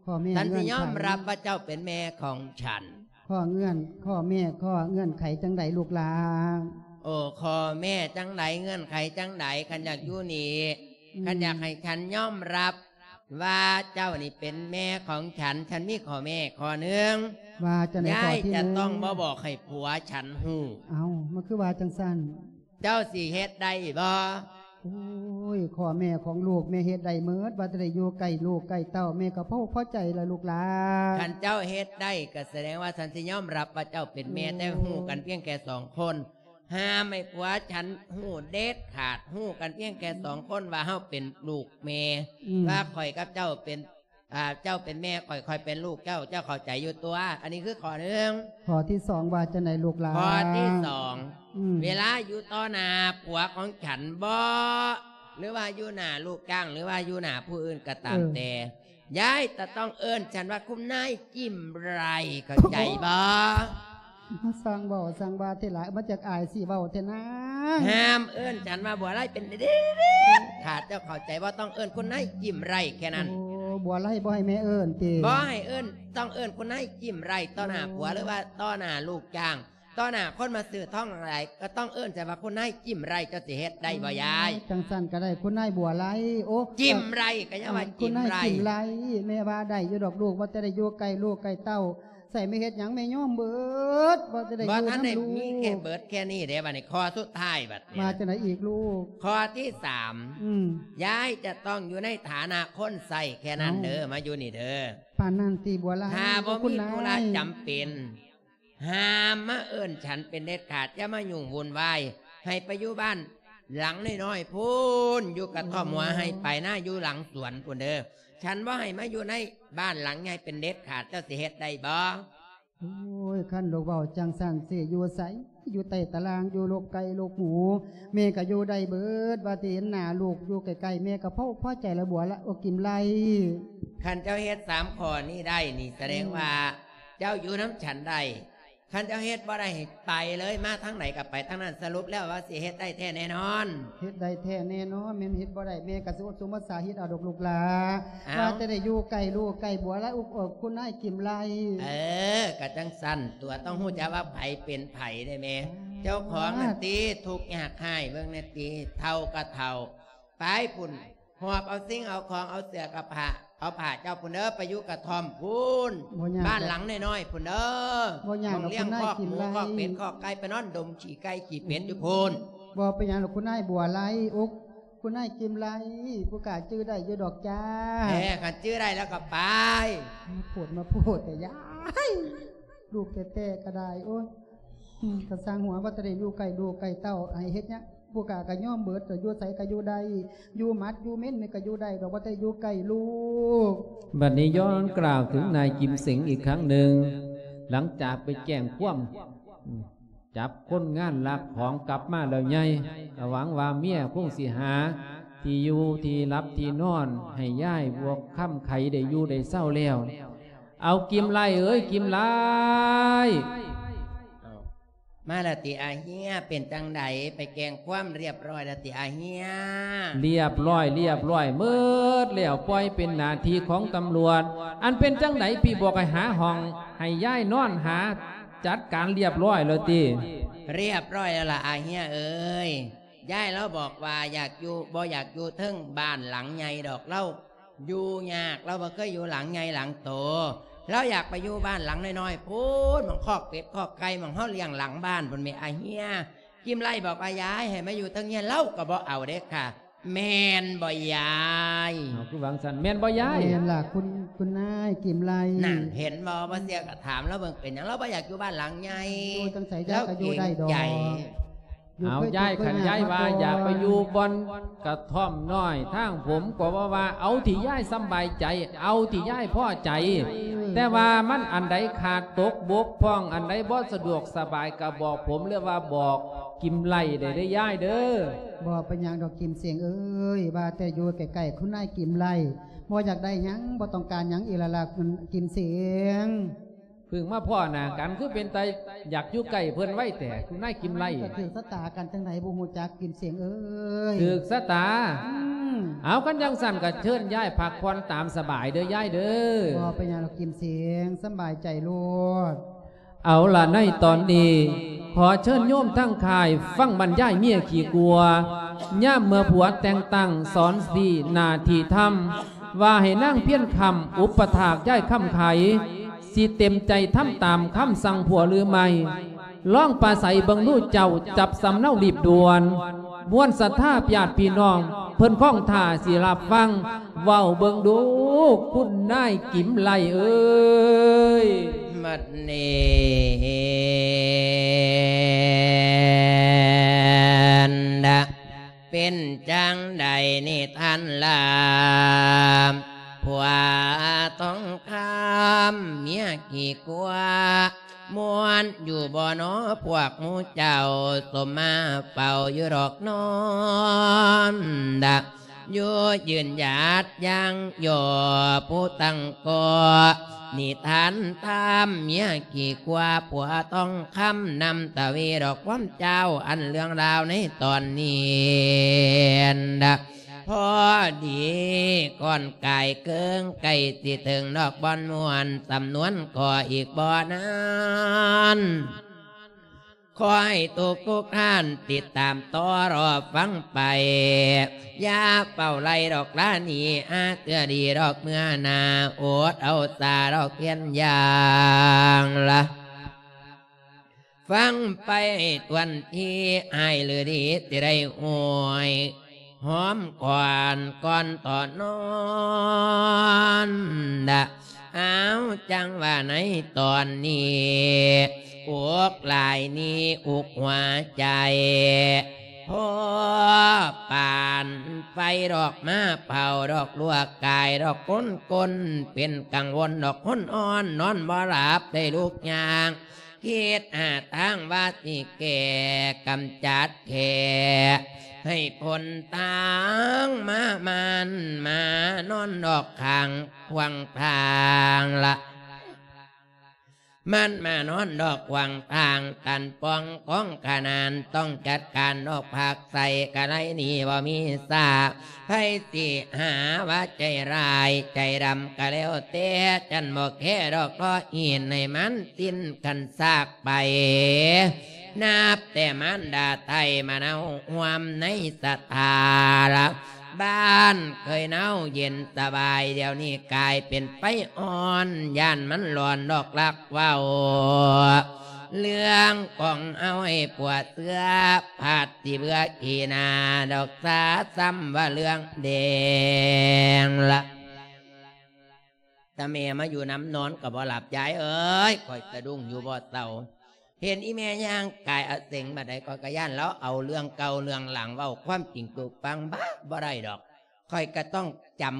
ເອົ້າ ຂໍ້ແມ້ ສັນຊິຍອມຮັບວ່າເຈົ້າເປັນແມ່ຂອງສັນ. ເງື່ອນໄຂ ຂໍ້ເງື່ອນ ຂໍ້ແມ້ ຂໍ້ເງື່ອນໄຂຈັ່ງໃດລູກຫຼ້າ? ໂອ້ ຂໍ້ແມ້ຈັ່ງໃດ ເງື່ອນໄຂຈັ່ງໃດ ຄັນຢາກຢູ່ນີ້ ອືມ ຄັນຢາກໃຫ້ສັນຍອມຮັບ ວ່າເຈົ້ານີ້ເປັນແມ່ຂອງສັນ ສັນມີຂໍ້ແມ້ຂໍ້ໜຶ່ງ ວ່າຈັ່ງໃດ? ຍາຍ ຂໍ້ທີໜຶ່ງ ຈະຕ້ອງບໍ່ບອກໃຫ້ຜົວສັນຮູ້. ເອົ້າ ມັນຄືວ່າຈັ່ງຊັ້ນ? ເຈົ້າຊິເຮັດໄດ້ບໍ່? ໂອ້ຍ ຂໍ້ແມ້ຂອງລູກແມ່ເຮັດໄດ້ໝົດ ວ່າແຕ່ໄດ້ຢູ່ໃກ້ລູກໃກ້ເຕົ້າ ແມ່ກະພໍ ພໍໃຈລະລູກຫຼ້າ. ຄັນເຈົ້າເຮັດໄດ້ ກະສະແດງວ່າສັນຊິຍອມຮັບວ່າເຈົ້າເປັນແມ່ ໂອ້ ແຕ່ຮູ້ກັນພຽງແຕ່ສອງຄົນ ຫ້າມໃຫ້ຜົວສັນຮູ້ເດັດຂາດ ຮູ້ກັນພຽງແຕ່ສອງຄົນວ່າເຮົາເປັນລູກແມ່ ອືມ ວ່າຂ້ອຍກັບເຈົ້າເປັນ ອ່າ ເຈົ້າເປັນແມ່ຂ້ອຍ ຂ້ອຍເປັນລູກເຈົ້າ ເຈົ້າເຂົ້າໃຈຢູ່ຕົວະ? ອັນນີ້ຄືຂໍ້ໜຶ່ງ. ຂໍ້ທີສອງ ວ່າຈັ່ງໃດລູກຫຼ້າ? ຂໍ້ທີສອງ ອືມ ເວລາຢູ່ຕໍ່ໜ້າຜົວຂອງສັນບໍ ຫຼືວ່າຢູ່ໜ້າລູກຈ້າງ ຫຼືວ່າຢູ່ໜ້າຜູ້ອື່ນກະຕາມແຕ່ ເອີ ຍາຍຈະຕ້ອງເອີ້ນສັນວ່າ ຄຸນນາຍຈິ້ມໄຣ ເຂົ້າໃຈບໍ? ຊ່າງເວົ້າຊ່າງວ່າແທ້ລະ ມັນຈັກອາຍຊິເວົ້າແທ້ນາ. ຫ້າມເອີ້ນສັນວ່າບົວໄລເປັນເດັດຂາດ ເຈົ້າເຂົ້າໃຈບໍ່? ຕ້ອງເອີ້ນຄຸນນາຍຈິ້ມໄຣແຄ່ນັ້ນ. ໂອ້ ບົວໄລບໍ່ໃຫ້ແມ່ເອີ້ນຕິ? ບໍ່ໃຫ້ເອີ້ນ ຕ້ອງເອີ້ນຄຸນນາຍຈິ້ມໄຣຕໍ່ໜ້າຜົວ ໂອ້ ຫຼືວ່າຕໍ່ໜ້າລູກຈ້າງ. ຕໍ່ໜ້າຄົນມາຊື້ທອງຫຼາຍໆ ກໍຕ້ອງເອີ້ນໃສ່ວ່າ ຄຸນນາຍຈິ້ມໄລ່ ເຈົ້າຊິເຮັດໄດ້ບໍ່ຍາຍ? ອໍ ຈັ່ງຊັ້ນກໍໄດ້ ຄຸນນາຍບົວໄລ່. ໂອ້ ຈິ້ມໄລ່ ກໍຍັງວ່າຈິ້ມໄລ່ ຄຸນນາຍຈິ້ມໄລ່. ແມ່ວ່າໄດ້ຢູ່ດອກລູກ ວ່າແຕ່ໄດ້ຢູ່ໃກ້ລູກໃກ້ເຕົ້າ ໃສ່ແມ່ເຮັດຫຍັງແມ່ຍອມເບີດ ວ່າແຕ່ໄດ້ຢູ່ນຳລູກ. ບໍ່ທັນໄດ້ມີແຄ່ເບີດແຄ່ນີ້ເດ້ ບັດນີ້ຂໍ້ສຸດທ້າຍບັດນີ້ ວ່າຈັ່ງໃດອີກລູກ? ຂໍ້ທີສາມ ອືມ ຍາຍຈະຕ້ອງຢູ່ໃນຖານະຄົນໃຊ້ແຄ່ນັ້ນເດີ ເອົ້າ ມາຢູ່ນີ້ເດີ. ປານນັ້ນຕິບົວໄລ່? ຖ້າບໍ່ມີທຸລະຈຳເປັນ ຫ້າມມາເອີ້ນສັນເປັນເດັດຂາດ ຢ່າມາຫຍຸ້ງວຸ່ນວາຍ ໃຫ້ໄປຢູ່ບ້ານຫຼັງນ້ອຍໆ ພຸ້ນ ຢູ່ກະທ່ອມຫົວໄຮ່ປາຍນາ ຢູ່ຫຼັງສວນພຸ້ນເດີ. ສັນບໍ່ໃຫ້ມາຢູ່ໃນບ້ານຫຼັງໃຫຍ່ເປັນເດັດຂາດ ເຈົ້າຊິເຮັດໄດ້ບໍ່? ໂອ້ຍ ຄັນລູກເວົ້າຈັ່ງຊັ້ນ ຊິຢູ່ໃສ? ຢູ່ໃຕ້ຕາລ່າງ ຢູ່ລົກໄກ່ລົກໝູ ແມ່ກໍຢູ່ໄດ້ເບີດ ວ່າຊິເຫັນໜ້າລູກຢູ່ໃກ້ໆ ແມ່ກໍພໍ ພໍໃຈລະບົວລະ ໂອ ກິມໄລ່. ຄັນເຈົ້າເຮັດສາມຂໍ້ນີ້ໄດ້ນີ້ ສະແດງ ອືມ ວ່າເຈົ້າຢູ່ນຳສັນໄດ້. ຄັນເຈົ້າເຮັດບໍ່ໄດ້ໃຫ້ໄປເລີຍ ມາທາງໃດກໍໄປທາງນັ້ນ. ສະຫຼຸບແລ້ວວ່າຊິເຮັດໄດ້ແທ້ແນ່ນອນ? ເຮັດໄດ້ແທ້ແນ່ນອນ. ແມ່ນເຮັດບໍ່ໄດ້ ແມ່ກໍຊິອົດສົມອົດສາເຮັດເອົາດອກລູກຫຼາ. ເອົ້າ ວ່າແຕ່ໄດ້ຢູ່ໃກ້ລູກໃກ້ບົວລະ ອຸບເອິກ ຄຸນນາຍກິມໄລ່. ເອີ ກໍຈັ່ງຊັ້ນຕົວະ ຕ້ອງຮູ້ຈັກວ່າໃຜເປັນໃຜເດ້ແມ່. ອືມ ເຈົ້າຂອງນັ້ນຕິ ທຸກຍາກຮ້າຍ ເບິ່ງແນ່ຕິ ເຖົ້າກໍເຖົ້າ ໄປພຸ້ນ ຫອບເອົາສິ່ງເອົາຂອງ ເອົາເສື້ອກັບຜ້າ ເອົາຜ້າເຈົ້າພຸ້ນເດີ ໄປຢູ່ກະທ່ອມພຸ້ນ ບ້ານຫຼັງນ້ອຍໆ ພຸ້ນເດີ ບໍ່ຍາກດອກ ໝ່ອງລ້ຽງຄອກໝູ ຄອກເປັດ ຄອກໄກ່ ໄປນອນດົມຂີ້ໄກ່ຂີ້ເປັດຢູ່ພຸ້ນ. ບໍ່ເປັນຫຍັງດອກ ຄຸນນາຍບົວໄລ່ ໂອ້ ຄຸນນາຍກິມໄລ່ ຜູ້ກະຈື່ໄດ້ຢູ່ດອກຈ້າ. ເອີ ຄັນຈື່ໄດ້ແລ້ວກໍໄປ. ມາໂພດ ມາໂພດແຕ່ຍາຍ ລູກແທ້ໆກໍໄດ້ ໂອ້ຍ ອືມ ກໍຊ່າງຫົວ ວ່າແຕ່ໄດ້ຢູ່ໃກ້ລູກໃກ້ເຕົ້າ ໃຫ້ເຮັດຫຍັງ ຜູ້ກະກໍຍອມເບີດ ກໍຢູ່ໃສກໍຢູ່ໄດ້ ຢູ່ໝັດຢູ່ເມັນນີ້ກໍຢູ່ໄດ້ດອກ ວ່າແຕ່ຢູ່ໃກ້ລູກ. ບັດນີ້ຍ້ອນກ່າວເຖິງນາຍກິມເສັງອີກຄັ້ງໜຶ່ງ ຫຼັງຈາກໄປແຈ້ງຄວາມ ອືມ ຈັບຄົນງານລັກຂອງກັບມາແລ້ວໃຫຍ່ ກໍຫວັງວ່າເມຍຄົງຊິຫາທີ່ຢູ່ທີ່ຫຼັບທີ່ນອນໃຫ້ຍາຍບວກຄຳໄຂໄດ້ຢູ່ໄດ້ເຊົາແລ້ວ. ເອົາ ກິມໄລ່ເອີຍ ກິມໄລ່. ເອົ້າ ມາລະຕິອາເຮຍ ເປັນຈັ່ງໃດ ໄປແຈ້ງຄວາມລຽບຮ້ອຍລະຕິອາເຮຍ? ລຽບຮ້ອຍ ລຽບຮ້ອຍໝົດແລ້ວ ປ່ອຍເປັນໜ້າທີ່ຂອງຕຳຫຼວດ. ອັນເປັນຈັ່ງໃດ ພີ່ບອກໃຫ້ຫາຫ້ອງໃຫ້ຍາຍນອນ ຫາຈັດການລຽບຮ້ອຍແລ້ວຕິ? ລຽບຮ້ອຍແລ້ວລະອາເຮຍເອີຍ. ຍາຍລາວບອກວ່າຢາກຢູ່ ບໍ່ຢາກຢູ່ເທິງບ້ານຫຼັງໃຫຍ່ດອກ ລາວຢູ່ຍາກ ລາວບໍ່ເຄີຍຢູ່ຫຼັງໃຫຍ່ຫຼັງໂຕ ລາວຢາກໄປຢູ່ບ້ານຫຼັງນ້ອຍໆ ພຸ້ນ ໝ່ອງຄອກເປັດຄອກໄກ່ ໝ່ອງເຮົາລ້ຽງຫຼັງບ້ານພຸ້ນແໝ່ອາເຮຍ. ກິມໄລ່ບອກວ່າ ຢາຍໃຫ້ມາຢູ່ເທິງເຮືອນ ລາວກໍບໍ່ເອົາເດ້ຄ່ະ ແມ່ນບໍ່ຍາຍ? ເອົາ ຄືວ່າຈັ່ງຊັ້ນ ແມ່ນບໍ່ຍາຍ? ແມ່ນລະ ຄຸນ ຄຸນນາຍກິມໄລ່. ນັ້ນ ເຫັນບໍ່? ບໍ່ເຊື່ອກໍຖາມລາວເບິ່ງ ເປັນຫຍັງລາວບໍ່ຢາກຢູ່ບ້ານຫຼັງໃຫຍ່? ໂອ້ຍ ຈັ່ງໃສຍາຍກໍຢູ່ໄດ້ດອກ ລາວເກງໃຈ. ເອົາ ຍາຍ ຄັນຍາຍວ່າຢາກໄປຢູ່ບ່ອນກະທ່ອມນ້ອຍທາງຜົມ ກໍບໍ່ວ່າ ເອົາທີ່ຍາຍສຳບາຍໃຈ ເອົາທີ່ຍາຍພໍໃຈ. ເອີ ແຕ່ວ່າມັນອັນໃດຂາດຕົກບົກຜ່ອງ ອັນໃດບໍ່ສະດວກສະບາຍ ກໍບອກຜົມ ຫຼືວ່າບອກກິມໄລ່ໄດ້ເດີຍາຍເດີ. ບໍ່ເປັນຫຍັງດອກກິມເສັງເອີຍ ວ່າແຕ່ຢູ່ໃກ້ໆ ຄຸນນາຍກິມໄລ່ ບໍ່ຢາກໄດ້ຫຍັງ ບໍ່ຕ້ອງການຫຍັງອີກລະລະ ກິມເສັງ. ເພິ່ງມາພໍ້ໜ້າກັນ ຄືເປັນຕາຢາກຢູ່ໃກ້ເພິ່ນໄວແທ້ ຄຸນນາຍກິມໄລ່. ມັນກໍຖືກຊະຕາກັນຈັ່ງໃດບໍ່ຮູ້ຈັກ ກິມເສັງເອີຍ. ຖືກຊະຕາ? ອືມ. ເອົາ ຄັນຈັ່ງຊັ້ນກໍເຊີນຍາຍພັກຜ່ອນຕາມສະບາຍເດີຍາຍເດີ. ບໍ່ເປັນຫຍັງດອກກິມເສັງ ສຳບາຍໃຈໂລດ. ເອົາລະ ໃນຕອນນີ້ ຂໍເຊີນໂຍມທັງຄ້າຍ ຟັງບັນຍາຍເມຍຂີ້ກົວ ຍາມເມື່ອຜົວແຕ່ງຕັ້ງສອນສີໜ້າທີ່ທຳ ວ່າໃຫ້ນາງພຽນຄຳອຸປະຖາກຍາຍຄຳໄຂ ຊິເຕັມໃຈທຳຕາມຄຳສັ່ງຜົວຫຼືໄມ່? ລອງປາໄສເບິ່ງດູເຈົ້າ ຈັບສຳເນົາລີບດ່ວນ. ມວນສັດທາຍາດພີ່ນ້ອງ ເພິ່ນຄອງທ່າຊິຮັບຟັງ ເວົ້າເບິ່ງດູ ຄຸນນາຍກິມໄລ່ເອີຍ. ບັດນີ້ ເປັນຈັ່ງໃດນິທານລາ ຜົວທອງຄຳເມຍຂີ້ກົວ ມ່ວນຢູ່ບໍ່ນໍພວກໝູ່ເຈົ້າ ສົມມາເຝົ້າຢູ່ດອກນອນດະ ຢູ່ຢືນຢາດຢ່າງຍໍຜູ້ຕັ້ງກໍ່ ນິທານຕາມເມຍຂີ້ກົວ ຜົວທອງຄຳນຳຕະເວດອກຄວາມເຈົ້າ ອັນເລື່ອງລາວໃນຕອນນີ້ດະ ພໍດີກ່ອນກາຍເກີງ ໃກ້ຊິເຖິງດອກບ່ອນມ່ວນ ສຳນວນກໍອີກບໍ່ນານ ຂໍໃຫ້ທຸກໆທ່ານຕິດຕາມຕໍ່ລໍຟັງໄປ ຢ່າເຝົ້າໄລ່ດອກລານີ້ ຫາເທື່ອດີດອກເມື່ອໜ້າ ອົດເອົາສາດອກພຽນຢ່າງລະ ຟັງໄປທົ່ວທີ ຮ້າຍຫຼືດີ ຊິໄດ້ໂອ້ຍຫອມກ່ອນ ກ່ອນຕໍ່ນອນດະ. ອ້າວ ຈັ່ງວ່າໃນຕອນນີ້ ອົກຫຼາຍນີ້ ອຸກຫົວໃຈ ພໍປານໄຟດອກມາເຜົາດອກ ລວກກາຍດອກ ຄົນຄົນເປັນກັງວົນດອກ ຄົນອ່ອນນອນບໍ່ຫຼັບ ໄດ້ລຸກຍ່າງ ຄິດຫາທາງວ່າຊິແກ້ ກຳຈັດແຂ້ ໃຫ້ພົ້ນທາງ ມາມານມານອນດອກຂ້າງຂວາງທາງລະ ມັນມານອນດອກຂວາງທາງ ຕັນປ່ອງຂອງຂະໜານ ຕ້ອງຈັດການດອກພາກໃສ່ ກະໄລນີ້ບໍ່ມີຊາ ໃຜຊິຫາວ່າໃຈຮ້າຍໃຈດຳກະແລ້ວແຕ່ ຈັນບໍ່ແຄດອກ ເພາະເຮັດໃຫ້ມັນສິ້ນຄັນຊາກໄປ ນັບແຕ່ມານດາໄທມາເນົາຮ່ວມໃນສະຖາລະ ບ້ານເຄີຍເນົາເຢັນສະບາຍ ດຽວນີ້ກາຍເປັນໄຟອ່ອນ ຢ້ານມັນຮ້ອນດອກລັກເວົ້າ ເລື່ອງຂອງເຮົາໃຫ້ປົວເຊື່ອ ພັດຊິເບື່ອຂີ້ໜ້າດອກ ສາຊ້ຳວ່າເລື່ອງແດງລະ. ຕາແມ່ມາຢູ່ນຳນອນກໍບໍ່ຫຼັບ ຍາຍເອີຍ ຂ້ອຍສະດຸ້ງຢູ່ບໍ່ເຊົາ ເຫັນອີແມ່ຍ່າງກາຍອະເສັງບາດໃດ ຂ້ອຍກໍຢ້ານລາວເອົາເລື່ອງເກົ່າເລື່ອງຫຼັງເວົ້າຄວາມຈິງສູ່ຟັງ ບາດບໍ່ໄດ້ດອກ ຂ້ອຍກໍຕ້ອງຈຳ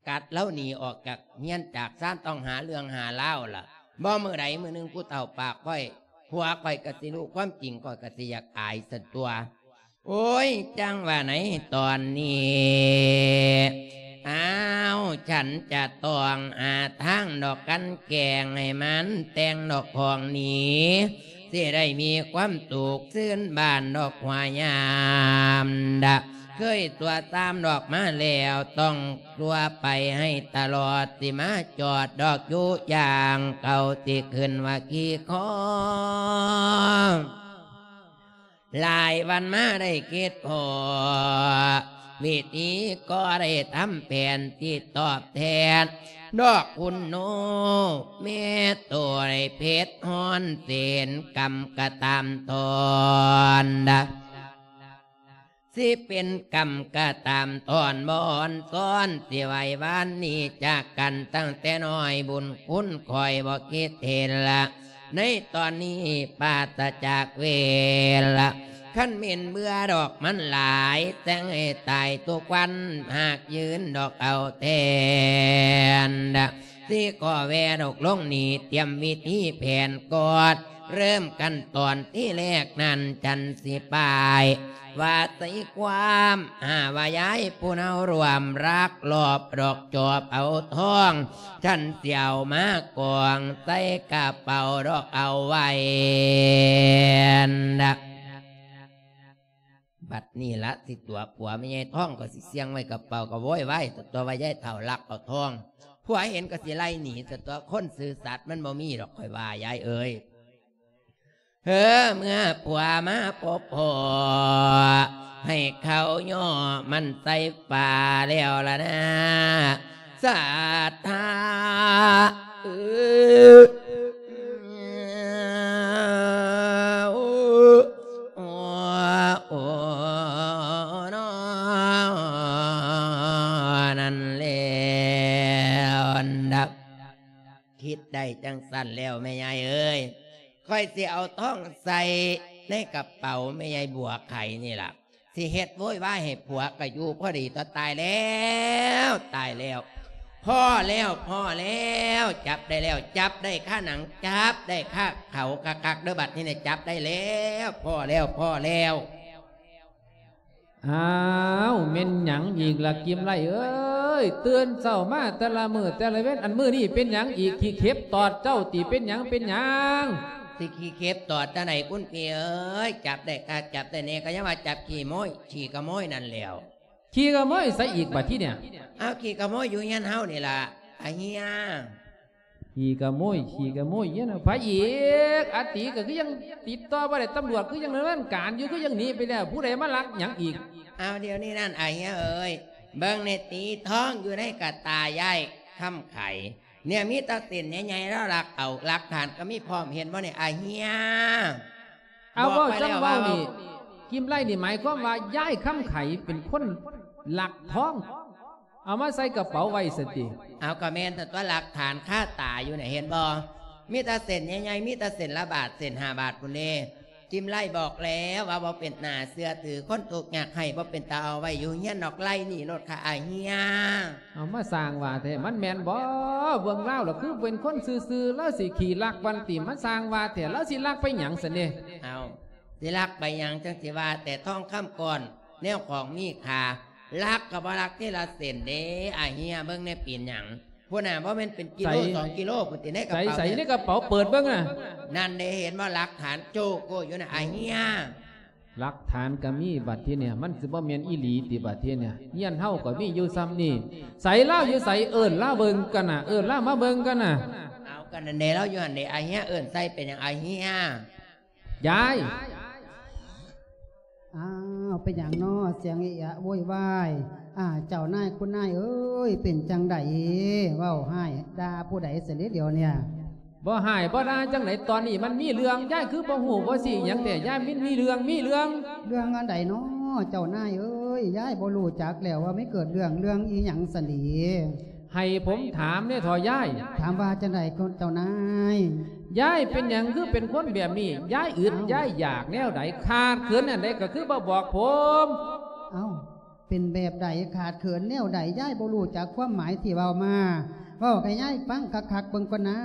ກັດລາວໜີອອກຈາກເຮືອນຈາກຊານ ຕ້ອງຫາເລື່ອງຫາລາວລະ ບໍ່ມື້ໃດມື້ໜຶ່ງຜູ້ເຖົ້າປາກຂ້ອຍ ຜົວຂ້ອຍກໍຊິຮູ້ຄວາມຈິງ ຂ້ອຍກໍຊິຢາກອາຍຊັ້ນຕົວະ. ໂອ້ຍ ຈັ່ງວ່າໃນຕອນນີ້ ອ້າວ ສັນຈະຕ້ອງຫາທາງດອກກັນແກງໃຫ້ມັນແຕ່ງດອກຂອງໜີ ຊິໄດ້ມີຄວາມສຸກຊື່ນບານດອກຫົວຍາມດະ ເຄີຍຕົວະຕາມດອກມາແລ້ວ ຕ້ອງຕົວະໄປໃຫ້ຕະຫຼອດ ຊິມາຈອດດອກຢູ່ຢ່າງເກົ່າ ຊິຂຶ້ນວ່າຂີ້ຄໍ. ຫຼາຍວັນມາໄດ້ຄິດພໍ ວິທີກໍໄດ້ທຳແຜນທີ່ຕອບແທນ ດອກຄຸນໂນ ແມ່ໂຕໄດ້ເຜັດຮ້ອນເສນ ກຳກະຕາມທອນດະ ຊິເປັນກຳກະຕາມທອນ ບໍ່ອ່ອນຊ້ອນ ຊິໄຫວ້ວານໜີຈາກກັນ ຕັ້ງແຕ່ນ້ອຍບຸນຄຸນຂ້ອຍບໍ່ຄິດເຫັນລະ ໃນຕອນນີ້ປາສະຈາກເວລາ ຄັນແມ່ນເບື່ອດອກມັນຫຼາຍ ແຕ່ງໃຫ້ຕາຍທຸກວັນ ຫາກຢືນດອກເອົາແທນ ຊິຂໍແວ່ດອກລົງນີ້ ຕຽມວິທີແຜນກອດ ເລີ່ມຂັ້ນຕອນທີແລກນັ້ນ ຈັນຊິປາຍ ວ່າໃສ່ຄວາມຫາວ່າຍາຍຜູ້ເນົາຮ່ວມລັກລອບດອກຈອບເອົາທອງ ສັນຊິເອົາມາກອງໃສ່ກະເປົາດອກເອົາໄວ້ນະ. ບັດນີ້ລະຊິຕົວະຜົວແມ່ໃຫຍ່ທອງ ກໍຊິສ່ຽງໄວ້ກະເປົາ ກໍໂວຍວາຍຕົວະວ່າຍາຍເຖົ້າລັກເອົາທອງ ຜົວເຫັນກໍຊິໄລ່ໜີຕົວະ ຄົນຊື່ສັດມັນບໍ່ມີດອກ ຂ້ອຍວ່າ ຍາຍເອີຍ. ເອີ ເມື່ອຜົວມາພົບພໍ້ ໃຫ້ເຂົາຍໍມັນໃສ່ຝາແລ້ວລະນາ ສັດທາ ເອີ ໂອ ໂອ ໂອ ນອ ນັ້ນແລ້ວນະ. ຄິດໄດ້ຈັ່ງຊັ້ນແລ້ວ ແມ່ຍາຍເອີຍ ຂ້ອຍຊິເອົາທອງໃສ່ໃນກະເປົາແມ່ຍາຍບົວໄຂ່ນີ້ລະ ຊິເຮັດໂວຍວາຍໃຫ້ຜົວກະຢູ່ພໍດີຕົວະ ຕາຍແລ້ວ ຕາຍແລ້ວ ພໍ້ແລ້ວ ພໍ້ແລ້ວ ຈັບໄດ້ແລ້ວ ຈັບໄດ້ຄາໜັງ ຈັບໄດ້ຄາເຂົາຄັກໆເດີ້ ບັດນີ້ນະ ຈັບໄດ້ແລ້ວ ພໍ້ແລ້ວ ພໍ້ແລ້ວ. ອ້າວ ແມ່ນຫຍັງອີກລະ ກິມໄລເອີຍ? ຕື່ນເຊົ້າມາແຕ່ລະມື້ແຕ່ລະເວັນ ອັນມື້ນີ້ເປັນຫຍັງອີກ? ຂີ້ເຂັບຕອດເຈົ້າຕິ? ເປັນຫຍັງ ເປັນຫຍັງ? ຊິຂີ້ເຂັບຕອດຈັ່ງໃດ ຄຸນພີ່ເອີຍ? ຈັບໄດ້ຄັກ ຈັບໄດ້ແນ່ ກໍຍັງວ່າຈັບຂີ້ໂມຍ ຂີ້ຂະໂມຍນັ້ນແຫຼ້ວ. ຂີ້ຂະໂມຍໃສອີກບັດທີເນີ້ຍ? ອ້າວ ຂີ້ຂະໂມຍຢູ່ເຮືອນເຮົານີ້ລະ ອາເຮຍ. ຂີ້ຂະໂມຍ ຂີ້ຂະໂມຍເນາະ ໃຜອີກ? ອາຕີກໍຄືຍັງຕິດຕໍ່ບໍ່ໄດ້ ຕຳຫຼວດຄືຍັງດຳເນີນການຢູ່ ຄືຍັງໜີໄປແລ້ວ ຜູ້ໃດມາລັກຫຍັງອີກ? ອ້າວ ດຽວນີ້ນັ້ນ ອາເຮຍເອີຍ ເບິ່ງແນ່ຕິ ທອງຢູ່ໃນກະຕ່າຍາຍຄຳໄຂ ເນຍ ມີແຕ່ເສັ້ນໃຫຍ່ໆ ລາວລັກເອົາ ຫຼັກຖານກໍມີພ້ອມ ເຫັນບໍ່ນີ້ ອາເຮຍ? ເອົາ ບອກມາແລ້ວ ເວົ້າ ເວົ້ານີ້ ວ່າ ກິມໄລນີ້ໝາຍຄວາມວ່າ ຍາຍຄຳໄຂເປັນຄົນລັກທອງ ເອົາມາໃສ່ກະເປົາໄວ້ຊັ້ນຕິ? ເອົາ ກໍແມ່ນຕົວະ ຫຼັກຖານຄາຕາຢູ່ນີ້ ເຫັນບໍ່? ມີແຕ່ເສັ້ນໃຫຍ່ໆ ມີແຕ່ເສັ້ນລະບາດ ເສັ້ນຫ້າບາດພຸ້ນເດ້. ກິມໄລບອກແລ້ວວ່າບໍ່ເປັນໜ້າເຊື່ອຖື ຄົນທຸກຍາກໄຮ້ບໍ່ເປັນຕາເອົາໄວ້ຢູ່ເຮືອນດອກ ໄລ່ໜີໂລດຄ່າ ອາເຮຍ. ເອົາ ມາສ້າງວ່າແທ້ ມັນແມ່ນບໍ່? ເບິ່ງລາວລະຄືເປັນຄົນຊື່ໆ ລາວຊິຂີ້ລັກວັນຕິ ມາສ້າງວ່າແທ້ ລາວຊິລັກໄປຫຍັງຊັ້ນເດ? ເອົາ ຊິລັກໄປຫຍັງ ຈັ່ງຊິວ່າແຕ່ທອງຄຳກ້ອນ ແນວຂອງມີຄ່າ ລັກກໍບໍ່ລັກທີລະເສັ້ນເດ້ ອາເຮຍ ເບິ່ງແນ່ ເປັນຫຍັງ? ພຸ້ນນະ ບໍ່ແມ່ນເປັນກິໂລ ໃສ ສອງກິໂລພຸ້ນຕິ ໃນກະເປົາ ໃສ ໃສ ໃນກະເປົາ ເປີດເບິ່ງນະ ນັ້ນເດ້ ເຫັນບໍ່? ຫຼັກຖານໂຈໂກຢູ່ນະ ອາເຮຍ. ຫຼັກຖານກໍມີ ບັດທີນີ້ ມັນຊິບໍ່ແມ່ນອີ່ຫຼີຕິ ບັດທີນີ້? ເຮືອນເຮົາກໍມີຢູ່ຊ່ຳນີ້ ໃສລາວຢູ່ໃສ? ເອີ້ນລາວເບິ່ງກັນນະ ເອີ້ນລາວມາເບິ່ງກັນນະ. ເອົາ ກໍນັ້ນເດ້ ລາວຢູ່ຫັ້ນເດ້ ອາເຮຍ ເອີ້ນໃສ່ເປັນຫຍັງ ອາເຮຍ? ຍາຍ ອ້າວ ເປັນຫຍັງນໍ ສຽງເອະອະໂວຍວາຍ? ອາ ເຈົ້ານາຍ ຄຸນນາຍເອີຍ ເປັນຈັ່ງໃດ? ເວົ້າຮ້າຍດ່າຜູ້ໃດຊັ້ນເດ ດຽວນີ້? ບໍ່ຮ້າຍບໍ່ດ່າຈັ່ງໃດ ຕອນນີ້ມັນມີເລື່ອງ ຍາຍຄືບໍ່ຮູ້ບໍ່ຊີ້ຫຍັງແທ້ ຍາຍ ມັນມີເລື່ອງ ມີເລື່ອງ. ເລື່ອງອັນໃດນໍ ເຈົ້ານາຍເອີຍ? ຍາຍບໍ່ຮູ້ຈັກແລ້ວວ່າມີເກີດເລື່ອງ ເລື່ອງອີ່ຫຍັງຊັ້ນເດ? ໃຫ້ຜົມຖາມແດ່ເຖາະຍາຍ. ຖາມວ່າຈັ່ງໃດເຈົ້ານາຍ? ຍາຍເປັນຫຍັງຄືເປັນຄົນແບບນີ້? ຍາຍອຶດ ເອົ້າ ຍາຍຢາກແນວໃດ? ຂາດເຂີນອັນໃດກໍຄືບໍ່ບອກຜົມ? ເອົ້າ ເປັນແບບໃດ? ຂາດເຂີນແນວໃດ? ຍາຍບໍ່ຮູ້ຈັກຄວາມໝາຍທີ່ເວົ້າມາ. ເວົ້າໃຫ້ຍາຍຟັງຄັກໆ ເບິ່ງກ່ອນນາ.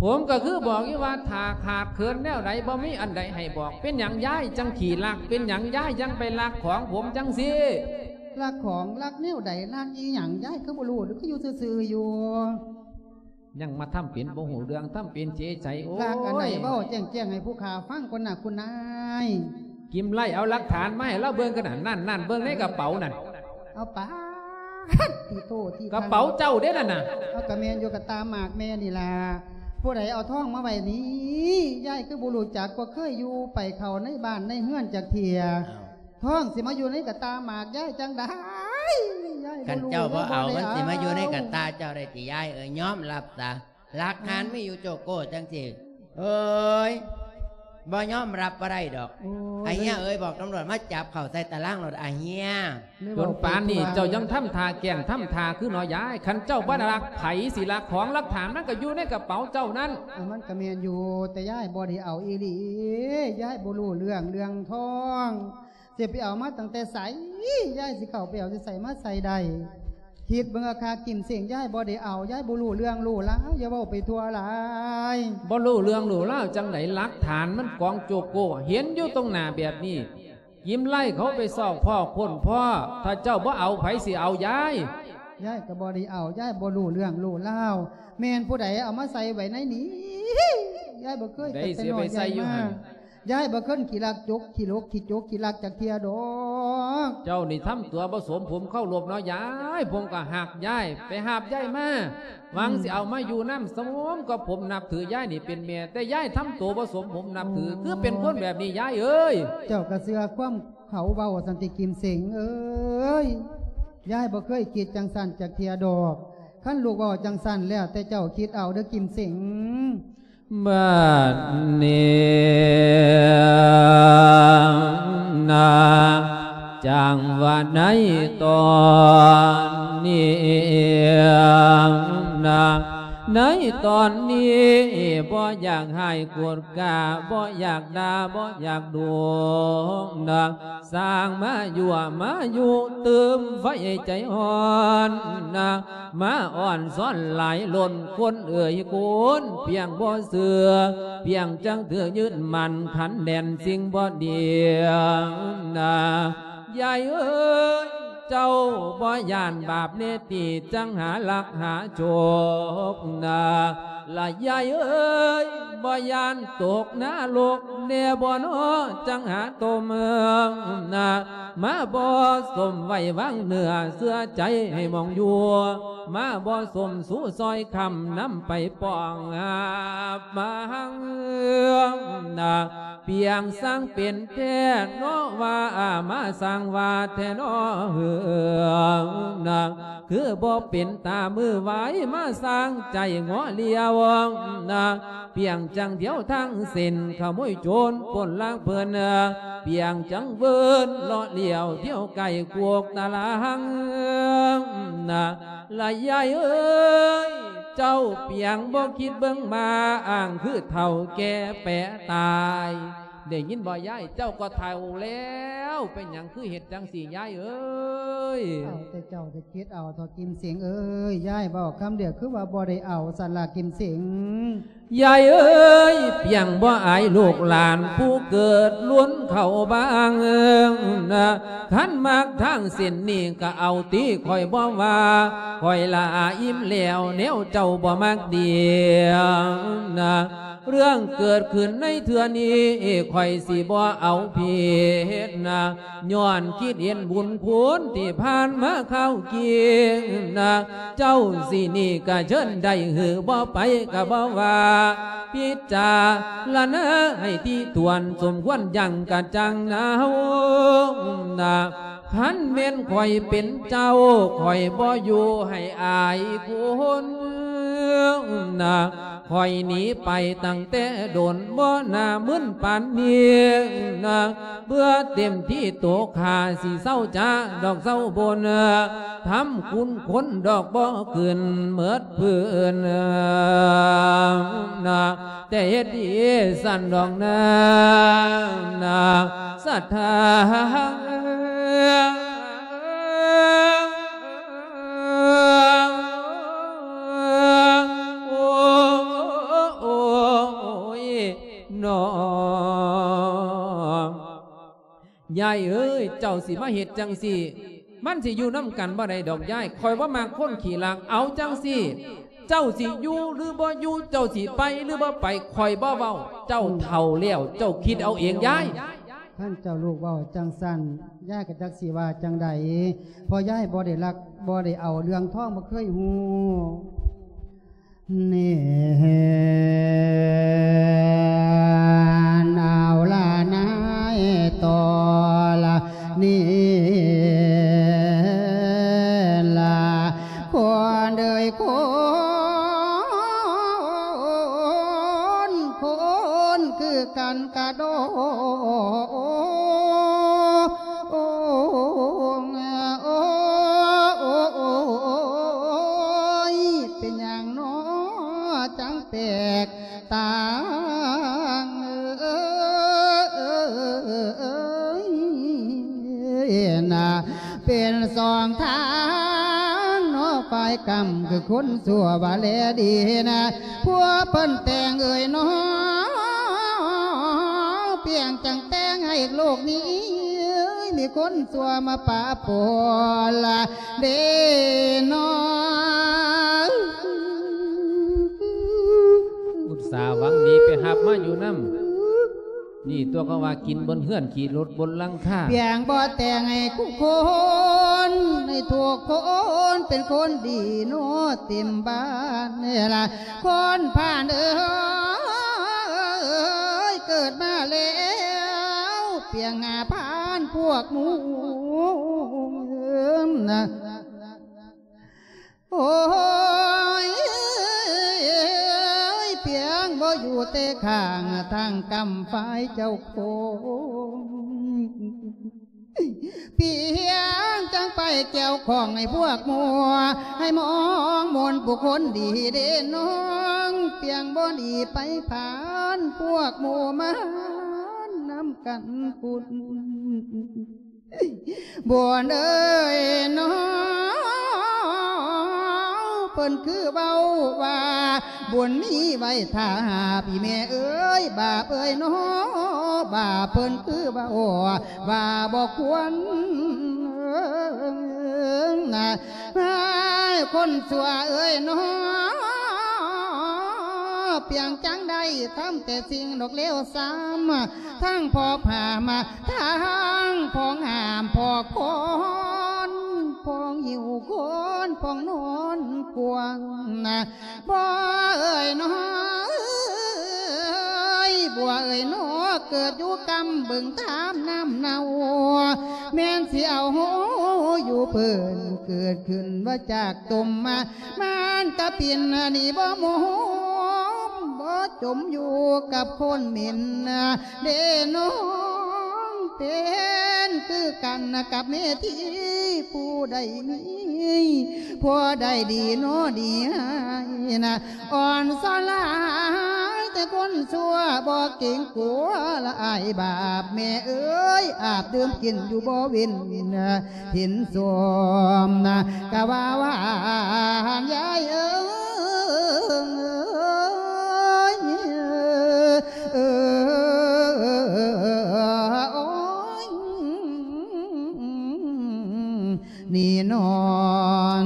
ຜົມກໍຄືບອກຢູ່ວ່າ ຖ້າຂາດເຂີນແນວໃດ ບໍ່ມີອັນໃດໃຫ້ບອກ. ເປັນຫຍັງຍາຍຈັ່ງຂີ້ລັກ? ເປັນຫຍັງຍາຍຍັງໄປລັກຂອງຜົມຈັ່ງຊີ້? ລັກຂອງ? ລັກແນວໃດ? ລັກອີ່ຫຍັງ? ຍາຍຄືບໍ່ຮູ້ ຫຼືຄືຢູ່ຊື່ໆຢູ່? ຍັງມາທຳເປັນບໍ່ຮູ້ເລື່ອງ ທຳເປັນເສຍໃສ. ໂອ້ຍ ລັກອັນໃດ ເວົ້າແຈ້ງໆໃຫ້ຜູ້ຂ້າຟັງກ່ອນນະ ຄຸນນາຍ. ກິມໄລເອົາຫຼັກຖານມາໃຫ້ລາວເບິ່ງກັນນະ. ນັ້ນໆ ເບິ່ງໃນກະເປົານັ້ນ. ເອົາປາດ ຕິໂຕ ຕິ ກະເປົາເຈົ້າເດ້ນັ້ນນະ. ເອົາ ກະແມ່ນຢູ່ ກະຕ່າໝາກແມ່ນີ້ລະ. ຜູ້ໃດເອົາທອງມາໄວ້ນີ້? ຍາຍຄືບໍ່ຮູ້ຈັກ ບໍ່ເຄີຍຢູ່ໄປເຂົ້າໃນບ້ານໃນເຮືອນຈັກເທື່ອ. ອ້າວ ທອງຊິມາຢູ່ໃນກະຕ່າໝາກຍາຍຈັ່ງໃດ? ຍາຍ ຄັນເຈົ້າບໍ່ເອົາ ມັນຊິມາຢູ່ໃນກະຕ່າເຈົ້າໄດ້ຕິຍາຍເອີຍ? ຍອມຮັບຊະ ຫຼັກຖານມີຢູ່ໂຈໂກຈັ່ງຊີ້. ເອີຍ ບໍ່ຍອມຮັບບໍ່ໄດ້ດອກ. ໂອ້ຍ ອາເຮຍເອີຍ ບອກຕຳຫຼວດມາຈັບເຂົ້າໃສ່ຕາລາງໂລດ ອາເຮຍ. ຈົນປານນີ້ເຈົ້າຍັງທຳທ່າແກ້ງທຳທ່າຄືເນາະຍາຍ. ຄັນເຈົ້າບໍ່ໄດ້ລັກ ໃຜຊິລັກຂອງ? ຫຼັກຖານມັນກໍຢູ່ໃນກະເປົາເຈົ້ານັ້ນ. ເອີ ມັນກໍແມ່ນຢູ່ ແຕ່ຍາຍບໍ່ໄດ້ເອົາອີ່ຫຼີ. ຍາຍບໍ່ຮູ້ເລື່ອງ ເລື່ອງທອງ ຊິໄປເອົາມາຕັ້ງແຕ່ໃສ? ຍາຍຊິເຂົ້າໄປເອົາຢູ່ໃສມາໃສ່ໄດ້? ຄິດເບິ່ງເອົາຄັກ ກິມເສັງ ຍາຍບໍ່ໄດ້ເອົາ. ຍາຍບໍ່ຮູ້ເລື່ອງຮູ້ລາວ ຢ່າເວົ້າໄປທົ່ວຫຼາຍ. ບໍ່ຮູ້ເລື່ອງຮູ້ລາວຈັ່ງໃດ? ຫຼັກຖານມັນກອງໂຈໂກ ເຫັນຢູ່ຕົງໜ້າແບບນີ້. ກິມໄລເຂົາໄປຊອກພໍ້ຄົ້ນພໍ້. ຖ້າເຈົ້າບໍ່ເອົາ ໃຜຊິເອົາຍາຍ? ຍາຍກໍບໍ່ໄດ້ເອົາ. ຍາຍບໍ່ຮູ້ເລື່ອງຮູ້ລາວ. ແມ່ນຜູ້ໃດເອົາມາໃສ່ໄວ້ໃນນີ້? ຍາຍບໍ່ເຄີຍ ໃດ ຕັ້ງແຕ່ ຊິໄປໃສ່ຢູ່ ນ້ອຍໃຫຍ່ມາ ຫັ້ນ? ຍາຍບໍ່ເຄີຍຂີ້ລັກຈົກ ຂີ້ຫຼົກ ຂີ້ຈົກ ຂີ້ລັກຈັກເທື່ອດອກ. ເຈົ້ານີ້ທຳຕົວບໍ່ສົມຜົມເຄົາລົບເນາະຍາຍ. ຜົມກໍຮັກຍາຍ ໄປຮັບຍາຍມາ ຫວັງ ອືມ ຊິເອົາມາຢູ່ນຳ ສົມກັບຜົມນັບຖືຍາຍນີ້ເປັນແມ່ ແຕ່ຍາຍທຳໂຕບໍ່ສົມຜົມນັບຖື. ອໍ ຄືເປັນຄົນແບບນີ້ຍາຍເອີຍ? ເຈົ້າກໍເຊື່ອຄວາມເຂົາເວົ້າຊັ້ນຕິ ກິມເສັງເອີຍ? ຍາຍບໍ່ເຄີຍຄິດຈັ່ງຊັ້ນຈັກເທື່ອດອກ. ຄັນລູກເວົ້າຈັ່ງຊັ້ນແລ້ວ ແຕ່ເຈົ້າຄິດເອົາເດີ້ ກິມເສັງ. ບັດນີ້ນະ ຈັ່ງວ່າໃນຕອນນີ້ນະ ໃນຕອນນີ້ບໍ່ຢາກຮ້າຍໂກດກາ ບໍ່ຢາກດ່າ ບໍ່ຢາກດຸນະ ສ້າງມາຍົວມາຍຸຕື່ມໄຟໃຈຮ້ອນນະ ມາອ່ອນຊ້ອນຫຼາຍລົ້ນຄົນເອີຍຄຸນ ພຽງບໍ່ເຊື່ອ ພຽງຈັ່ງຖືກຍຶດໝັ້ນຂັນແໜ້ນສິ່ງບໍ່ດີນະ ຍາຍເອີຍ ເຈົ້າບໍ່ຢ້ານບາບເນຕິ ຈັ່ງຫາລັກຫາໂຈກນະ ລະຍາຍເອີຍ ບໍ່ຢ້ານຕົກນະລົກແດ່ບໍ່ນໍ ຈັ່ງຫາຕົມນະ ມາບໍ່ສົມໄວ້ວາງເນື້ອເຊື່ອໃຈໃຫ້ມອງຢູ່ ມາບໍ່ສົມສູ່ຊອຍຄ້ຳນຳໄປປ້ອງຫາບມາຫັງນະ ປຽງຊ່າງເປັນແທ້ເນາະວ່າ ມາສ້າງວ່າແທ້ເນາະເຮີນະ ຄືບໍ່ເປັນຕາມືວາຍ ມາສ້າງໃຈງໍຫຼຽວນະ ປຽງຈັ່ງດຽວທາງເສັ້ນ ຂະໂມຍໂຈນປົນລາກເພິ່ນນະ ປຽງຈັ່ງເວີນເລາະຫຼຽວ ດຽວໄກ່ກວກຕະລາງນະ ລະຍາຍເອີຍ ເຈົ້າປຽງບໍ່ຄິດເບິ່ງມາ ອ້າງຄືເຖົ້າແກ່ແປະຕາຍ ໄດ້ຍິນບໍ່ຍາຍ? ເຈົ້າກໍເຖົ້າແລ້ວ ເປັນຫຍັງຄືເຮັດຈັ່ງຊີ້ຍາຍເອີຍ? ເອົາແຕ່ເຈົ້າໄດ້ຄິດເອົາເຖາະກິມເສັງເອີຍ ຍາຍເວົ້າຄຳດຽວຄືວ່າບໍ່ໄດ້ເອົາຊັ້ນລະກິມເສັງ. ຍາຍເອີຍ ປຽງບໍ່ອາຍລູກຫຼານຜູ້ເກີດລຸນເຂົ້າບາງນະ ຄັນມັກທາງເສັ້ນນີ້ກໍເອົາຕິ ຂ້ອຍບໍ່ວ່າ ຂ້ອຍລະອີ່ມແລ້ວ ແນວເຈົ້າບໍ່ມັກດີນະ ເລື່ອງເກີດຂຶ້ນໃນເທື່ອນີ້ ຂ້ອຍຊິບໍ່ເອົາຜິດນະ ຍ້ອນຄິດເຫັນບຸນຄຸນທີ່ຜ່ານມາຄາວກີ້ນະ ເຈົ້າຊິໜີກະເຊີນໄດ້ ຫຼືບໍ່ໄປກະບໍ່ວ່າ ພິຈາລະນາໃຫ້ຖີ່ຖ້ວນ ສົມຄວນຢັ້ງກະຈັ່ງນາວນະ ຄັນແມ່ນຂ້ອຍເປັນເຈົ້າ ຂ້ອຍບໍ່ຢູ່ໃຫ້ອາຍຄົນນະ ຂ້ອຍໜີໄປຕັ້ງແຕ່ດົນ ບໍ່ໜ້າມຶນປານນີ້ນະ ເບື່ອເຕັມທີ່ໂຕຂ້າ ຊິເຊົາຈາດອກເຊົາບົນ ທຳຄຸນຄົນດອກບໍ່ຂຶ້ນເໝິດພື້ນນະ ແຕ່ເຮັດດີຊັ້ນດອກນາ ນາ ສະຖາ ໂອ້ຍ ນ້ອງ ຍາຍເອີຍ ເຈົ້າຊິມາເຮັດຈັ່ງຊີ້ ມັນຊິຢູ່ນຳກັນບໍ່ໄດ້ດອກຍາຍ ຂ້ອຍບໍ່ມັກຄົນຂີ້ລັກ ເອົາຈັ່ງຊີ້ ເຈົ້າຊິຢູ່ຫຼືບໍ່ຢູ່ ເຈົ້າຊິໄປຫຼືບໍ່ໄປ ຂ້ອຍບໍ່ເວົ້າ ເຈົ້າເຖົ້າແລ້ວ ເຈົ້າຄິດເອົາເອງຍາຍ. ຄັນເຈົ້າລູກເວົ້າຈັ່ງຊັ້ນ ຍາຍກໍຈັກຊິວ່າຈັ່ງໃດ ເພາະຍາຍບໍ່ໄດ້ລັກ ບໍ່ໄດ້ເອົາເລື່ອງທອງ ບໍ່ເຄີຍຮູ້. ນີ້ ເອົາລະນາຍ ຕໍ່ລະນີ້ລະ ຄົນເອີຍ ຄົນ ຄົນຄືກັນກະໂດ ໂອ້ ໂອ້ ເປັນຫຍັງນໍ ຈັ່ງແປກຕ່າງ ເອີ ນະ ເປັນສອງທາງນໍ ຝ່າຍກຳຄືຄົນຊົ່ວວ່າແລດີນະ ຜົວເພິ່ນແຕ່ງເອີຍນ້ອງ ປຽງຈັ່ງແຕ່ງໃຫ້ໂລກນີ້ ມີຄົນຊົ່ວມາປະປົນລະເດນ້ອງ ອຸດສາຫວັງດີໄປຮັບມາຢູ່ນຳ ນີ້ຕົວະເຂົາວ່າກິນບົນເຮືອນ ຂີ້ລົດບົນຫຼັງຄາ ປຽງບໍ່ແຕ່ງໃຫ້ທຸກຄົນ ໃຫ້ທຸກຄົນເປັນຄົນດີໂນ ເຕັມບ້ານເວລາ ຄົນຜ່ານເອີຍ ເກີດມາແລ້ວ ປຽງຫາຜ່ານພວກໝູ່ນະ ໂອ້ຍ ປຽງບໍ່ຢູ່ແຕ່ຂ້າງທາງກຳຝ່າຍເຈົ້າຂອງ ປຽງຈັ່ງໄປກ່ຽວຂ້ອງໃຫ້ພວກໝູ່ ໃຫ້ມອງມົນຜູ້ຄົນດີເດນ້ອງ ປຽງບໍ່ດີໄປຜ່ານພວກໝູ່ມານຳກັນພຸ້ນ ບຸນເອີຍນ້ອງ ເພິ່ນຄືເວົ້າວ່າ ບຸນມີໄວ້ຖ້າ ພີ່ແມ່ເອີຍ ບາບເອີຍນ້ອງ ບາບເພິ່ນຄືເວົ້າວ່າບໍ່ຄວນນະ ໃຫ້ຄົນຊົ່ວເອີຍນ້ອງ ປຽງຈັ່ງໄດ້ ທຳແຕ່ສິ່ງດອກເລວຊາມ ທັງພໍພາມາ ທັງພອງຫາມ ພໍຄອນ ພອງຫິ້ວຄອນ ພອງນອນກວາງນະ ບົວເອີຍນ້ອ ເອີຍ ບົວເອີຍນ້ອ ເກີດຢູ່ກຳບຶງທາມນ້ຳເນົ່າ ແມ່ນຊິເອົາໂຫຢູ່ເພິ່ນ ເກີດຂຶ້ນວ່າຈາກຕົມມາ ມັນກະປິ່ນໜີບໍ່ໝົມ ບໍ່ຈົມຢູ່ກັບຄົນເໝັນ ເດ້ນ້ອງ ເປັນຄືກັນກັບເມທີ ຜູ້ໃດມີ ຜູ້ໃດດີນ້ອດີຮ້າຍນະ ອ່ອນສອນຫຼາຍແຕ່ຄົນຊົ່ວ ບໍ່ເກງກົວລະອາຍບາບ ແມ່ເອີຍ ອາບດື່ມກິນຢູ່ບໍ່ເວັ້ນ ເຫັນສົມນະ ກະວ່າຫວານຍາຍເອີຍ ໂອ້ຍ ນີ້ນ້ອງ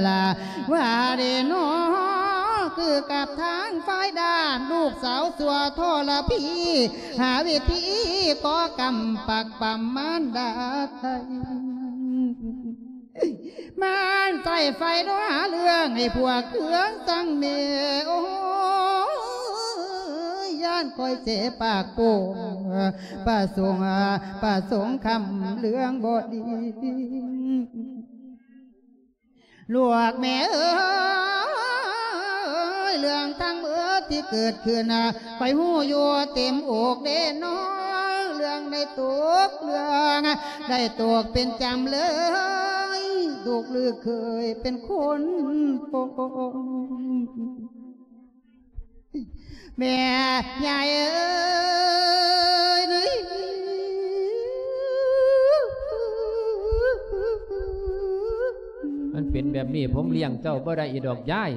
ລະ ວ່າເດ້ນ້ອງ ຄືກັບທາງຝ່າຍດ້ານ ລູກສາວຊົ່ວທໍລະພີ ຫາວິທີກໍ່ກຳປັກປຳມານດາໄທ ມັນໃສ່ໄຟໂທຫາເລື່ອງໃຫ້ພວກເຄືອງສັງເມ ໂອ້ຍ ຢ້ານຂ້ອຍເສປາກໂປ້ງ ປະສົງ ປະສົງຄຳເລື່ອງບໍ່ດີ ລູກແມ່ເອີຍ ເລື່ອງທັງໝົດທີ່ເກີດຂຶ້ນ ຂ້ອຍຮູ້ຢູ່ເຕັມອົກເດ້ນ້ອ ເລື່ອງໄດ້ຕົກ ເລື່ອງໄດ້ຕົກເປັນຈຳເລີຍ ລູກຫຼືເຄີຍເປັນຄົນປົງ ແມ່ຍາຍເອີຍ ມັນເປັນແບບນີ້ ຜົມລ້ຽງເຈົ້າບໍ່ໄດ້ອີກດອກຍາຍ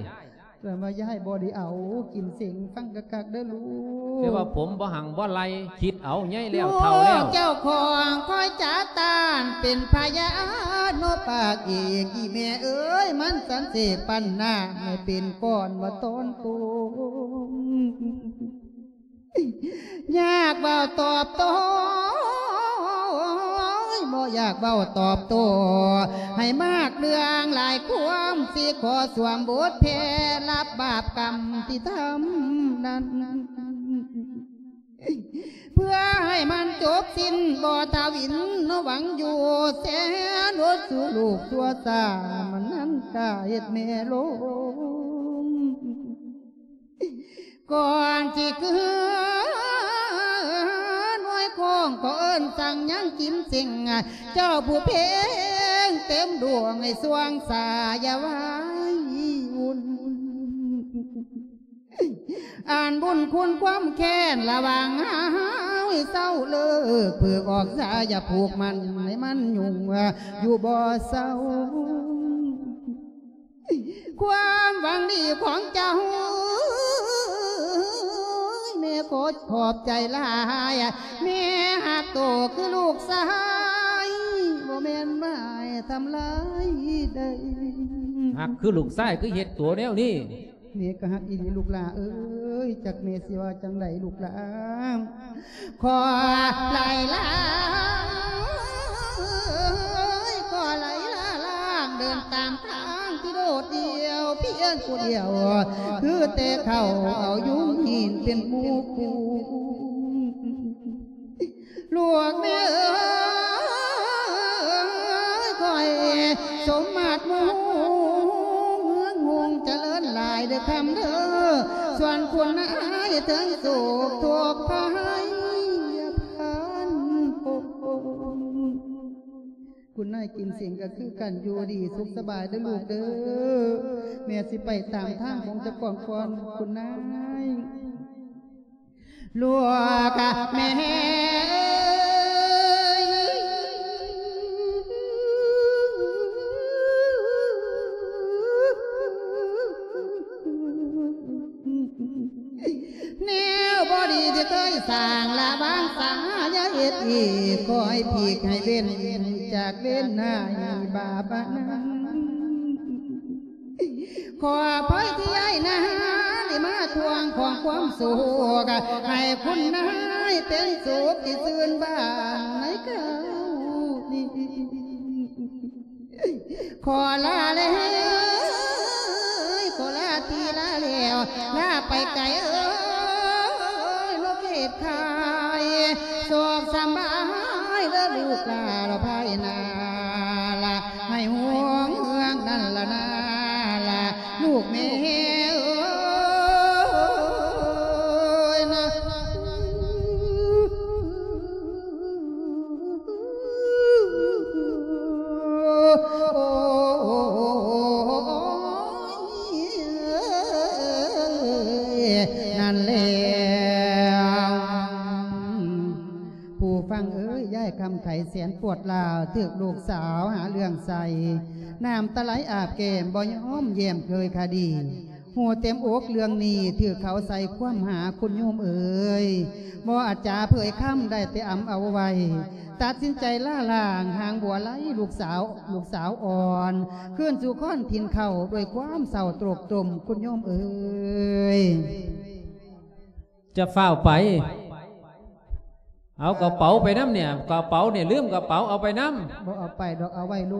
ແຕ່ວ່າຢາຍບໍ່ໄດ້ເອົາ ກິນເສັງ ຟັງຄັກໆເດີລູກ ແຕ່ວ່າຜົມບໍ່ຮັ່ງບໍ່ໄລ່ ຄິດເອົາໃຫຍ່ແລ້ວ ເຖົ້າແລ້ວ ເຈົ້າຂອງຄອຍຈາຕານ ເປັນພະຍານເນາະ ປາກເອກ ອີແມ່ເອີຍ ມັນສັນເສກປັນນາ ໃຫ້ເປັນ ກ່ອນວ່າຕອນໂຕ ຢາກເວົ້າຕອບໂຕ້ ບໍ່ຢາກເວົ້າຕອບໂຕ້ ໃຫ້ມາກເລື່ອງຫຼາຍຄວາມ ຊິຂໍສວມບົດແຜ່ ຮັບບາບກຳທີ່ທຳນັ້ນ ເພື່ອໃຫ້ມັນຈົບສິ້ນ ບໍ່ທະວິນເນາະ ຫວັງຢູ່ແສນອົດສູ່ລູກຊົ່ວຊ້າ ມັນນັ້ນກາເຮັດແມ່ລົງ ກ່ອນຊິຄືນວຍຄອງ ກໍເອີ້ນສັ່ງຍັງກິນເສັງ ເຈົ້າຜູ້ເພັງເຕັມດວງ ໃຫ້ສວ່າງສາ ຢ່າໄວ້ວຸ່ນ ອັນບຸນຄຸນຄວາມແຄ້ນລະຫວ່າງເຮົາໃຫ້ເຊົາເລີກ ຜືກອອກສາ ຢ່າຜູກມັນໃຫ້ມັນຫຍຸ້ງຢູ່ບໍ່ເຊົາ ຄວາມຫວັງດີຂອງເຈົ້າ ແມ່ຂໍຂອບໃຈຫຼາຍ ແມ່ຮັກໂຕຄືລູກຊາຍ ບໍ່ແມ່ນໝາຍທຳລາຍໃດ ຮັກຄືລູກຊາຍ ຄືເຮັດໂຕແນວນີ້ ແມ່ກໍຮັກອີ່ຫຼີລູກຫຼ້າເອີຍ ຈັກແມ່ຊິວ່າຈັ່ງໃດລູກຫຼ້າ ຂໍໄຫຼລາ ຂໍໄຫຼລາລ້າງ ເດີນຕາມທາງທີ່ໂດດດ່ຽວ ພຽງຜູ້ດຽວ ຄືແຕ່ເຂົາເອົາຍຸງຫີນເປັນໝູ່ຄູ່ ລູກແມ່ເອີຍ ຂ້ອຍສົມມາດໝູ່ເມືອງຮຸ່ງຈະເລີນຫຼາຍເດີຄຳເດີ ສ່ວນຄຸນນາຍເຖິງໂສກໂທກໄພພັນໂພ ຄຸນນາຍກິນເສັງກໍຄືກັນ ຢູ່ດີສຸກສະບາຍເດີລູກເດີ ແມ່ຊິໄປຕາມທາງຂອງເຈົ້າຂອງກ່ອນ ຄຸນນາຍ. ລູກແມ່ເອີຍ ແນວບໍ່ດີທີ່ເຄີຍສ້າງລະຫວ່າງສາ ຢ່າເຮັດອີກ ຂໍໃຫ້ພີກໃຫ້ເວັ້ນຈາກເວນນາຍບາບອັນນັ້ນ ຂໍອະໄພທີ່ອ້າຍນັ້ນ ມາທວງຂອງຄວາມສຸກ ໃຫ້ຄຸນນາຍເປັນສຸກທີ່ຊື່ນບານໃນຄາວນີ້. ຂໍລາແລ້ວ ຂໍລາທີ່ລາແລ້ວ ລາໄປໄກເອີຍ ໂລກເຂດໄຄ ໂຊກສຳບາຍເດີລູກຫຼານ ລະພາຍນາລະ ໃຫ້ຫວງເຮືອງນັ້ນລະນາລະ ລູກແມ່ເອີຍນະ. ນັ້ນແຫຼະ ຜູ້ຟັງເອີຍ ຍາຍຄຳໄຂແສນປວດຮ້າວ ຖືກລູກສາວຫາເລື່ອງໃສ່ ນ້ຳຕາໄຫຼອາບແກ້ມ ບໍ່ຍອມຢ້ຽມເຄີຍຄະດີ. ຮູ້ເຕັມອົກເລື່ອງນີ້ ຖືກເຂົາໃສ່ຄວາມຫາ ຄຸນໂຍມເອີຍ ບໍ່ອາດຈາເຜີຍຄຳ ໄດ້ແຕ່ອຳເອົາໄວ້ ຕັດສິນໃຈລາລ້າງ ຫາງບົວໄຫຼລູກສາວ ລູກສາວອ່ອນ ຄືນສູ່ຄອນຖິ່ນເກົ່າ ດ້ວຍຄວາມເສົ້າໂຕກຕົມ ຄຸນໂຍມເອີຍ. ຈະຟ້າວໄປ ເອົາກະເປົາໄປນຳເນຍ ກະເປົາເນຍ ລືມກະເປົາເອົາໄປນຳ. ບໍ່ເອົາໄປດອກ ເອົາໄວ້ໂລ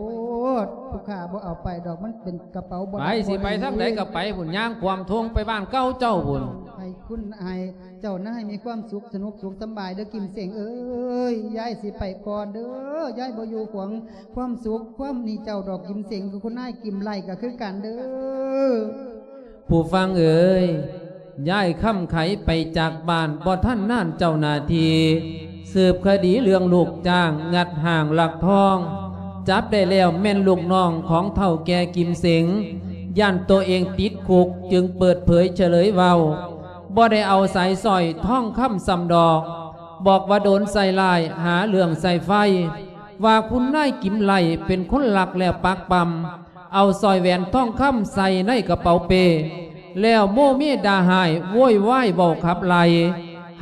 ດ ຜູ້ຂ້າບໍ່ເອົາໄປດອກ ມັນເປັນກະເປົາບໍ່ ໄປ ໄດ້ ຊິໄປທາງໃດກະໄປພຸ້ນ ຍ່າງຂວາມທົ່ງໄປບ້ານເກົ່າເຈົ້າພຸ້ນ. ໃຫ້ຄຸນ ໃຫ້ເຈົ້ານາຍມີຄວາມສຸກ ສະໜຸກສຸກສຳບາຍເດີ ກິມເສັງເອີຍ ຍາຍຊິໄປກ່ອນເດີ ຍາຍບໍ່ຢູ່ຂວາງຄວາມສຸກຄວາມນີ້ເຈົ້າດອກ ກິມເສັງ ຄືຄຸນນາຍກິມໄລກະຄືກັນເດີ. ຜູ້ຟັງເອີຍ ຍາຍຄຳໄຂໄປຈາກບ້ານບໍ່ທັນນານ ເຈົ້າໜ້າທີ່ສືບຄະດີເລື່ອງລູກຈ້າງງັດຫ້າງລັກທອງ ຈັບໄດ້ແລ້ວແມ່ນລູກນ້ອງຂອງເຖົ້າແກ່ກິມເສັງ ຢ້ານໂຕເອງຕິດຄຸກຈຶ່ງເປີດເຜີຍສະເຫຼີຍເວົ້າ ບໍ່ໄດ້ເອົາສາຍສ້ອຍທອງຄຳຊ້ຳດອກ ບອກວ່າໂດນໃສ່ຮ້າຍຫາເລື່ອງໃສ່ໄຟ ວ່າຄຸນນາຍກິມໄລເປັນຄົນລັກແລ້ວປັກປຳ ເອົາສ້ອຍແຫວນທອງຄຳໃສ່ໃນກະເປົາເປ້ ແລ້ວໂມເມດ່າຮ້າຍໂວຍວາຍເວົ້າຂັບໄລ່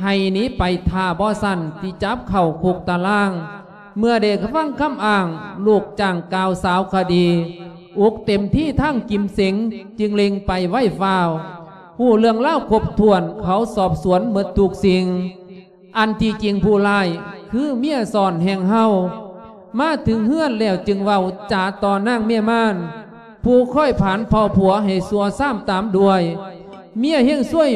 ໃຫ້ໜີໄປ ຖ້າບໍ່ຊັ້ນຊິຈັບເຂົ້າຄຸກຕາລາງ. ເມື່ອໄດ້ຟັງຄຳອ້າງລູກຈ້າງກ່າວສາວຄະດີ ອຸກເຕັມທີ່ທາງກິມເສັງຈຶ່ງເລັ່ງໄປໄວຟ້າວ. ຮູ້ເລື່ອງລາວຄົບຖ້ວນ ເຂົາສອບສວນໝົດທຸກສິ່ງ. ອັນທີ່ຈິງຜູ້ຮ້າຍຄືເມຍຊ້ອນແຫ່ງເຮົາ ມາເຖິງເຮືອນແລ້ວຈຶ່ງເວົ້າຈາຕໍ່ນາງເມຍມານ ຜູ້ຄອຍຜານເຜົ່າຜົວໃຫ້ຊົ່ວຊາມຕາມດ້ວຍ. ເມຍເຮງຊວຍ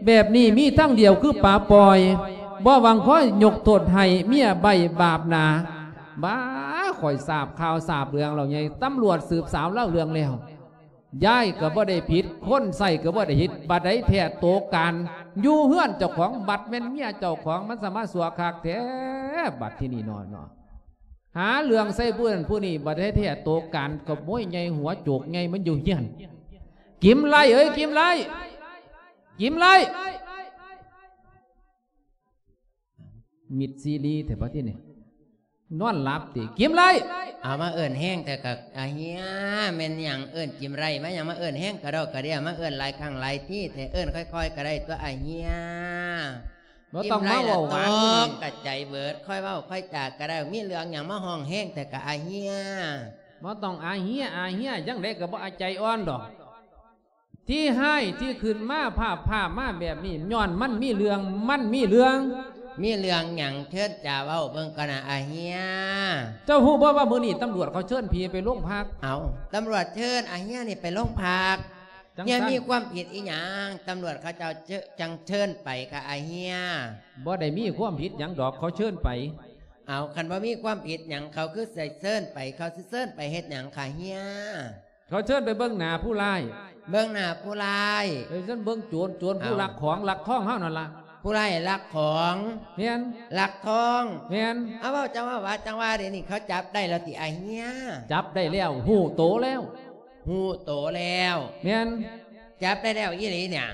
ແບບນີ້ມີທາງດຽວຄືປາປ່ອຍ ບໍ່ຫວັງຄອຍຍົກໂທດໃຫ້ເມຍໃບ້ບາບໜາ. ບ້າ ຂ້ອຍຊາບຂ່າວຊາບເລື່ອງແລ້ວໃຫຍ່ ຕຳຫຼວດສືບສາວລາວເລື່ອງແລ້ວ. ຍາຍກະບໍ່ໄດ້ຜິດ ຄົນໃຊ້ກະບໍ່ໄດ້ຜິດ ບັດໃດແທ້ໂຕການຢູ່ເຮືອນເຈົ້າຂອງ ບັດແມ່ນເມຍເຈົ້າຂອງ ມັນສະມາຊົ່ວຄັກແທ້. ບັດທີນີ້ເນາະ ຫາເລື່ອງໃສ່ຜູ້ນັ້ນຜູ້ນີ້ ບັດໃດແທ້ໂຕການຂະໂມຍໃຫຍ່ຫົວໂຈກໃຫຍ່ມັນຢູ່ເຮືອນ. ກິມໄລເອີຍ ກິມໄລ ກິມໄລ ມິດຊີລີແທ້ບັດທີນີ້ ນອນຫຼັບຕິ ກິມໄລ. ເອົາ ມາເອີ້ນແຮງແທ້ກະອາເຮຍ ແມ່ນຫຍັງເອີ້ນກິມໄລມາຫຍັງ ມາເອີ້ນແຮງກະດອກກະເດຍ ມາເອີ້ນຫຼາຍຄັ້ງຫຼາຍທີແທ້ ເອີ້ນຄ່ອຍໆກະໄດ້ຕົວະອາເຮຍ. ບໍ່ຕ້ອງມາເວົ້າຫວານ ກິມໄລລະຕອກກະໃຈເບີດ ຄ່ອຍເວົ້າຄ່ອຍຈາກະໄດ້ ມີເລື່ອງຫຍັງມາຮ້ອງແຮງແທ້ກະອາເຮຍ. ບໍ່ຕ້ອງອາເຮຍ ອາເຮຍ ຈັ່ງໃດກະບໍ່ອາໃຈອ່ອນດອກ. ທີ່ຮ້າຍທີ່ຂຶ້ນມາພາບພາບມາແບບນີ້ ຍ້ອນມັນມີເລື່ອງ ມັນມີເລື່ອງ. ມີເລື່ອງຫຍັງ ເຊີນຈາເວົ້າເບິ່ງກ່ອນນະອາເຮຍ. ເຈົ້າຮູ້ບໍ່ວ່າມື້ນີ້ຕຳຫຼວດເຂົາເຊີນຜີໄປໂລງພັກ? ເອົາ ຕຳຫຼວດເຊີນອາເຮຍນີ້ໄປໂລງພັກ ຈັ່ງຊັ້ນ ເຮຍມີຄວາມຜິດອີຫຍັງ ຕຳຫຼວດເຂົາເຈົ້າຈຶ່ງເຊີນໄປຄະອາເຮຍ? ບໍ່ໄດ້ມີຄວາມຜິດຫຍັງດອກ ເຂົາເຊີນໄປ. ເອົາ ຄັນບໍ່ມີຄວາມຜິດຫຍັງ ເຂົາຄືໃສ່ເຊີນໄປ ເຂົາຊິເຊີນໄປເຮັດຫຍັງຄະເຮຍ? ເຂົາເຊີນໄປເບິ່ງໜ້າຜູ້ຮ້າຍ. ເບິ່ງໜ້າຜູ້ຮ້າຍ. ເອີ ເຊີນເບິ່ງໂຈນ ໂຈນຜູ້ ເອົ້າ ລັກຂອງລັກທອງເຮົານັ້ນລະ. ຜູ້ຮ້າຍລັກຂອງ. ແມ່ນ. ລັກທອງ. ແມ່ນ. ເອົາ ເວົ້າຈັ່ງວ່າ ວ່າຈັ່ງວ່າ ດຽວນີ້ເຂົາຈັບໄດ້ແລ້ວຕິອ້າຍເຮຍ? ຈັບໄດ້ແລ້ວ ຮູ້ໂຕແລ້ວ. ຮູ້ໂຕແລ້ວ. ແມ່ນ. ຈັບໄດ້ແລ້ວອີ່ຫຼີນີ້?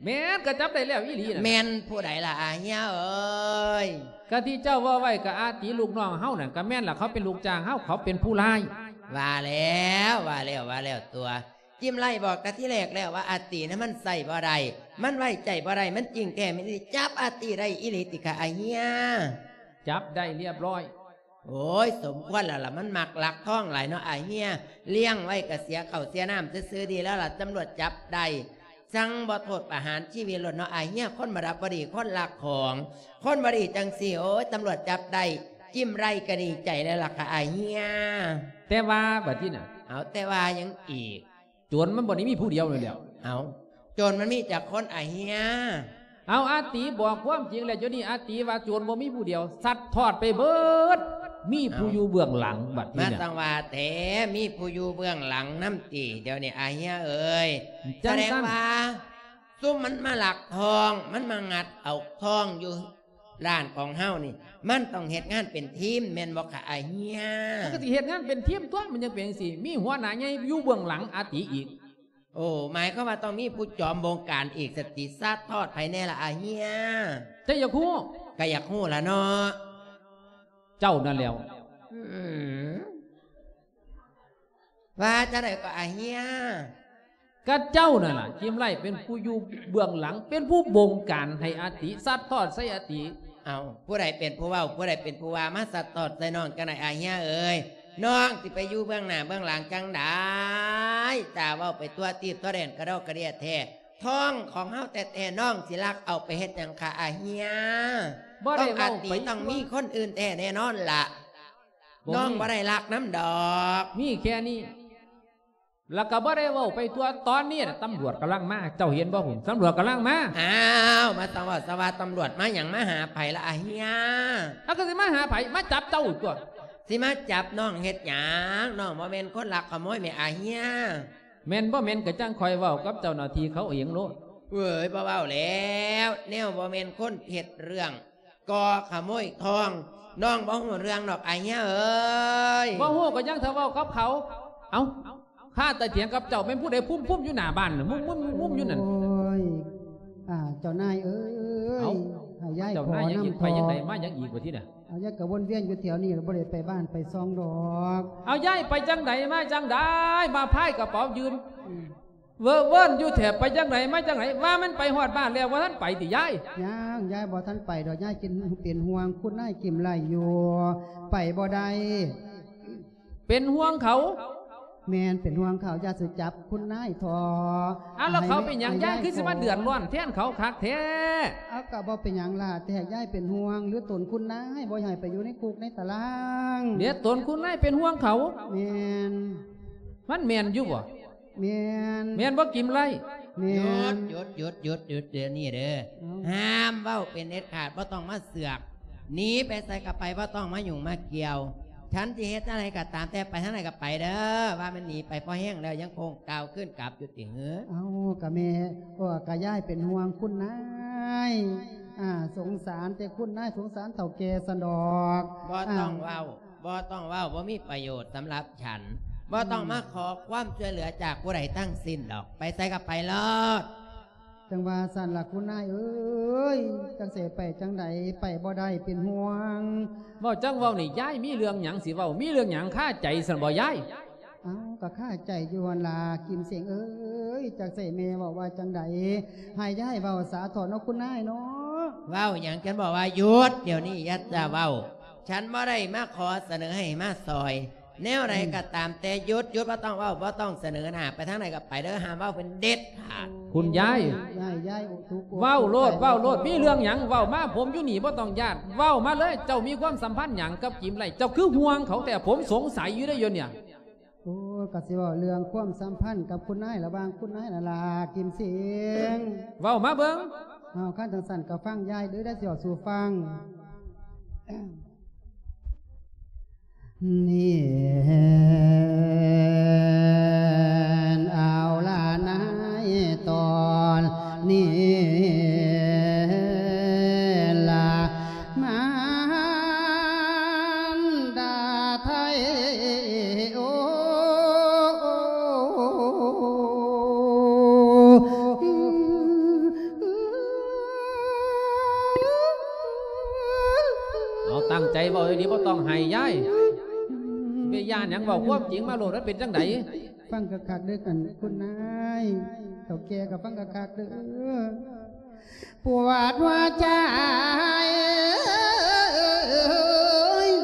ແມ່ນ ກໍຈັບໄດ້ແລ້ວອີ່ຫຼີນັ້ນ. ແມ່ນຜູ້ໃດລະອ້າຍເຮຍເອີຍ? ກະທີ່ເຈົ້າເວົ້າໄວ້ກະອາຕິລູກນ້ອງເຮົານັ້ນ ກະແມ່ນລະ ເຂົາເປັນລູກຈ້າງເຮົາ ເຂົາເປັນຜູ້ຮ້າຍ. ວ່າແລ້ວ ວ່າແລ້ວ ວ່າແລ້ວຕົວະ ຈິມໄລບອກແຕ່ທີແລກແລ້ວວ່າອາຕິນະມັນໃຊ້ບໍ່ໄດ້ ມັນໄວ້ໃຈບໍ່ໄດ້ ມັນຈິງແທ້ແມ່ນອີ່ຫຼີ ຈັບອາຕິໄດ້ອີ່ຫຼີຕິຄະອ້າຍເຮຍ? ຈັບໄດ້ລຽບຮ້ອຍ. ໂອ້ຍ ສົມຄວນແລ້ວລະ ມັນມັກລັກທອງຫຼາຍເນາະອ້າຍເຮຍ ລ້ຽງໄວ້ກະເສຍເຂົ້າເສຍນ້ຳຊື່ໆ ດີແລ້ວລະ ຕຳຫຼວດຈັບໄດ້. ສັ່ງບໍ່ໂທດປະຫານຊີວິດໂລດເນາະ ອາເຮຍ. ຄົນບໍ່ດັບບໍ່ດີ ຄົນລັກຂອງ ຄົນບໍ່ດີຈັ່ງຊີ້ ໂອ້ຍ ຕຳຫຼວດຈັບໄດ້ ຈິ້ມໄລ່ກໍດີໃຈແລ້ວລະຄ່ະ ອາເຮຍ. ແຕ່ວ່າບັດນີ້ນະ ເອົາ ແຕ່ວ່າຫຍັງອີກ? ໂຈນມັນບໍ່ໄດ້ມີຜູ້ດຽວນີ້ແຫຼ້ວ. ເອົາ ໂຈນມັນມີຈັກຄົນ ອາເຮຍ? ເອົາ ອາຕີບອກຄວາມຈິງແລ້ວ ດຽວນີ້ອາຕີວ່າໂຈນບໍ່ມີຜູ້ດຽວ ຊັດທອດໄປເບີດ ມີຜູ້ຢູ່ເບື້ອງຫຼັງບັດນີ້ນະ. ມາຈັ່ງວ່າແທ້ ມີຜູ້ຢູ່ເບື້ອງຫຼັງນຳຕິ ດຽວນີ້ ອາເຮຍເອີຍ. ສະແດງວ່າ ຊຸມມັນມາລັກທອງ ມັນມາງັດເອົາທອງຢູ່ຮ້ານຂອງເຮົານີ້ ມັນຕ້ອງເຮັດງານເປັນທີມ ແມ່ນບໍ່ຄະ ອາເຮຍ? ມັນກໍຊິເຮັດງານເປັນທີມຕົວະ ມັນຈັ່ງເປັນຈັ່ງຊີ້ ມີຫົວໜ້າໃຫຍ່ຢູ່ເບື້ອງຫຼັງອາຕິອີກ. ໂອ້ ໝາຍຄວາມວ່າຕ້ອງມີຜູ້ຈອມບົງການອີກ ສະຕິ ຊັດທອດໃຜແດ່ລະ ອາເຮຍ? ເຈົ້າຢາກຮູ້? ກໍຢາກຮູ້ລະເນາະ. ເຈົ້ານັ້ນແຫຼ້ວ. ອືມ ວ່າຈັ່ງໃດກໍ ອາເຮຍ? ກະເຈົ້ານັ້ນລະ ຈິ້ມໄລ່ ເປັນຜູ້ຢູ່ເບື້ອງຫຼັງ ເປັນຜູ້ບົງການໃຫ້ອາຕິ ຊັດທອດໃສ່ອາຕິ. ເອົ້າ ຜູ້ໃດເປັນຜູ້ເວົ້າ ຜູ້ໃດເປັນຜູ້ວ່າ ມາຊັດທອດໃສ່ນ້ອງຈັ່ງໃດ ອາເຮຍເອີຍ? ນ້ອງຊິໄປຢູ່ເບື້ອງໜ້າເບື້ອງຫຼັງຈັ່ງໃດ? ຈ້າເວົ້າໄປທົ່ວທີບທົ່ວແດນ ກະດອກກະເດຍແທ້. ທອງຂອງເຮົາແທ້ໆ ນ້ອງຊິລັກເອົາໄປເຮັດຫຍັງຄະ ອາເຮຍ? ຕ້ອງອາຕິ ຕ້ອງມີຄົນອື່ນແທ້ແນ່ນອນລະ. ບໍ່ມີ ນ້ອງບໍ່ໄດ້ລັກນຳດອກ ມີແຄ່ນີ້ ແລ້ວກໍບໍ່ໄດ້ເວົ້າໄປທົ່ວ. ຕອນນີ້ນະ ຕຳຫຼວດກຳລັງມາ ເຈົ້າເຫັນບໍ່ພຸ້ນ ຕຳຫຼວດກຳລັງມາ. ອ້າວ ມາສະເວົ້າສະວ່າ ຕຳຫຼວດມາຫຍັງ ມາຫາໃຜລະ ອາເຮຍ? ເອົາ ກໍຊິມາຫາໃຜ ມາຈັບເຈົ້າຕົວະ. ຊິມາຈັບນ້ອງເຮັດຫຍັງ? ນ້ອງບໍ່ແມ່ນຄົນລັກຂະໂມຍແໝ ອາເຮຍ. ແມ່ນບໍ່ແມ່ນກໍຈັ່ງຄ່ອຍເວົ້າກັບເຈົ້າໜ້າທີ່ເຂົາເອງໂລດ. ເວີຍ ບໍ່ເວົ້າແລ້ວ ແນວບໍ່ແມ່ນຄົນເຮັດເລື່ອງ ກໍຂະໂມຍທອງ ນ້ອງບໍ່ຮູ້ເລື່ອງດອກ ອາເຮຍເອີຍ. ບໍ່ຮູ້ກໍຍັງຖ້າເວົ້າກັບເຂົາ. ເອົ້າ ຂ້າແຕ່ຖຽງກັບເຈົ້າ ແມ່ນຜູ້ໃດພຸ້ມໆຢູ່ໜ້າບ້ານ ງຸ້ມໆງຸ້ມໆຢູ່ນັ້ນ. ໂອ້ຍ ອ່າ ເຈົ້ານາຍເອີຍ ເອົ້າ ໃຫ້ຍາຍ ເຈົ້ານາຍ ຂໍນຳ ຍັງອີກ ໄປຈັ່ງໃດ ເຖາະ ມາຫຍັງອີກບັດນີ້ນະ? ເອົາ ຍາຍກໍວົນວຽນຢູ່ແຖວນີ້ ບໍ່ໄດ້ໄປບ້ານໄປຊ່ອງດອກ. ເອົາ ຍາຍໄປຈັ່ງໃດ ມາຈັ່ງໃດ ມາພາຍກະເປົາຢືນ ອືມ ເວີເວິນຢູ່ແທ້ ໄປຈັ່ງໃດມາຈັ່ງໃດ? ວ່າມັນໄປຮອດບ້ານແລ້ວ ບໍ່ທັນໄປຕິຍາຍ? ຍັງ ຍາຍບໍ່ທັນໄປດອກ ຍາຍກິນ ເປັນຫ່ວງຄຸນນາຍກິມໄລຢູ່ ໄປບໍ່ໄດ້. ເປັນຫ່ວງເຂົາ? ແມ່ນ ເປັນຫ່ວງເຂົາ ຢ້ານຊິຈັບຄຸນນາຍເຖາະ. ອ້າວ ແລ້ວເຂົາເປັນຫຍັງ ໃຫ້ ຍາຍ ຍາຍ ຄືຊິມາເດືອດຮ້ອນແທນເຂົາຄັກແທ້? ເອົາ ກໍບໍ່ເປັນຫຍັງຫຼ້າ ແຕ່ຍາຍເປັນຫ່ວງ ຫຼືຕົນຄຸນນາຍບໍ່ໃຫ້ໄປຢູ່ໃນຄຸກໃນຕາລາງ. ເດ ຕົນຄຸນນາຍເປັນຫ່ວງເຂົາ? ແມ່ນ. ມັນແມ່ນຢູ່ບໍ່? ແມ່ນ. ແມ່ນບໍ່ ກິມໄລ? ແມ່ນ. ຢຸດ ຢຸດ ຢຸດ ຢຸດ ຢຸດ ດຽວນີ້ເດີ. ເອົ້າ ຫ້າມເວົ້າເປັນເດັດຂາດ ບໍ່ຕ້ອງມາເສືອກ. ໜີໄປໃສກໍໄປ ບໍ່ຕ້ອງມາຫຍຸ້ງມາກ່ຽວ. ສັນຊິເຮັດຈັ່ງໃດກໍຕາມແຕ່ ໄປທາງໃດກໍໄປເດີ. ວ່າແມ່ນໜີໄປພໍແຮງແລ້ວ ຍັງຄົງກ່າວຄືນກັບຢູ່ຕິເຫີ? ເອົ້າ ກໍແມ່ ກໍ ກໍຍາຍເປັນຫ່ວງຄຸນນາຍ ອ່າ ສົງສານແຕ່ຄຸນນາຍ ສົງສານເຖົ້າແກ່ຊັ້ນດອກ. ບໍ່ຕ້ອງເວົ້າ ອ່າ ບໍ່ຕ້ອງເວົ້າ ບໍ່ມີປະໂຫຍດສຳລັບ ສັນ ບໍ່ຕ້ອງ ອືມ ມາຂໍຄວາມຊ່ວຍເຫຼືອຈາກຜູ້ໃດທັງສິ້ນດອກ. ໄປໃສກໍໄປໂລດ. ຈັ່ງວ່າຊັ້ນລະຄຸນນາຍເອີຍ ຈັກຊິໄປຈັ່ງໃດ ໄປບໍ່ໄດ້ ເປັນຫ່ວງ. ເວົ້າຈັກເວົ້ານີ້ ຍາຍມີເລື່ອງຫຍັງຊິເວົ້າ? ມີເລື່ອງຫຍັງຄາໃຈຊັ້ນບໍ່ຍາຍ? ເອົ້າ ກໍຄາໃຈຢູ່ຫັ້ນລະ ກິມເສັງເອີຍ ຈັກຊິແມ່ເວົ້າວ່າຈັ່ງໃດ ໃຫ້ຍາຍເວົ້າສາເຖາະເນາະ ຄຸນນາຍເນາະ. ເວົ້າຫຍັງ? ສັນບອກວ່າຢຸດດຽວນີ້ ຢ່າຈະເວົ້າ. ສັນບໍ່ໄດ້ມາຂໍສະເໜີໃຫ້ມາຊ່ອຍ. ແນວໃດ ອືມ ກໍຕາມແຕ່ ຢຸດ ຢຸດ ບໍ່ຕ້ອງເວົ້າ ບໍ່ຕ້ອງສະເໜີໜ້າ ໄປທາງໃດກໍໄປເດີ ຫ້າມເວົ້າເປັນເດັດຂາດ. ໂອ້ຍ ຄຸນຍາຍ ຍາຍ ຍາຍ ໂອ້ ທຸກ ເວົ້າໂລດ ເວົ້າໂລດ ມີເລື່ອງຫຍັງເວົ້າມາ ຜົມຢູ່ນີ້ ບໍ່ຕ້ອງຢ້ານ ເວົ້າມາເລີຍ. ເຈົ້າມີຄວາມສຳພັນຫຍັງກັບກິມໄລ? ເຈົ້າຄືຫ່ວງເຂົາແທ້? ຜົມສົງໄສຢູ່ເດ້ ດຽວນີ້. ໂອ້ ກໍຊິເວົ້າເລື່ອງຄວາມສຳພັນກັບຄຸນນາຍ ລະຫວ່າງຄຸນນາຍລະລາ ກິມເສັງ ເວົ້າມາເບິ່ງ. ເອົາ ຄັນຈັ່ງຊັ້ນກໍຟັງຍາຍເດີ ໄດ້ຊິເວົ້າສູ່ຟັງ. ນີ້ເອົາລະນາຍ ຕອນນີ້ລະ ມານດາໄທ ໂອ້ ເອົາ ຕັ້ງໃຈເວົ້າດີໆ ບໍ່ຕ້ອງໄຫ້ຍາຍ. ໄປຢ້ານຫຍັງ? ເວົ້າຄວາມຈິງມາໂລດ ມັນເປັນຈັ່ງໃດ? ຟັງຄັກໆເດີ ອັນ ຄຸນນາຍ ເຖົ້າແກ່ກໍຟັງຄັກໆເດີ. ປວດຫົວໃຈ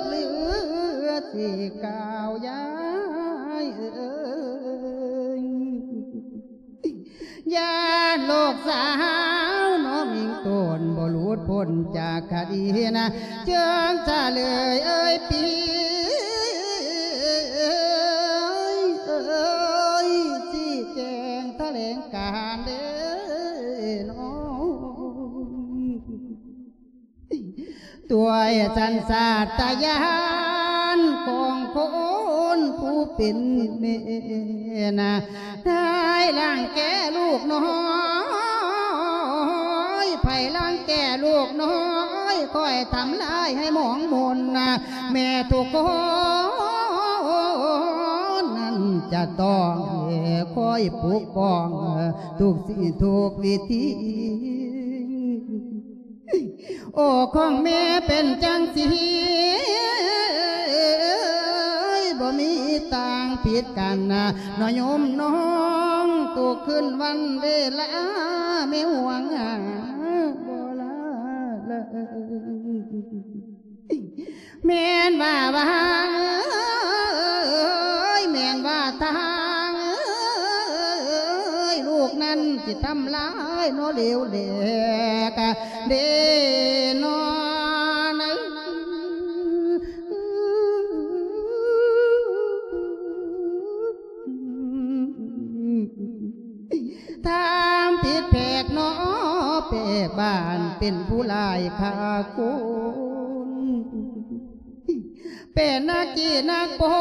ເຫຼືອຊິກ່າວ ຍາຍເອີຍ ຢ້ານ ນຈາກຄະດີນະ ເຈີງສະເລີຍເອີຍປີເອີຍ ຊີ້ແຈງຖະແຫຼງການເດີນ້ອງ. ດ້ວຍສັນຊາດຕະຍານຂອງຄົນຜູ້ເປັນແມ່ນະ ໃຜລັງແກລູກນ້ອຍ ໃຜລັງແກລູກນ້ອຍ ຂ້ອຍທຳລາຍໃຫ້ໝອງໝົນນະ ແມ່ທຸກຄົນນັ້ນຈະຕ້ອງຄອຍປົກປ້ອງທຸກສິ່ງທຸກວິທີ. ໂອ້ ຂອງແມ່ເປັນຈັ່ງຊີ້ ບໍ່ມີຕ່າງຜິດກັນນະ ນ້ອຍໂຍມນ້ອງ ທຸກຄືນວັນເວລາ ແມ່ຫວງຫາບໍ່ລາເລີຍ. ແມ່ນວ່າຫວາງເອີຍ ແມ່ນວ່າທາງເອີຍ ລູກນັ້ນຊິທຳລາຍເນາະ ເຫຼວແຫຼກເດ້ນ້ອງ. ທຳຜິດແຜກເນາະ ແປກບ້ານເປັນຜູ້ຮ້າຍຂ້າຄົນ ເປັນນັກຂີ້ນັກປົ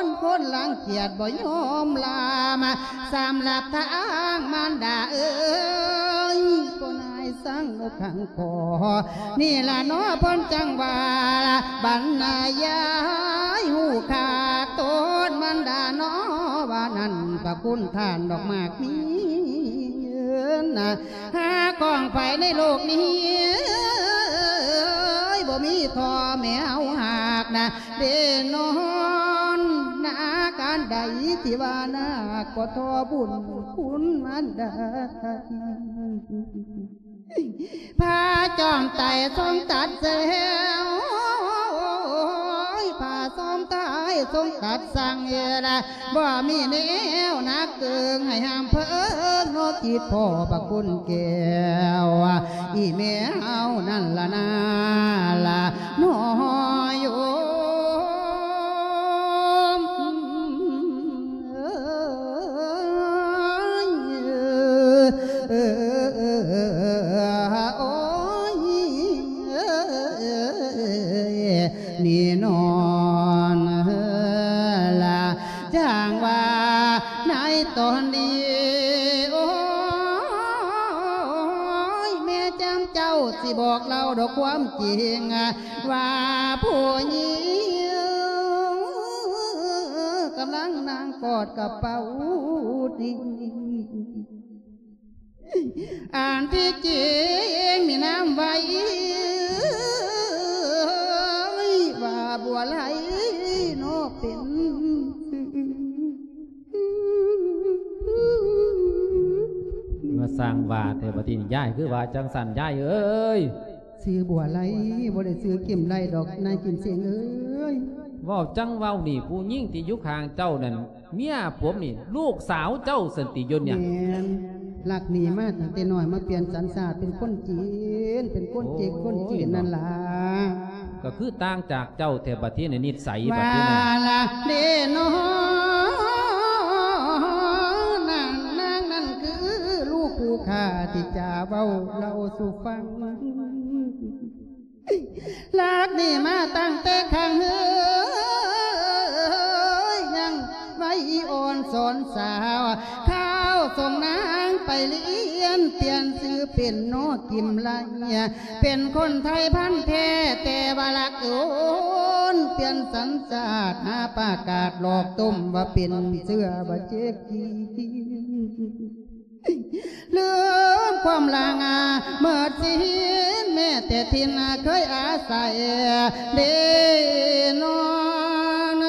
ນ ຄົນລັງກຽດບໍ່ຍອມລາມ ສຳລັບທາງມານດາເອີຍ ຜູ້ນາຍ ສັງນົກຂັງຂໍ ນີ້ລະເນາະເພິ່ນຈັ່ງວ່າ ບັນນາຍາຍຮູ້ຄາກໂຕນມັນດາເນາະ ວ່ານັ້ນພະຄຸນທ່ານດອກໝາກມີເງິນນະ ຫາຂອງໃຜໃນໂລກນີ້ ບໍ່ມີທໍ່ແມ່ເຮົາຫາກນະ ເດນອນນາ ການໃດທີ່ວ່ານາກໍທໍ່ບຸນຄຸນມານດາ ພະຈອມໄຕຊົງຕັດແຊວ ພະຈອມໄຕຊົງຕັດສັ່ງເອລະ ບໍ່ມີແນວໜັກເກີງໃຫ້ຫ້າມເພິ່ງເນາະ ຈິດພໍ່ພະຄຸນແກ້ວ ອີແມ່ເຮົານັ້ນລະນາລະ ນ້ອຍໂຍມເອີຍ ໂອ້ຍ ນີ້ນອນລະ ຈັ່ງວ່າໃນຕອນນີ້ ໂອ້ຍ ແມ່ຈຳເຈົ້າຊິບອກເລົ່າດອກຄວາມຈິງ ວ່າຜູ້ຍິງກຳລັງນັ່ງກອດກະເປົາດີ ອັນທີ່ຈິງມີນາມໄວ້ວ່າບົວໄລເນາະ ເປັນຊື່ ມາສ້າງວ່າແທ້ ບັດນີ້ຍາຍຄືວ່າຈັ່ງຊັ້ນ ຍາຍເອີຍ. ຊື່ບົວໄລ ບໍ່ໄດ້ຊື່ກິມໄລດອກ ນາຍກິມເສງເອີຍ. ເວົ້າຈັ່ງເວົ້ານີ້ ຜູ້ຍິງທີ່ຢູ່ຂ້າງເຈົ້ານັ້ນ ເມຍຜົມນີ້ ລູກສາວເຈົ້າຊັ້ນຕິ ຢູ່ນີ້? ແມ່ນ ລັກໜີມາຕັ້ງແຕ່ນ້ອຍ ມາປ່ຽນສັນຊາດເປັນຄົນຈີນ ເປັນຄົນຈີນ ໂອ້ຍ ຄົນຈີນນັ້ນລະ ກໍຄືຕ່າງຈາກເຈົ້າແທ້ ບັດນີ້ນິດໄສ ບັດນີ້ນະ ວ່າລະເດນອນ ນາງນັ້ນຄືລູກຜູ້ຂ້າ ທີ່ຈະເວົ້າເລົ່າສູ່ຟັງ. ລັກໜີມາຕັ້ງແຕ່ຄັ້ງເຮີຍ ຍັງໄວອ່ອນສອນສາວ ຄາວສົ່ງນາງໄປລຽນ ປ່ຽນຊື່ເປັນນ້ອງກິມໄລ ເປັນຄົນໄທພັນແທ້ ແຕ່ວ່າລັກໂອນ ປ່ຽນສັນຊາດ ຫາປະກາດຫຼອກຕົ້ມ ວ່າເປັນເຊື້ອບາເຈກຈີນ. ລືມຄວາມລາງາເມີດສິນ ແມ້ແຕ່ຖິ່ນເຄີຍອາໄສເດນອນ.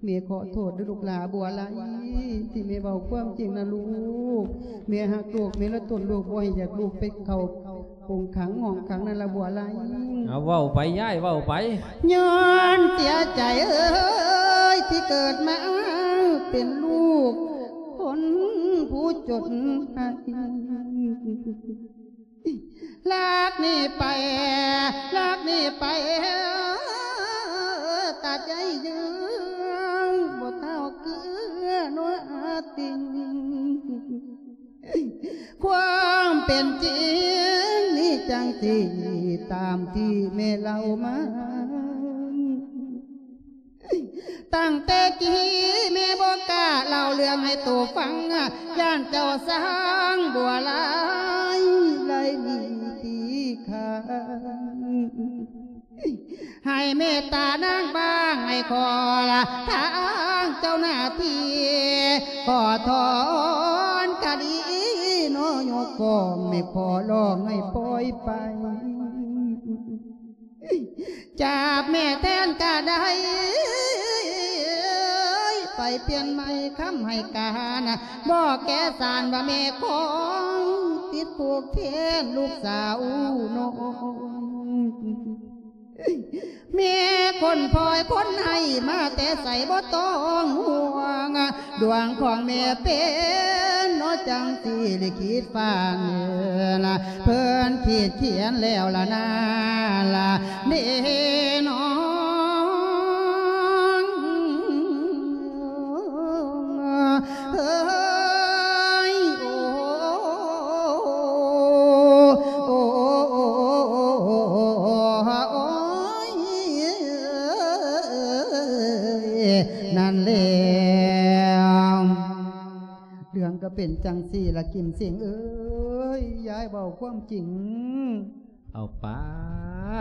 ແມ່ຂໍໂທດເດີ້ລູກຫຼ້າບົວໄລ ທີ່ແມ່ເວົ້າຄວາມຈິງນະລູກ. ແມ່ຮັກລູກ ແມ່ລະທົນລູກ ບໍ່ໃຫ້ຢາກລູກໄປເຂົ້າ ໂຮງຂັງຫ້ອງຂັງນັ້ນລະບົວໄລ. ເອົາ ເວົ້າໄປຍາຍ ເວົ້າໄປ. ຍ້ອນເສຍໃຈເອີຍ ທີ່ເກີດມາເປັນລູກຄົນຜູ້ຈົນໄຮ້ ລັກນີ້ໄປ ລັກນີ້ໄປ ຕາໃຈຍືງ ບໍ່ເທົ່າເກືອນົວຕິງ ຄວາມເປັນຈິງນີ້ຈັ່ງຊີ້ ຕາມທີ່ແມ່ເລົ່າມາ ຕັ້ງແຕ່ກີ້ແມ່ບໍ່ກ້າເລົ່າເລື່ອງໃຫ້ໂຕຟັງ ຢ້ານເຈົ້າຊ່າງບົວລາຍໄລ່ໜີຕີຂ້ານ ໃຫ້ເມດຕານາງບ້າງ ໃຫ້ຂໍລະທາງເຈົ້າໜ້າທີ່ ຂໍຖອນຄະດີນໍຍົກຟ້ອງ ແມ່ຂໍຮ້ອງໃຫ້ປ່ອຍໄປ ຈັບແມ່ແທນກະໄດ້ ໄປປ່ຽນໃໝ່ຄຳໃຫ້ການ ບອກແກ່ສານວ່າແມ່ຂອງ ຕິດຜູກແທນລູກສາວນ້ອງ ແມ່ຄົນພອຍຄົນໃຫ້ ມາແຕ່ໃສບໍ່ຕ້ອງຫ່ວງ ດວງຂອງແມ່ເປັນເນາະ ຈັ່ງຊິລິຂິດຟ້າເນີນ ເພິ່ນຂີດຂຽນແລ້ວລະນາລະເດນ້ອງ ເອີຍ ໂອ້ ໂອ້ ໂອ້ຍ ນັ້ນແຫຼະ ເລື່ອງກໍເປັນຈັ່ງຊີ້ລະ ກິມເສັງເອີຍ ຍາຍເວົ້າຄວາມຈິງ. ເອົາປາ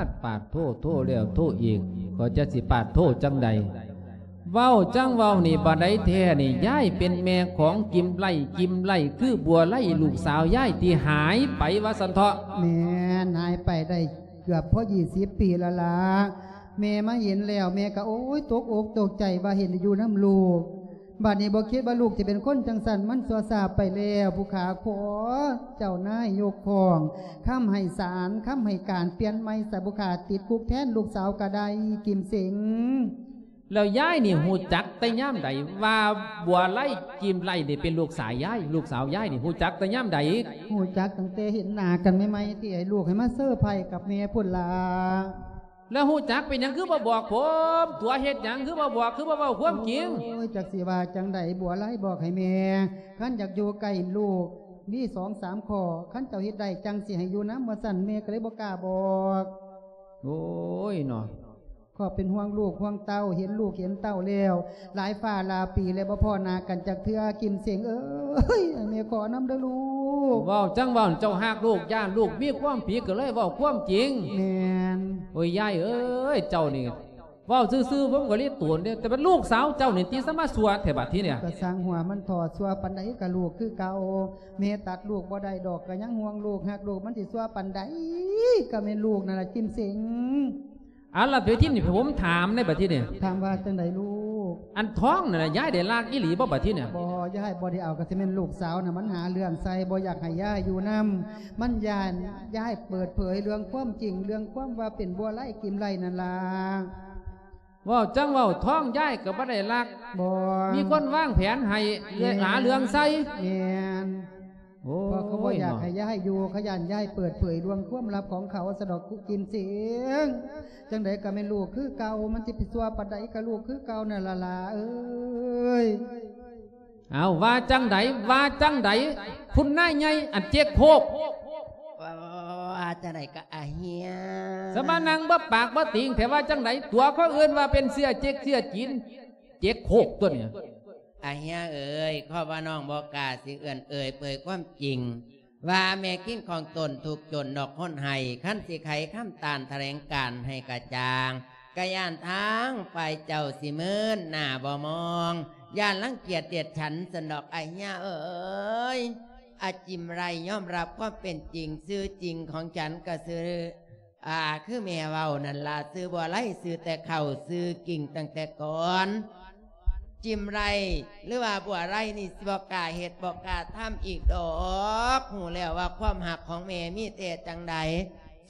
ດ ປາດໂທ ໂທແລ້ວໂທອີກ ກໍຈັກຊິປາດໂທຈັ່ງໃດ. ເວົ້າຈັ່ງເວົ້ານີ້ ບາດໃດແທ້ນີ້ ຍາຍເປັນແມ່ຂອງກິມໄລ ກິມໄລ ຄືບົວໄລ ລູກສາວຍາຍທີ່ຫາຍໄປວ່າຊັ້ນເຖາະ. ແມ່ນ ຫາຍໄປໄດ້ເກືອບພໍຊາວປີແລ້ວລະ. ແມ່ມາເຫັນແລ້ວ ແມ່ກໍ ໂອ້ຍ ຕົກອົກຕົກໃຈວ່າເຫັນຢູ່ນຳລູກ. ບາດນີ້ບໍ່ຄິດວ່າລູກຈະເປັນຄົນຈັ່ງຊັ້ນ ມັນຊົ່ວຊ້າໄປແລ້ວ ຜູ້ຂ້າຂໍເຈົ້ານາຍຍົກຟ້ອງ ຄຳໃຫ້ສານ ຄຳໃຫ້ການປ່ຽນໃໝ່ຊະ ຜູ້ຂ້າຕິດຄຸກແທນລູກສາວກໍໄດ້ ກິມເສັງ. ແລ້ວຍາຍນີ້ຮູ້ຈັກແຕ່ຍາມໃດວ່າບົວໄລ ກິມໄລນີ້ເປັນລູກສາວຍາຍ ລູກສາວຍາຍນີ້ຮູ້ຈັກແຕ່ຍາມໃດ? ຮູ້ຈັກຕັ້ງແຕ່ເຫັນໜ້າກັນໃໝ່ໆ ທີ່ໃຫ້ລູກໃຫ້ມາເຊີໄພກັບແມ່ພຸ້ນລະ. ແລ້ວຮູ້ຈັກເປັນຫຍັງຄືບໍ່ບອກຜົມ? ຕົວະເຮັດຫຍັງຄືບໍ່ບອກ ຄືບໍ່ເວົ້າຄວາມຈິງ? ໂອ້ຍ ຈັກຊິວ່າຈັ່ງໃດ ບົວໄລບອກໃຫ້ແມ່ ຄັນຢາກຢູ່ໃກ້ລູກ ມີສອງສາມຂໍ້ ຄັນເຈົ້າເຮັດໄດ້ ຈັ່ງຊິໃຫ້ຢູ່ນຳ ວ່າຊັ້ນ ແມ່ກໍເລີຍບໍ່ກ້າບອກ. ໂອ້ຍເນາະ ກໍເປັນຫ່ວງລູກຫ່ວງເຕົ້າ ເຫັນລູກເຫັນເຕົ້າແລ້ວ ຫຼາຍຟ້າຫຼາຍປີແລ້ວ ບໍ່ພໍ້ໜ້າກັນຈັກເທື່ອ ກິມເສັງເອີຍ ໃຫ້ແມ່ຂໍນຳເດີລູກ. ເວົ້າຈັ່ງເວົ້າ ເຈົ້າຮັກລູກ ຢ້ານລູກມີຄວາມຜິດ ກໍເລີຍເວົ້າຄວາມຈິງ. ແມ່ນ. ໂອ້ຍ ຍາຍເອີຍ ເຈົ້ານີ້ເວົ້າຊື່ໆ ຜົມກໍລິໂຕນເດ້ ແຕ່ເປັນລູກສາວເຈົ້ານີ້ຕິ ສະມາຊົ່ວແທ້ບັດທີນີ້. ກໍຊ່າງຫົວມັນເຖາະ ຊົ່ວປານໃດກໍລູກຄືເກົ່າ ແມ່ຕັດລູກບໍ່ໄດ້ດອກ ກໍຍັງຫ່ວງລູກ ຮັກລູກ ມັນຊິຊົ່ວປານໃດ ກໍແມ່ນລູກນັ້ນລະ ກິມເສັງ. ອັນລະ ບັດທີນີ້ ໃຫ້ຜົມຖາມໃນບັດທີນີ້ ຖາມວ່າຈັ່ງໃດລູກ? ອັນທອງນັ້ນນະ ຍາຍໄດ້ລັກອີ່ຫຼີບໍ່ບັດທີນີ້? ບໍ່ ຍາຍບໍ່ໄດ້ເອົາ ກໍຊິແມ່ນລູກສາວນະ ມັນຫາເລື່ອງໃສ່ ບໍ່ຢາກໃຫ້ຍາຍຢູ່ນຳ ມັນຢ້ານຍາຍເປີດເຜີຍເລື່ອງຄວາມຈິງ ເລື່ອງຄວາມວ່າເປັນບົວໄລກິມໄລນັ້ນລະ. ເວົ້າຈັ່ງເວົ້າ ທອງຍາຍກໍບໍ່ໄດ້ລັກ ບໍ່ ມີຄົນວາງແຜນໃຫ້ ແມ່ນ ຫາເລື່ອງໃສ່. ແມ່ນ. ໂອ້ຍ ເພາະເຂົາບໍ່ຢາກໃຫ້ຍາຍຢູ່ ເຂົາຢ້ານຍາຍເປີດເຜີຍເລື່ອງຄວາມລັບຂອງເຂົາ ສະດອກ ກິມເສັງ. ຈັ່ງໃດກໍແມ່ນລູກຄືເກົ່າ ມັນຊິໄປຊົ່ວປານໃດກໍລູກຄືເກົ່ານັ້ນລະຫຼາເອີຍ. ເອົາ ວ່າຈັ່ງໃດ ວ່າຈັ່ງໃດ ຄຸນນາຍໃຫຍ່ ອັນເຈັກໂຄກ. ວ່າ ວ່າ ວ່າ ວ່າຈັ່ງໃດກໍອາເຮຍ ສະມານັ່ງບໍ່ປາກບໍ່ຕິງແທ້ ວ່າຈັ່ງໃດ ຕົວະຄົນອື່ນວ່າເປັນເຊື້ອເຈັກເຊື້ອຈີນ ເຈັກໂຄກຕົວນີ້. ອາເຮຍເອີຍ ເພາະວ່ານ້ອງບໍ່ກ້າຊິເອື້ອນເອີ່ຍເປີດຄວາມຈິງ ວ່າແມ່ກິນຂອງຕົນທຸກຈົນນອກຄົນໃຫ້ ຄັນຊິໄຂຄຳຕ້ານຖະແຫຼງການໃຫ້ກະຈ່າງ ກະຢ້ານທາງຝ່າຍເຈົ້າຊິເມີນໜ້າບໍ່ມອງ ຢ້ານລັງກຽດດຽດສັນຊັ້ນດອກ ອາເຮຍເອີຍ. ອາຈິມໄລຍອມຮັບຄວາມເປັນຈິງ ຊື່ຈິງຂອງສັນກະຊື່ ອາ ຄືແມ່ເວົ້ານັ້ນລະ ຊື່ບົວໄລ ຊື່ແຕ່ເຄົ້າ ຊື່ກິງຕັ້ງແຕ່ກ່ອນ. ຈິມໄລ ຫຼືວ່າບົວໄລນີ້ ຊິບໍ່ກ້າເຮັດບໍ່ກ້າທຳອີກດອກ ຮູ້ແລ້ວວ່າຄວາມຮັກຂອງແມ່ມີແຕ່ຈັ່ງໃດ.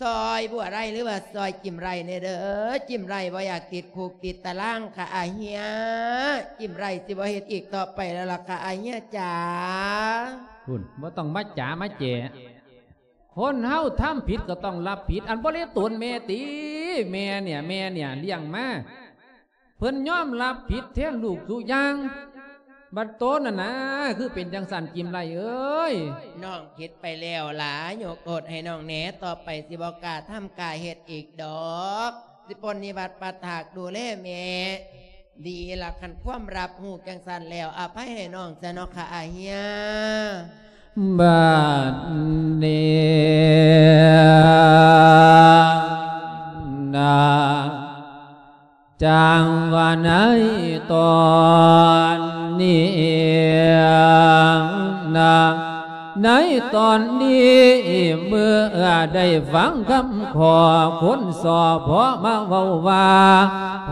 ຊ່ອຍບົວໄຣ ຫຼືວ່າຊ່ອຍຈິ້ມໄຣແດ່ເດີ. ຈິ້ມໄຣບໍ່ຢາກຕິດຄຸກຕິດຕາລາງຄ່າອາເຮຍ. ຈິ້ມໄຣຊິບໍ່ເຮັດອີກຕໍ່ໄປແລ້ວລະຄ່າອາເຮຍຈ໋າ. ພຸ້ນ ບໍ່ຕ້ອງມາຈ໋າມາແຈ. ຄົນເຮົາທຳຜິດກໍຕ້ອງຮັບຜິດ. ອັນບໍ່ເລີຍໂຕນແມ່ຕິ ແມ່ເນຍ ແມ່ເນຍລ້ຽງມາ ເພິ່ນຍອມຮັບຜິດແທນລູກທຸກຢ່າງ. ບັດໂຕນັ້ນນະ ຄືເປັນຈັ່ງຊັ້ນ ຈິ້ມໄຣເອີຍ. ນ້ອງຜິດໄປແລ້ວຫຼາ ຍົກໂທດໃຫ້ນ້ອງແດ່. ຕໍ່ໄປຊິບໍ່ກ້າທຳກ້າເຮັດອີກດອກ. ຊິປົນນິບັດປັດຖາກດູແລແມ່ດີລະ. ຄັນຄວາມຮັບຮູ້ຈັ່ງຊັ້ນແລ້ວ ອະໄພໃຫ້ນ້ອງຊະເນາະຄ່າອາເຮຍ. ບັດນີ້ນະ ຈັ່ງວ່າໃນຕອນນີ້ນະ ໃນຕອນນີ້ເມື່ອໄດ້ຟັງຄຳຂໍຄົນ ສອພ ມາເວົ້າວ່າ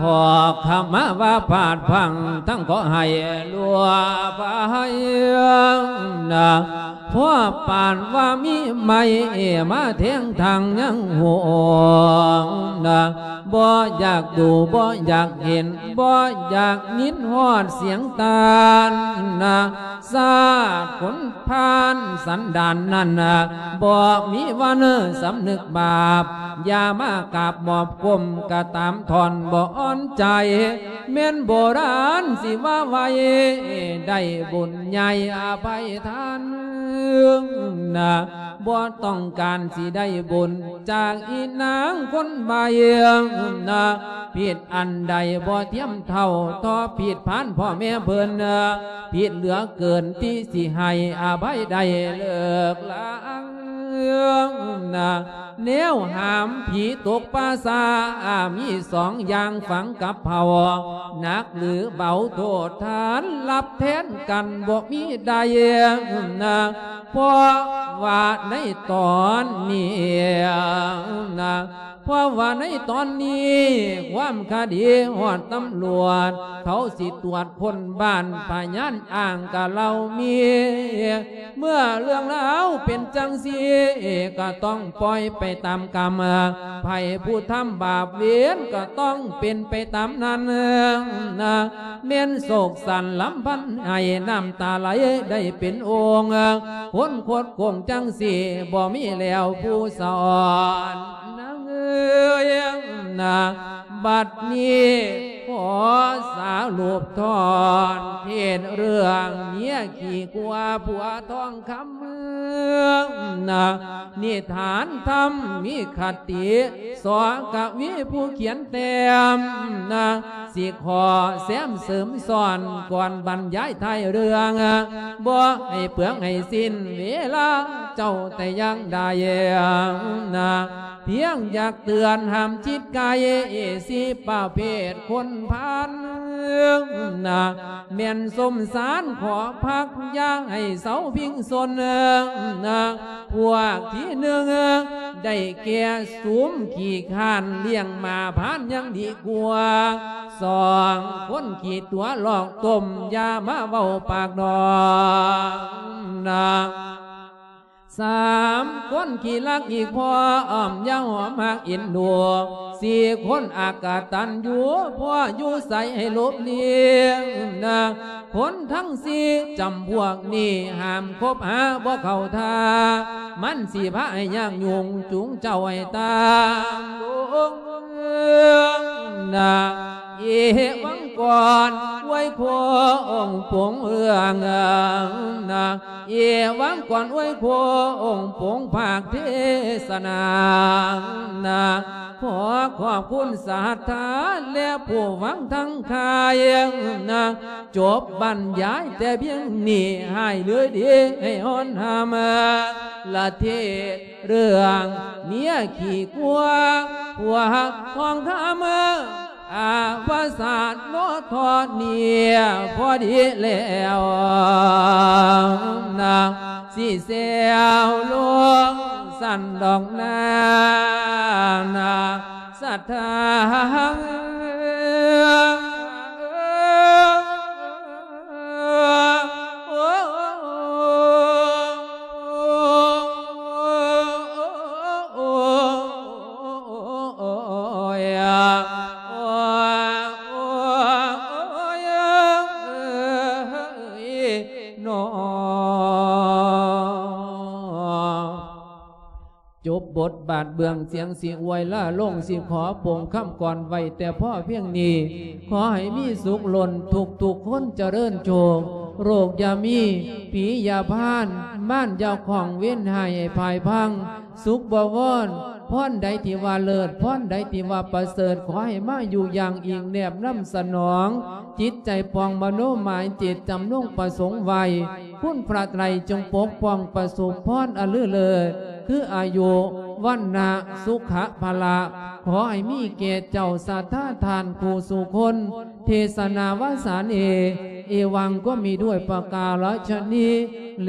ຂໍຂະມາວ່າພາດພລັ້ງ ທັງຂໍໃຫ້ລ່ວງໄພນະ ພໍປານວ່າມີໄມ້ມາແທງທາງຍັງຫົວນະ ບໍ່ຢາກດູ ບໍ່ຢາກເຫັນ ບໍ່ຢາກຍິນຮອດສຽງຕານນະ. ຊາດຄົນພານສັນດານນັ້ນນະ ບໍ່ມີວັນສຳນຶກບາບ ຢ່າມາກາບໝອບກົ້ມກະຕາມທ່ອນບໍ່ອ່ອນໃຈ. ແມ່ນໂບລານຊິວ່າໄວ້ ໄດ້ບຸນໃຫຍ່ອະໄພທານນະ ບໍ່ຕ້ອງການຊິໄດ້ບຸນຈາກອີນາງຄົນໃບ້ນະ. ຜິດອັນໃດບໍ່ທຽມເທົ່າ ຕໍ່ຜິດພານພໍ່ແມ່ເພິ່ນນະ ຜິດເຫຼືອເກີນທີ່ຊິໃຫ້ອະໄພໄດ້ເລີກລານະ. ແນວຫາມຜີຕົກປ່າຊ້າ ມີສອງຢ່າງຝັງກັບເຜົ່າ ໜັກຫຼືເບົາໂທດທ່ານ ຮັບແທນກັນບໍ່ມີໃດນະ. ເພາະວ່າໃນຕອນນີ້ນະ ເພາະວ່າໃນຕອນນີ້ ຄວາມຄະດີຮອດຕຳຫຼວດ ເຂົາຊິຕວດຄົ້ນບ້ານ ພະຍານອ້າງກະເລົ່າມີ. ເມື່ອເລື່ອງລາວເປັນຈັ່ງຊີ້ ກໍຕ້ອງປ່ອຍໄປຕາມກຳ ໃຜຜູ້ທຳບາບເວນກໍຕ້ອງເປັນໄປຕາມນັ້ນນະ. ແມ່ນໂສກສັນລຳພັນໄຫ້ ນ້ຳຕາໄຫຼໄດ້ເປັນໂອ່ງ ຄົນຄົດໂກງຈັ່ງຊີ້ ບໍ່ມີແລ້ວຜູ້ສອນນາງເອີຍນະ. ບັດນີ້ຂໍສະຫຼຸບທ່ອນເທດເລື່ອງເມຍຂີ້ກົວຜົວທອງຄຳນະ. ນິທານທຳມີຄະຕິ ສ ກະວີຜູ້ຂຽນແຕ້ມນະ ຊິຂໍແຊມເສີມຊ້ອນກ່ອນບັນຍາຍທ້າຍເລື່ອງ ບໍ່ໃຫ້ເປືອງໃຫ້ສິ້ນເວລາເຈົ້າແຕ່ຢ່າງໃດນະ. ພຽງຢາກເຕືອນຫ້າມຈິດໃກ້ ຊິປະເພດຄົນພານນະ ແມ່ນສົມສານຂໍພັກ ຢ່າໃຫ້ເຊົາພິງຊົນນະ. ພວກທີໜຶ່ງໄດ້ແກ່ສຸມຂີ້ຄ້ານ ລ້ຽງໝາພານຍັງດີກວ່າ ສອງຄົນຂີ້ຕົວະຫຼອກຕົ້ມ ຢ່າມາເວົ້າປາກດອກນະ. ສາມຄົນຂີ້ລັກອີກພ້ອມ ຢ່າຫອມຮັກເອັນດູ. ສີ່ຄົນອາກະຕັນຢູ່ ພໍ່ຢູ່ໃສໃຫ້ຫຼົບຫຼີກນະ. ຄົນທັງສີ່ຈຳພວກນີ້ ຫ້າມຄົບຫາບໍ່ເຂົ້າທ່າ ມັນຊິພາໃຫ້ຍາກຫຍຸ້ງ ຈູງເຈົ້າໃຫ້ຕາມລົງນະ. ເອວັງກອນ ອວຍໂຄງປົງເລື່ອງນະ. ເອວັງກອນ ອວຍໂຄງປົງພາກເທສະນານະ. ຂໍຂອບຄຸນສັດທາ ແລະ ຜູ້ຟັງທັງຂາຍນະ. ຈົບບັນຍາຍແຕ່ພຽງນີ້ ໃຫ້ເຫຼືອດີໃຫ້ຮອນຮາມ ລະເທດເລື່ອງເມຍຂີ້ກົວຜົວທອງຄຳ. ອາວະສານໂນທອນນີ້ພໍດີແລ້ວນະ ຊິແຊວລົງຊັ້ນດອກນານະ ສັດທາ ບົດບາດເບື້ອງສຽງຊິອວຍລາລົງ ຊິຂໍປົງຄຳກ່ອນໄວ້ແຕ່ພໍພຽງນີ້. ຂໍໃຫ້ມີສຸກລົ້ນທຸກໆຄົນຈະເລີນໂຊກ ໂລກຢ່າມີ ຜີຢ່າພານ ມານຢ່າຂ້ອງ ເວນຮ້າຍໃຫ້ພ່າຍພັງ ສຸກບໍວອນ ພອນໃດທີ່ວ່າເລີດ ພອນໃດທີ່ວ່າປະເສີດ ຂໍໃຫ້ມາຢູ່ຢ່າງອີງແນບນຳສະໜອງ ຈິດໃຈປອງມະໂນໝາຍຈິດຈຳນົງປະສົງໄວ້ ຄຸນພະໄຕຣຈົ່ງປົກປ້ອງປະສົມພອນອັນລືເລີດ ຄືອາຍຸ ວັນນະ ສຸຂະ ພະລະ ຂໍໃຫ້ມີແກ່ເຈົ້າສັດທາທ່ານຜູ້ສູ່ຄົນ ເທສະນາວາສາເນ ເອວັງກໍມີດ້ວຍປະກາລະຊະນີແລ.